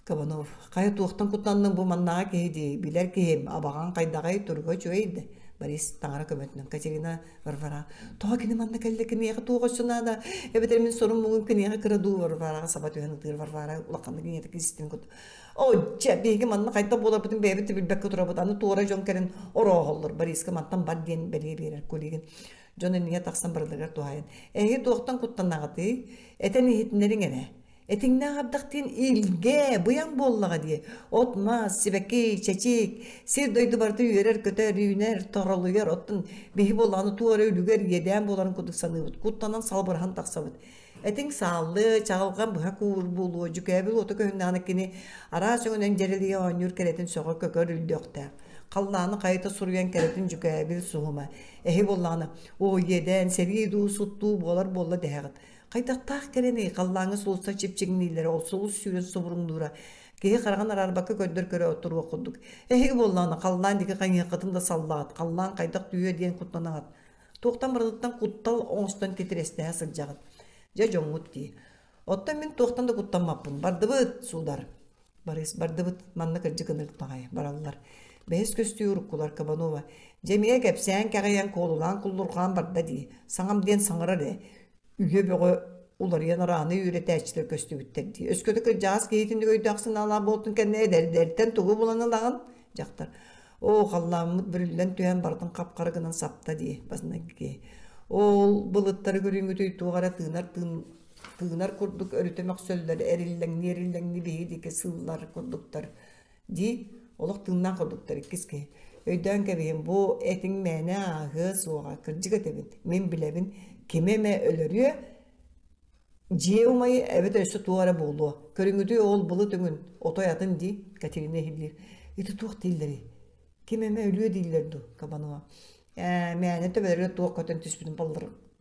Кабанов, хайа туохтан куттанныҥ бу маннааҕы киһи дии, билэр киһим, абаҕаҥ хайдаҕай, туруга үчүгэй да. Борис таҥара көмөтүнэн Катерина Варвара, тоҕо кини манна кэллэ, киниэхэ туох өссө наада, эбэтэр мин сорум муҥун киниэхэ кыра дуу Варвараҕа саба түһэн ытыыр Варвара улаханнык ийэтэ кистин кут. О, дьэ, биһиги манна хайдах буоларбытын бэйэбит да билбэккэ турабыт, аны туора дьон кэлэн орооһоллор, Бориска мантан бар диэн бэлиэ биэрэр Кулигин. Дьон иннигэр тахсан барыларыгар туһаайан, эһиги туохтан куттанаҕытый? Этэн иһитиннэриҥ эрэ. Этиҥнээх ардах диэн илгэ, быйаҥ буоллаҕа дии. От-мас, сибэкки, чэчик, сир-дойду барыта үөрэр-көтөр, үүнэр, торолуйар. Оттон биһи буоллаҕына туох эрэ үлүгэр иэдээн буоларын курдук саныыбыт. Куттанан салбыраһан тахсабыт. Этиҥ сааллы, чаҕылҕан быһа куур буолуо, дьүкээбил уота көһүннэҕинэ кини араас өҥүнэн дьэрэлийэ оонньуур кэрэтин сөҕө көкөр үрдүөхтээх. Халлааны хайыта суруйан кэрэтин дьүкээбил суһума. Эһи буоллаҕына, оо иэдээн, сэрии дуу, сут дуу буолар буолла дэһэҕит. Хайдахтаах кэрэний, халлааҥҥа сулустар чипчиҥнииллэрэ, ол сулус сүүрэн субуруҥнуура, киһи хараҕын араарбакка көрдөр көрө туруох курдук. Эһиги буоллаҕына, халлаан диэки хайыһыаххытын да саллаҕыт, халлаан хайдах түһүө диэн куттанаҕыт. Туохтан барытыттан куттал оҥостон титирэстэһэ сылдьаҕыт. Дьэ дьоҥҥут дии. Оттон мин туохтан да куттаммаппын. Бардыбыт, суудар. Барыс бардыбыт, манна кырдьык ынырык баҕайы бараллар. Бэһис көстүү уруккулар Кабанова. Дьэ эмиэ кэпсээн кэҕийэн куолулаан куллурҕаан барда дии. Саҥам диэн саҥарар ээ. Үйэ бөҕө уларыйан арааны үөрэтээччилэр көстүбүттэр дии. Өскөтө кырдьаҕас киһитинник өйдөөх санаалаах буолтун кэннэ эдэрдэртэн тугу булан ылаҕын? Дьахтар. Оо, халлааммыт бүрүллэн түһэн барытын хап-хара гынан сапта дии, баснагги. Ол былыттары көрүҥүтүй туох эрэ тыынар тыын тыынар курдук өрүтэ мөхсөллөр, эриллэҥнии-эриллэҥнии биһиги диэки сыыллар курдуктар дии. Олох тыыннаах курдуктар иккис киһи. Өйдөөн кэбиһин, бу этиҥ мээнэ ааһыа суоҕа, кырдьык этэбин, мин билэбин, кими эмэ өлөрүө, дьиэ умайы эбэтэр өссө туох эрэ буолуо. Көрүҥүтүй ол былыт өҥүн, отой атын дии, Катерина иһиллиир. Ити туох дииллэрий? Ким эмэ өлүө дииллэр дуу, Кабанова. Ээ, мээнэ төбөлөрүгэр туох көтөн түспүтүн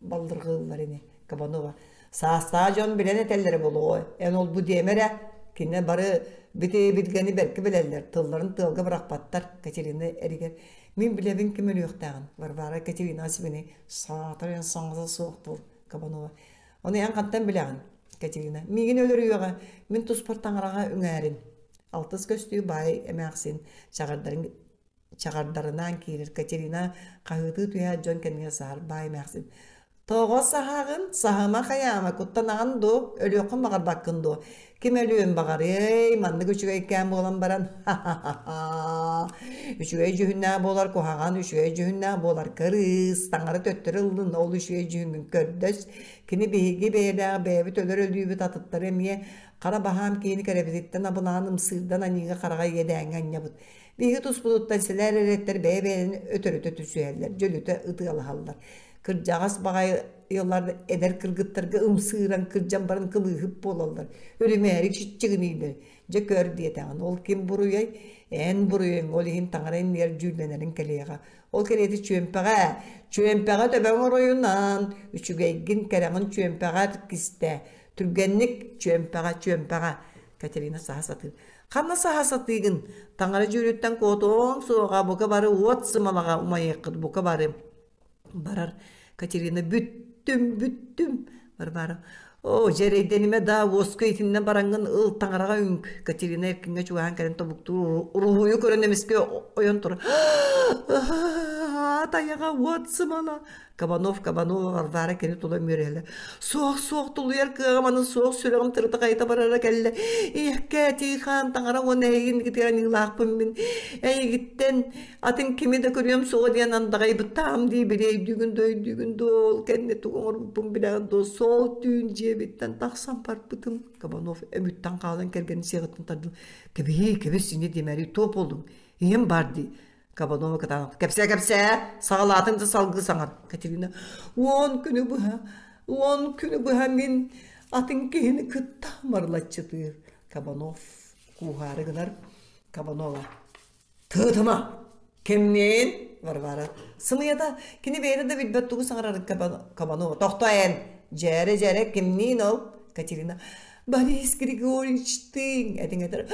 баллырҕыыллар ини, Кабанова. Саастаах дьон билэн этэллэрэ буолуо, эн ол-бу диэмэ эрэ. Кинилэр бары бити билгэни бэркэ билэллэр, тылларын тыалга бырахпаттар, Катерина эригэр. Мин билэбин ким өлүөхтээҕин, Варвара Катерина сибини саатар эн саҥата суох буол, Кабанова. Ону эн хантан билэҕин, Катерина? Миигин өлөрүөҕэ, мин туспар таҥараҕа үҥээрин. Алтыс көстүү баай эмээхсин чаҕардарын чаҕардарынаан киирэр Катерина хаһыытыы түһээт дьон кэннигэр саһар баай эмээхсин «Тоҕо саһаҕын? Саһыма хайаама, куттанаҕын дуо? Өлүөххүн баҕарбаккын дуо? Ким өлүөн баҕарыай, маннык үчүгэйкээн буолан баран, ха-ха-ха! Үчүгэй дьүһүннээх буолар куһаҕан, үчүгэй дьүһүннээх буолар кырыыс, таҥара төттөрү ыллын, ол үчүгэй дьүһүҥҥүн көрдөс. Кини биһиги бэйэлээх бэйэбит өлөр өлүүбүт атыттары эмиэ хара баһаам киһини кэрэбититтэн абылаан ымсыырдан аньыыга-хараҕа иэдээҥҥэ анньабыт. Биһиги туспутуттан сэлээр эрэттэр бэйэ-бэйэлэрин өтөрүтэ түсүһэллэр, дьөлүтэ ытыалаһаллар. Кырдьаҕас баҕайылар эдэр кыргыттарга ымсыыран кырдьан баран кылыыһыт буолаллар, үрүмээри чиччигинииллэр. Дьэ көр диэтэҕин, ол ким буруйай? Эн буруйуҥ, ол иһин таҥара иннигэр дьүүллэнэриҥ кэлиэҕэ. Ол кэриэтэ чүөмпэҕэ, чүөмпэҕэ төбөҥ оройунан, үчүгэйгин, кэрэҕин чүөмпэҕэ кистээ. Түргэнник чүөмпэҕэ, чүөмпэҕэ. Катерина саһа сатыыр. Ханна саһа сатыыгын? Таҥара дьүүлүттэн куотуоҥ суоҕа, бука бары уот сымалаҕа умайыаххыт, бука бары. Барар. Катерина бүттүм, бүттүм. Варвара. Оо, дьэрэйдэнимэ да, уоска итиннэ бараҥҥын ыл таҥараҕа үҥк. Катерина эркиҥҥэ чугаһаан кэлэн тобуктуур уруһуйу көрөн эмискэ ойон турар. Тайаҕа уот сымала. Кабанов, Кабанова, Варвара кини тула үөрэллэр. Суох, суох, тулуйар кыаҕым аны суох, сүрэҕим тырыта хайыта барара кэллэ. Ийэккээ, Тихон, таҥара уонна эйигин аньыылаахпын мин. Эйигиттэн атын кими да көрүөм суоҕа диэн андаҕайбыттаам дии били өйдүүгүн да өйдүүгүн дуу, ол кэннэ тугу оҥорбуппун билэҕин дуо, сол түүн дьиэбиттэн тахсан барбытым. Кабанов өмүттэн хаалан кэргэнин сиэҕиттэн тардыл. Кэбиһии, кэбис, инньэ диэмэри, туох буоллуҥ? Ийэм баар дии. Кабанова кытаанах кэпсээ кэпсээ саҕалаатыҥ да салгыы саҥар Катерина уон күнү быһа уон күнү быһа мин атын киһини кытта марылаччытыыр Кабанов кууһаары гынар Кабанова тыытыма кимниин Варвара сымыйата кини бэйэтэ да билбэт тугу саҥарарын Кабанова тохтоо эн дьээрэ дьээрэ кимниин ол Катерина Борис Григорьевичтыын этиҥ этэр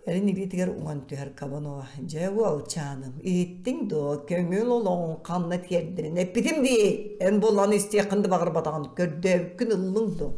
Эрин илиитигэр уҥан түһэр Кабанова дьэ уолчааным иһиттиҥ дуо көҥүл олоҕуҥ ханна тиэрдэрин эппитим дии эн буоллаҕына истиэххин да баҕарбатаҕын көрдөөбүккүн ыллыҥ дуо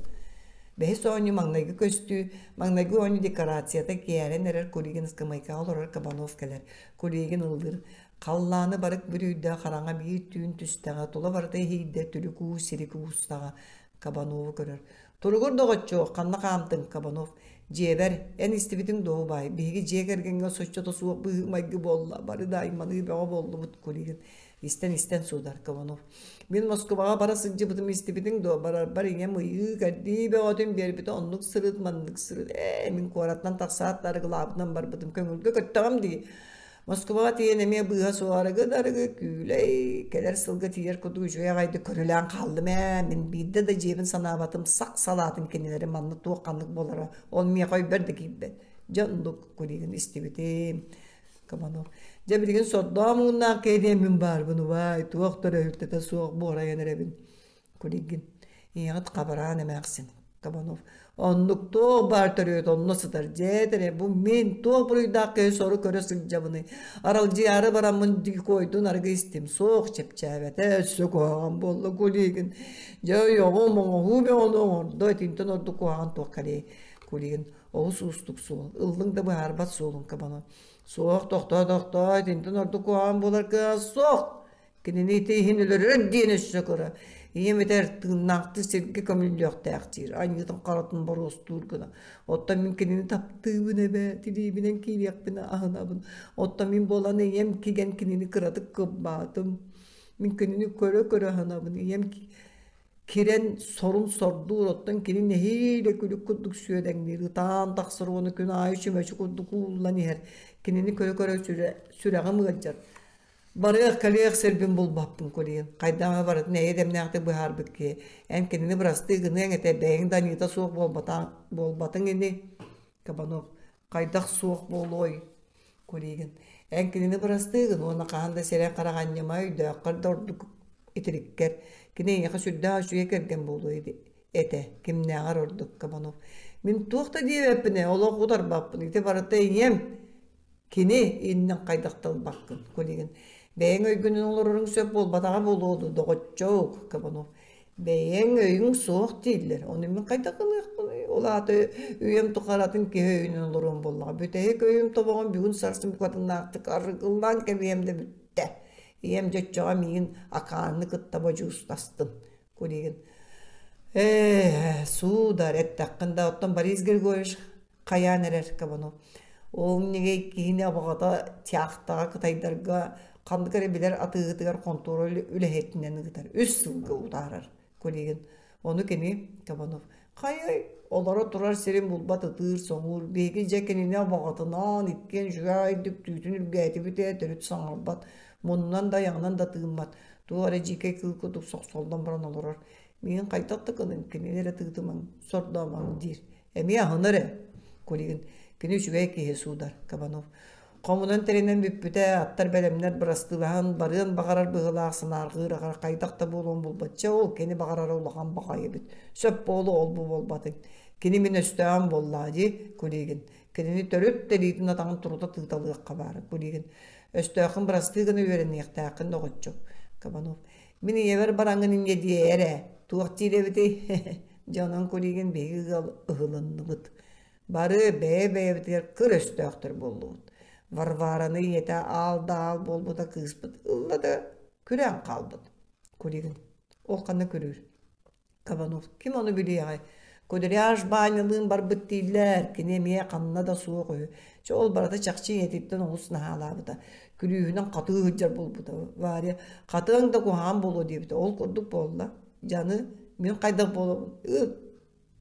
Бэһис оонньуу маҥнайгы көстүү, маҥнайгы оонньуу декорацията киэрэн эрэр Кулигин ыскамыайкаҕа олорор Кабанов кэлэр. Кулигин ыллыыр. Халлааны барык бүрүйдэ, хараҥа биир түүн түстэҕэ, тула барыта иһийдэ, түлүк уу сирик уустаҕа. Кабанову көрөр. Туругур доҕоччуок, ханна хаамтыҥ, Кабанов? Дьиэбэр, эн истибитиҥ дуо, убаай? Биһиги дьиэ кэргэҥҥэ соччото суох быһыы-майгы буолла, бары да айманыы бөҕө буоллубут, Кулигин. Истэн-истэн суудар Кабанов. Мин Москубаҕа бара сылдьыбытым истибитиҥ дуо? Барарбар ийэм ыйыы-кэрдии бөҕөтүн биэрбитэ оннук сырыт, маннык сырыт. Ээ, мин куораттан тахсаат да арыгылаабытынан барбытым. Көҥүлгэ көттөҕүм дии. Москубаҕа тиийэн эмиэ быыһа суох арыгы да арыгы, күүлэй, кэлэр сылга тиийэр курдук үчүгэй аҕайдык көрүлээн хааллым ээ. Мин биирдэ да дьиэбин санаабатым, сах салаатын кинилэри манна туох-ханнык буолара, ол миэхэ өйбөр да киирбэт. Дьэ оннук куригын истибитим. Кабанов. Дьэ билигин сордоо муҥнаах киһи диэммин баарбын убаай, туох да өрөһүлтэтэ суох буорайан эрэбин. Кулигин. Ийэҕит хабараан эмээхсин. Кабанов. Оннук туох баар төрүөт онно сытар дьэ эрэ бу мин туох буруйдаах киһи сору көрө сылдьабыный аралдьыйаары бараммын дикойдун арыгы истим суох чэпчээбэтэ өссө куһаҕан буолла Кулигин дьэ ойоҕум оҥоһуу бөҕөнү оҥордо итинтэн ордук куһаҕан туох кэлиэй Кулигин олус уустук суол ыллыҥ да быһаарбат суолуҥ Кабанов суох тохтоо тохтоо итинтэн ордук куһаҕан буолар кыаҕа суох Кинини ити иһин өлөрөр диэн өссө кыра. Ийэм этэр тыыннаахтыы сиргэ көмүллүөхтээх диир, анньыытын харатын боруостуур гына. Оттон мин кинини таптыыбын эбээ, тилиибинэн киириэхпинэ аһынабын. Оттон мин буолан ийэм кигэн кинини кыратык кыббаатым. Мин кинини көрө-көрө аһынабын. Ийэм кирэн сорун сордуур, оттон кини нэһиилэ күлүк курдук сүөдэҥниир, ытаан тахсар уонна күн аайы чүмэчи курдук ууллан иһэр. Кинини көрө-көрө сүрэҕим ыалдьар. Барыах-кэлиэх сирбин булбаппын Кулин. Хайдах эмэ барытын эйэ дэмнээхтик быһаарбыт киһи. Эн кинини бырастыы гыныаҥ этэ, бэйэҥ да аньыыта суох буолбатыҥ ини. Кабанов. Хайдах суох буолуой? Кулигин. Эн кинини бырастыы гын уонна хаһан да сирэй харах анньыма өйдөөххөр да ордук итириккэр. Кини эйиэхэ сүрдээх үчүгэй кэргэн буолуо этэ. Кимнээҕэр ордук Кабанов. Мин туох да диэбэппин ээ, олох утарбаппын. Ити барыта ийэм. Кини иннин хайдах да ылбаккын, Кулигин. Бэйэҥ өйгүнэн олороруҥ сөп буолбатаҕа буолуо дуу, доҕоччуок, Кабанов. Бэйэҥ өйүҥ суох дииллэр, ону мин хайдах гыныахпыный? Ол аата үйэм тухары атын киһи өйүнэн олоруом буоллаҕа. Бүтэһик өйүм тобоҕун бүгүн сарсын букатыннаахтык арыгылаан кэбиһиэм да бүттэ. Ийэм дьоччоҕо миигин акааны кытта бодьуустастын. Кулигин. Ээ, суудар, эттэххин да, оттон Борис Григорьевич хайаан эрэр Кабанов. Ол ньэгэй киһини абаҕата тяхтаҕа кытайдарга ханнык эрэ билэр атыыһытыгар хонтуора үлэһитинэн ыытар. Үс сылга утаарар Кулигин. Ону кини Кабанов хайай олоро турар сирин булбат ытыыр-соҥуур биһиги дьэ кинини абаҕатынаан иккиэн үчүгэйдик түүтүн үргээтибит ээ төрүт саҥарбат муннунан да айаҕынан да тыыммат туох эрэ дьиикэй кыыл курдук сохсоллон баран олорор миигин хайдах да гыныҥ кинини эрэ тыытымаҥ сордоомоҥ диир Эмиэ аһынар ээ, Кулигин. Кини үчүгэй киһи суудар, Кабанов. Хомунан тэринэн бүппүтэ, аттар бэлэмнэр бырастыылаһан барыан баҕарар быһыылаах санаарҕыыр аҕар хайдах да буолуон булбачча ол кини баҕарара улахан баҕайы эбит. Сөп буолуо ол-бу буолбатыҥ. Кини мин өстөөҕүм буоллаҕа дии, Кулигин. Кинини төрүт тэлиитин атаҕын турута тыыталыахха баара, Кулигин. Өстөөххүн бырастыы гына үөрэниэхтээххин доҕоччук, Кабанов. Мин ийэбэр бараҥҥын инньэ диэ эрэ. Туох диир эбитий? Дьэ онон Кулигин биһиги ыал ыһылынныбыт. Бары бэйэ-бэйэбитигэр кыр өстөөхтөр буоллубут. Варвараны ийэтэ аал да аал буолбута кыыспыт ылла да күрээн хаалбыт. Кулигин ол ханна күрүүр? Кабанов ким ону билиэҕэй? Кудряш Баанньалыын барбыт дииллэр, кини эмиэ ханна да суох үһү. Чэ ол барыта чахчы ийэтиттэн олус наһаалаабыта. Күлүүһүнэн хатыы сылдьар буолбута. Варя хатыаҥ да куһаҕан буолуо диэбитэ. Ол курдук буолла. Дьаны мин хайдах буолабын? Ыт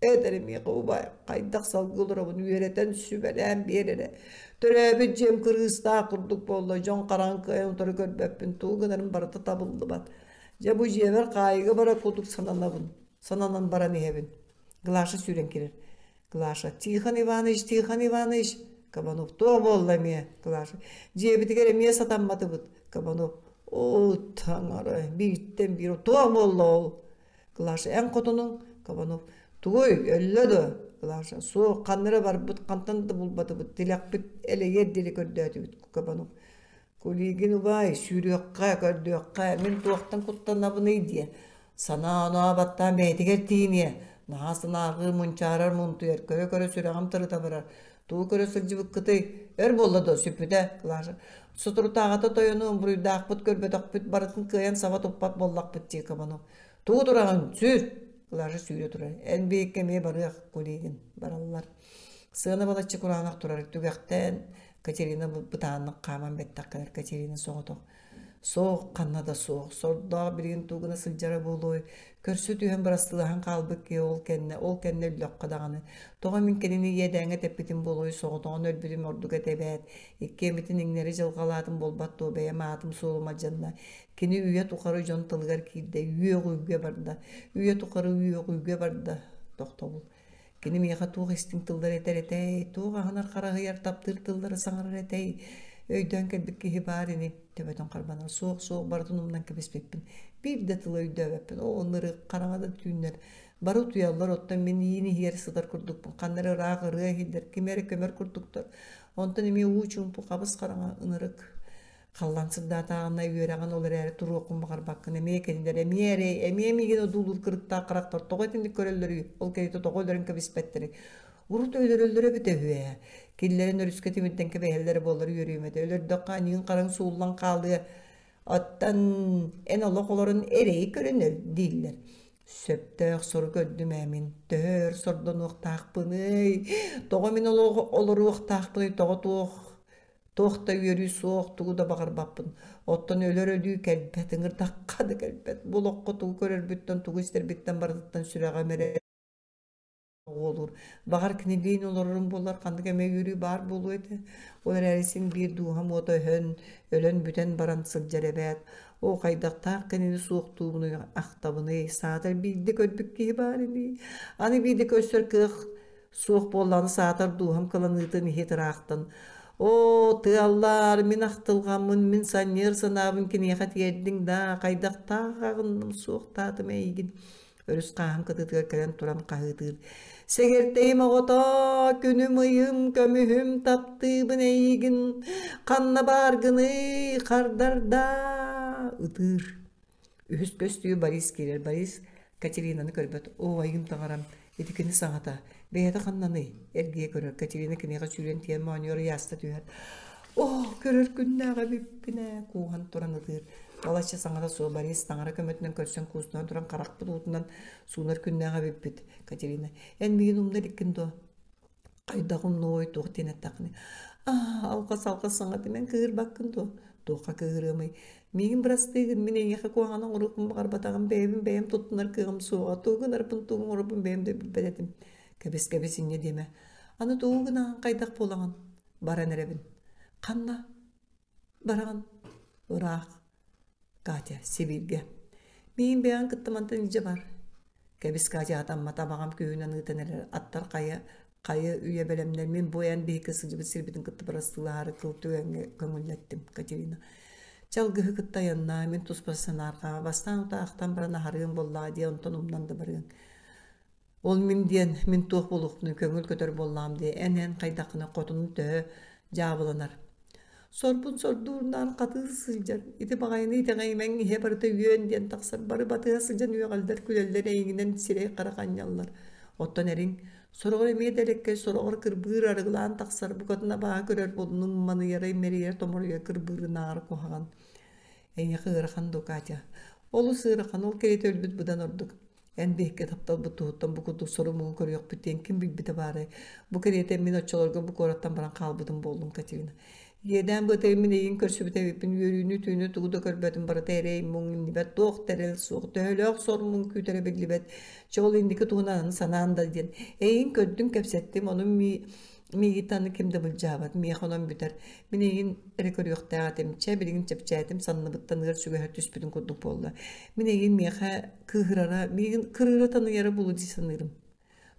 этэр миэхэ убай хайдах салгыы олоробун үөрэтэн сүбэлээн биэр эрэ. Төрөөбүт дьиэм кырыыстаах курдук буолла. Дьон хараҥа кыайан утары көрбөппүн. Тугу гынарым барыта табыллыбат. Дьэ бу дьиэбэр хаайыыга барар курдук сананабын. Сананан баран иһэбин. Глаша сүүрэн киирэр. Глаша, Тихон Иванович, Тихон Иванович, Кабанов, туох буолла эмиэ? Глаша, дьиэбитигэр эмиэ сатамматыбыт. Кабанов, оо, таҥара, бииртэн биир, туох буолла ол? Глаша, эн хотунуҥ? Кабанов, тугуй, өллө дуо? Глаша, суох, ханна эрэ барбыт, хантан да булбатыбыт, тилэхпит элэйиэр диэри көрдөөтүбүт. Кабанов, Кулигин убаай, сүүрүөххэ, көрдүөххэ, мин туохтан куттанабыный диэ. Санаа-оноо баттаан бэйэтигэр тиийиниэ. Наһаа санаарҕыы мунчаарар мунтуйар, көрө-көрө сүрэҕим тырыта барар. Тугу көрө сылдьыбыккытый? Өр буолла дуо, сүппүтэ, Клаша. Соторутааҕыта тойону буруйдаахпыт көрбөтөхпүт, барытын кыайан саба туппат буоллахпыт дии Кабанов. Тугу тураҕын, сүүр! Клаша сүүрэ турар. Эн биһикки эмиэ барыах, Кулигин. Бараллар. Сыана балачча кураанах турар. Түгэхтэн Катерина бытааннык хааман бэттэх кэлэр Катерина соҕотох. Суох, ханна да суох. Сордоох билигин тугу гына сылдьара буолуой? Көрсө түһэн бырастыылаһан хаалбыт киһи ол кэннэ, ол кэннэ өллөххө даҕаны. Тоҕо мин кинини иэдээҥҥэ тэппитим буолуой, соҕотоҕун өлбүтүм ордук этэ эбээт. Иккиэммитин иҥнэри дьылҕалаатым буолбат дуо, бэйэм аатым-суолум алдьанна. Кини үйэ тухары дьон тылыгар киирдэ, үөҕүүгэ барда. Үйэ тухары үөҕүүгэ барда. Тохтобул. Кини миэхэ туох истиҥ тыллары этэр этэй, туох аһынар хараһыйар таптыыр тыллары саҥарар этэй, өйдөөн кэлбит киһи баар ини, төбөтүн харбанар, суох суох барытын умнан кэбиспиппин, биир да тылы өйдөөбөппүн, оо ынырык, хараҥа да түүннэр, бары утуйаллар, оттон мин иин иһигэр сытар курдукпун, ханна эрэ ыраах ырыа иһиллэр, ким эрэ көмөр курдуктар, онтон эмиэ уу чуумпу хабыс хараҥа ынырык Халлаан сырдаатаҕына үөрэҕин ол эрээри туруоххун баҕарбаккын эмиэ кинилэр эмиэ эрэй, эмиэ миигин одуулуур кырыктаах харахтар тоҕо итинник көрөллөрүй, ол кэриэтэ тоҕо өлөрөн кэбиспэттэрий? Урут өлөрөллөрө эбитэ үһү ээ. Киллэрэн өрүскэ тимирдэн кэбиһэллэрэ буоллар үөрүөм этэ. Өлөрдөххө аньыыҥ-хараҥ сууллан хаалыа. Оттон эн олох олорон эрэйи көрөн өл дииллэр. Сөптөөх сору көрдүм ээ мин. Төһө өр сордонуохтаахпыный? Тоҕо мин олоруохтаахпыный? Тоҕо туох Туох да үөрүү суох, тугу да баҕарбаппын. Оттон өлөр өлүү кэлбэт, ыҥырдахха да кэлбэт. Бу олоххо тугу көрөрбүттэн, тугу истэрбиттэн барытыттан сүрэҕим эрэ оҕуолуур. Баҕар кинилиин олорорум буоллар ханнык эмэ үөрүү баар буолуо этэ. Ол эрээри син биир дууһам уота өһөн, өлөн бүтэн баран сылдьар эбээт. Оо, хайдахтаах кинини суохтуубунуй, ахтабыный, саатар биирдэ көрбүт киһи баар ини. Аны биирдэ көрсөр кыах Суох буоллаҕына саатар дууһам кыланыытын иһит ыраахтан «Оо, тыаллаар, мин ахтылҕаммын, мин санньыар санаабын киниэхэ тиэрдиҥ даа, хайдахтаах аҕынным, суохтаатым эйигин» өрүс хааһын кытыытыгар кэлэн туран хаһыытыыр «Сэгэртэйим оҕотоо, күнүм-ыйым, көмүһүм, таптыыбын эйигин, ханна бааргыный, хардардаа» ытыыр Үһүс көстүү Борис киирэр. Борис Катеринаны көрбөт. Оо, айыым таҥарам, ити кини саҥата. Бэйэтэ ханнаный? Эргийэ көрөр. Катерина киниэхэ сүүрэн тиийэн моонньугар ыйааста түһэр. Оо, көрөр күннээх эбиппин ээ, кууһан туран ытыыр. Балачча саҥата суох Борис таҥара көмөтүнэн көрсөн куустунан туран харахпыт уутунан суунар күннээх эбиппит. Катерина, эн миигин умна иликкин дуо? Хайдах умнуой, туох диэн эттэххиний? Аа, алҕас-алҕас саҥата мин кыыһырбаккын дуо? Туохха кыыһырыамый? Миигин бырастыы гын, мин эйиэхэ куһаҕаны оҥоруохпун баҕарбатаҕым, бэйэбин бэйэм туттунар кыаҕым суоҕа, тугу гынарбын, тугу оҥорорбун бэйэм да билбэт этим. Кэбис-кэбис инньэ диэмэ. Аны тугу гынаҕын, хайдах буолаҕын? Баран эрэбин. Ханна? Бараҕын? Ыраах. Катя, Сибииргэ. Миигин бэйэҕин кытта мантан илдьэ бар. Кэбис Катя атаммата абаҕам күүһүнэн ыытан эрэр аттар хайа хайы үйэ бэлэмнэр мин бу эн биһикки сылдьыбыт сирбитин кытта бырастыылаһаары кыл түгэҥҥэ көҥүллэттим Катерина. Чалгыһы кытта айаннаа, мин туспа санаарҕаа, бастаан утаахтан баран аһарыам буоллаҕа дии, онтон умнан да барыаҥ. Ол мин диэн, мин туох буолуохпунуй, көҥүл көтөр буоллаҕым дии, эн-эн хайдаххына хотунум төһө дьаабыланар. Сорбун сордуурнаан хатыы сылдьар, ити баҕайыны итэҕэйимэҥ иһэ барыта үөн диэн тахсар, бары батыһа сылдьан үөҕэллэр, күлэллэр, эйигинэн сирэй-харах анньаллар. Оттон эриҥ, сороҕор эмиэ да элэккэй, сороҕор кырбыыр арыгылаан тахсар, букатын абааһы көрөр буолунум, маныйара, имэрийэр, томоруйар кырбыырынааҕар куһаҕан. Эйиэхэ ыарахан дуу, Катя? Олус ыарахан, ол кэриэтэ өлбүт быдан ордук. Эн биһикки тапталбыт туһуттан бу курдук сору-муҥу көрүөхпүт диэн ким билбитэ баарай? Бу кэриэтэ мин оччолорго бу куораттан баран хаалбытым буоллум, Катерина. Иэдээн быатайым мин эйигин көрсүбүт эбиппин, үөрүүнү түүнү тугу да көрбөтүм, барыта эрэй муҥ иннибэт, туох да эрэл суох, төһөлөөх сор-муҥ күүтэрэ биллибэт. Чэ ол инники туһунан аны санаан да диэн. Эйигин көрдүм, кэпсэттим, ону миигиттэн аны ким да былдьаабат, миэхэ онон бүтэр. Мин эйигин эрэ көрүөхтээх этим, чэ билигин чэпчээтим, санныбыттан ыар сүгэһэр түспүтүн курдук буолла. Мин эйигин миэхэ кыыһырара, миигин кырыыра таныйара буолуо дии саныырым.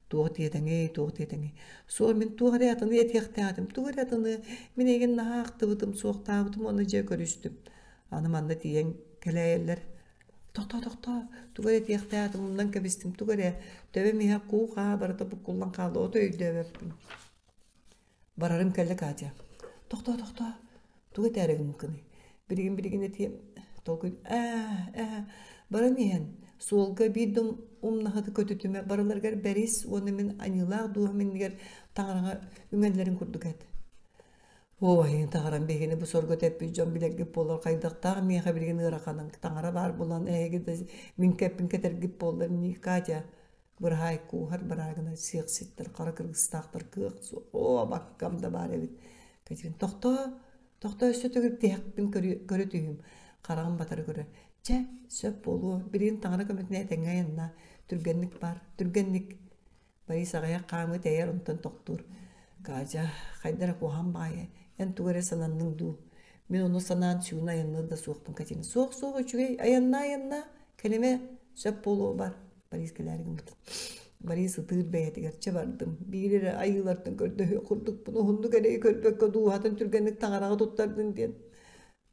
Туох диэтэҥий, туох диэтэҥий? Суох, мин туох эрэ атыны этиэхтээх этим, тугу эрэ атыны. Мин эйигин наһаа ахтыбытым, суохтаабытым уонна дьэ көрүстүм. Аны манна тиийэн кэлээйэллэр. Тохтоо, тохтоо, тугу эрэ этиэхтээх этим, умнан кэбистим, тугу эрэ. Төбөм иһэ куу-хаа барыта буккуллан хаалла, ото өйдөөбөппүн. Барарым кэллэ Катя. Тохтоо, тохтоо, тугу этээри гыммыккыный? Билигин билигин этиэм, толкуй ээ, ээ, баран иһэн, суолга биир да умнаһыты көтүтүмэ, барыларыгар бэрис уонна мин аньыылаах дууһам иннигэр таҥараҕа үҥэллэрин курдук эт. Оо, эһигин таҥарам биһигини бу сорго тэппит дьон билэргит буоллар хайдахтаах миэхэ билигин ыараханын таҥара баар буолан эһиги да мин кэппин кэтэргит буоллар Катя Быраһаай кууһар быраагына сиэхситтэр, хара кыргыстаахтар кыах суох, оо, абаккам да баар эбит. Катерина, тохтоо, тохтоо өссө төгүл тиһэхпин көрө түһүүм. Хараҕын батары көрөр. Чэ, сөп буолуо, билигин таҥара көмөтүнэн этэҥҥэ айаннаа. Түргэнник бар, түргэнник. Борис аҕыйах хаамыы тэйэр, онтон тохтуур. Катя, хайда эрэ куһаҕан баҕайы, эн тугу эрэ сананныҥ дуу? Мин ону санаан сүүнэ айанныыр да суохпун Катерина. Суох, суох, үчүгэй, айаннаа, айаннаа, кэлимэ, сөп буолуо бар. Борис кэлээри гыммыт. Борис ытыыр бэйэтигэр чэ бардым. Биир эрэ айыылартан көрдөһүө курдукпун, уһуннук эрэйи көрбөккө дууһатын түргэнник таҥараҕа туттардын диэн.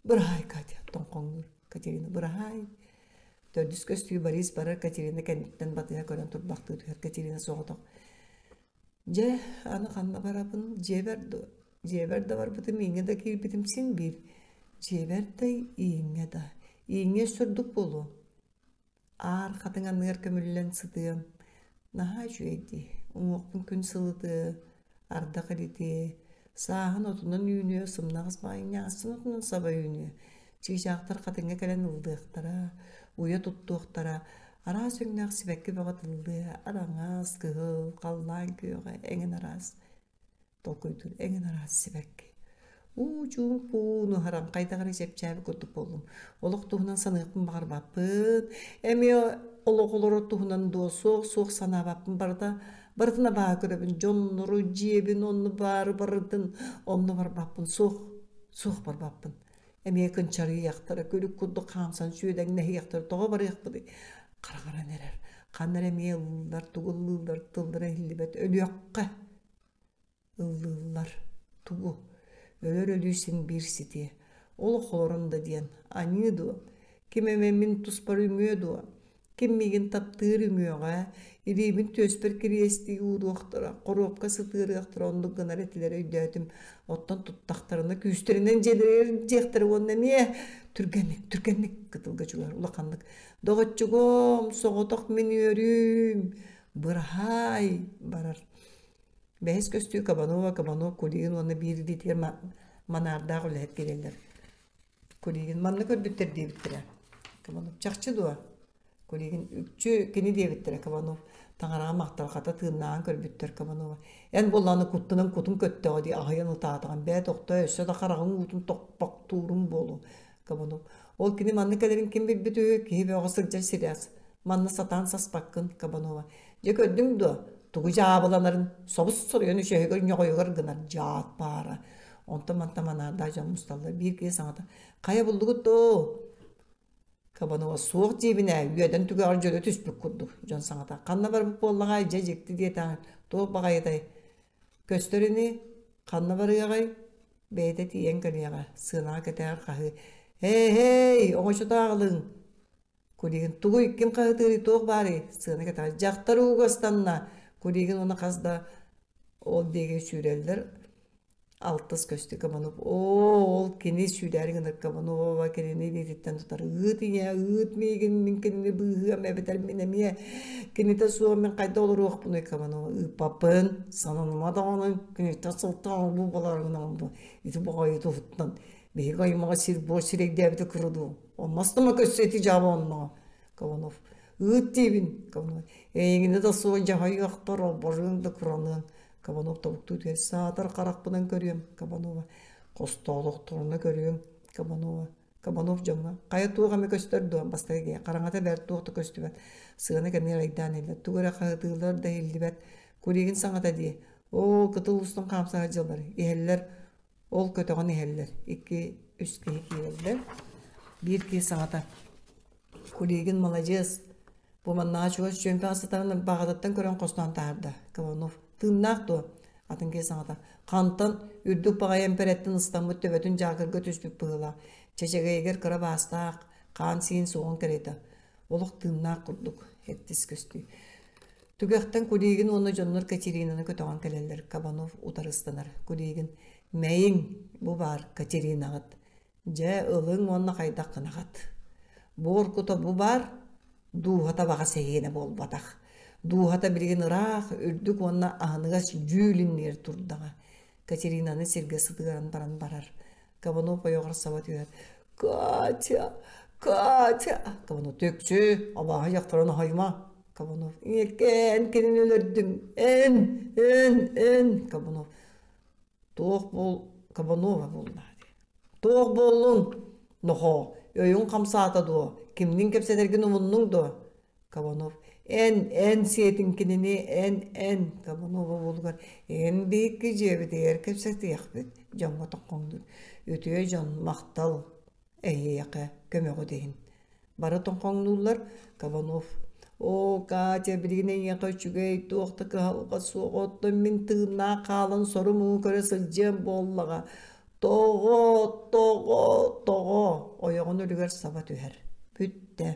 Быраһаай, Катя, тоҥхоҥнуур. Катерина, быраһаай. Төрдүс көстүү Борис барар Катерина кэнниттэн батыһа көрөн турбахтыы түһэр Катерина соҕотох. Дьэ, аны ханна барабын? Дьиэбэр дуо? Дьиэбэр да барбытым, ииҥҥэ да киирбитим син биир. Дьиэбэр да, ииҥҥэ да. Ииҥҥэ өссө ордук буолуо. Аар хатыҥ анныгар көмүллэн сытыам, наһаа үчүгэй дии, уҥуохпун күн сылытыа, ардах илитиэ, сааһын отунан үүнүө, сымнаҕас баҕайы ньаассын отунан саба үүнүө, чыычаахтар хатыҥҥа кэлэн ыллыахтара, уйа туттуохтара, араас өҥнөөх сибэкки бөҕө тыллыа, араҥас, кыһыл, халлаан күөҕэ эҥин араас. Толкуйдуур эҥин араас сибэкки. Уу чуумпу нуһаран хайдах эрэ чэпчээбит курдук буоллум. Олох туһунан саныахпын баҕарбаппын. Эмиэ олох олорор туһунан дуо суох суох санаабаппын барыта барытын абааһы көрөбүн. Дьоннору, дьиэбин онно баары барытын онно барбаппын. Суох, суох барбаппын. Эмиэ кынчарыйыахтара, күлүк курдук хаамсан сүөдэҥнэһиэхтэрэ, тоҕо барыахпытый? Хараҕаран эрэр. Ханна эрэ эмиэ ыллыыллар, тугу ыллыыллар, тыллара иһиллибэт. Өлүөххэ ыллыыллар. Тугу? Өлөр өлүү син биир ситиэ. Олох олорон да диэн, аньыы дуо? Ким эмэ мин туспар үҥүө дуо? Ким миигин таптыыр үҥүөҕэ, илиибин түөспэр кириэстии ууруохтара, хоруопка сытыарыахтара оннук гынар этилэр өйдөөтүм. Оттон туттахтарына күүстэринэн дьиэлэригэр илдьиэхтэрэ уонна эмиэ түргэнник, түргэнник кытылга чугаһар улаханнык «Доҕоччугуом, соҕотох мин үөрүүм, быраһаай» барар. Бэһис көстүү Кабанова, Кабанов, Кулигин уонна биир илиитигэр манаардаах үлэһит киирэллэр. Кулигин манна көрбүттэр диэбиттэрэ. Кабанов чахчы дуо? Кулигин үкчү кини диэбиттэрэ Кабанов. Таҥараҕа махталхата тыыннааҕын көрбүттэр Кабанова. Эн буоллаҕына куттанан кутун көттөҕө дии аһыйан ытаатаҕын бээ тохтоо өссө да хараҕыҥ уутун тохпохтуурум буолуо Кабанов. Ол кини манна кэлэрин ким билбит үһү киһи бөҕө сылдьар сирээс. Манна сатаан саспаккын Кабанова. Дьэ көрдүҥ дуо? Тугу дьаабыланарын собус соруйан үчүгэйигэр ньоҕойугар гынар дьаат баара. Онтон мантан манаардаах дьон мусталлар. Биир киһи саҥата «Хайа буллугут доо?» Кабанова «Суох диибин ээ, үөдэн түгэҕэр дьөлө түспүт курдук» дьон саҥата «Ханна барбыт буоллаҕай, дьэ дьикти диэтэҕиҥ, туох баҕайытай? Көстөр ини, ханна барыаҕай?» Бэйэтэ тиийэн кэлиэҕэ, сыанаҕа кэтэҕэр хаһыы «Һээ-һэй, оҥочото аҕалыҥ!» Кулигин тугуй, ким хаһытыырый, туох баарый? Сыана кэтэҕэр дьахтар ууга ыстанна. Кулигин уонна хас да ол диэки сүүрэллэр. Алтыс көстүү Кабанов оо, ол кини сүүрээри гынар Кабанова кинини илиититтэн тутар ыыт ийээ, ыыт миигин, мин кинини быыһыам эбэтэр мин эмиэ кинитэ суох мин хайдах олоруохпунуй Кабанова ыыппаппын, сананыма даҕаны киниттэн сылтаан бу балар гынан бу ити баҕайы туһуттан биһиги аймаҕа сир-буор сирэйдээбитэ кыра дуу Онностомо көссө ити дьаабы онно Кабанов ыыт диибин Кабанов эйигини да суох дьаһайыахтар оборыаҥ да кыраныаҥ Кабанов тобуктуу түһэр саатар харахпынан көрүөм Кабанова хостоолохторуна көрүөм Кабанова Кабанов дьоҥҥо хайа туох эмэ көстөр дуо бастакы киһи хараҥата бэрт туох да көстүбэт сыана кэмигэр айдаан иһиллэр тугу эрэ хаһытыыллар да иһиллибэт Кулигин саҥата дии оо кытыл устун хаамса сылдьаллар иһэллэр Ол көтөҕөн иһэллэр, икки, үс киһи киирэллэр. Биир киһи саҥата: «Кулигин маладьыас, бу маннаҕа чугас чүөмпэҕэ сытарын баҕатыттан көрөн хостоон таһаарда». Кабанов: «Тыыннаах дуо?» Атын киһи саҥата: «Хантан, үрдүк баҕайы эмпэрэттэн ыстаммыт төбөтүн дьаакырга түспүт быһыылаах, чэчэгэйигэр кыра баастаах, хаан-сиин суоҕун кэриэтэ. Олох тыыннаах курдук, эттис көстүү. Түгэхтэн Кулигин уонна дьоннор Катеринаны көтөҕөн кэлэллэр. Кабанов утары ыстанар. Кулигин «Мэйиҥ, бу баар Катеринаҕыт. Дьэ, ылыҥ уонна хайдах гынаҕыт? Буор кута бу баар, дууһата баҕас эһиэнэ буолбатах. Дууһата билигин ыраах, үрдүк уонна аһыныгас дьүүл иннигэр турдаҕа». Катеринаны сиргэ сытыаран баран барар. Кабанов ойоҕор саба түһэр. «Катя! Катя!» Кабанов «Түксү! Абааһы дьахтарын аһайма!» Кабанов «Эн кинини өлөрдүҥ! Эн! Эн! Эн!» Кабанов «Туох буол Кабанова буолла Туох буоллуҥ? Нохоо! Өйүҥ хамсаата дуо? Кимниин кэпсэтэргин умуннуҥ дуо? Кабанов эн, эн сиэтиҥ кинини, эн, эн Кабанова уолугар эн биһикки дьиэбитигэр кэпсэтиэхпит дьоҥҥо тоҥхоҥнуур. Үтүө дьон, махтал эһиэхэ көмөҕүт иһин. Бары тоҥхоҥнууллар Кабанов «Оо, Катя, билигин эйиэхэ үчүгэй, туох да кыһалҕа суох, оттон мин тыыннаах хаалан сору-муҥу көрө сылдьыам буоллаҕа. Тоҕо, тоҕо, тоҕо?» Ойоҕун өлүгэр саба түһэр. Бүттэ.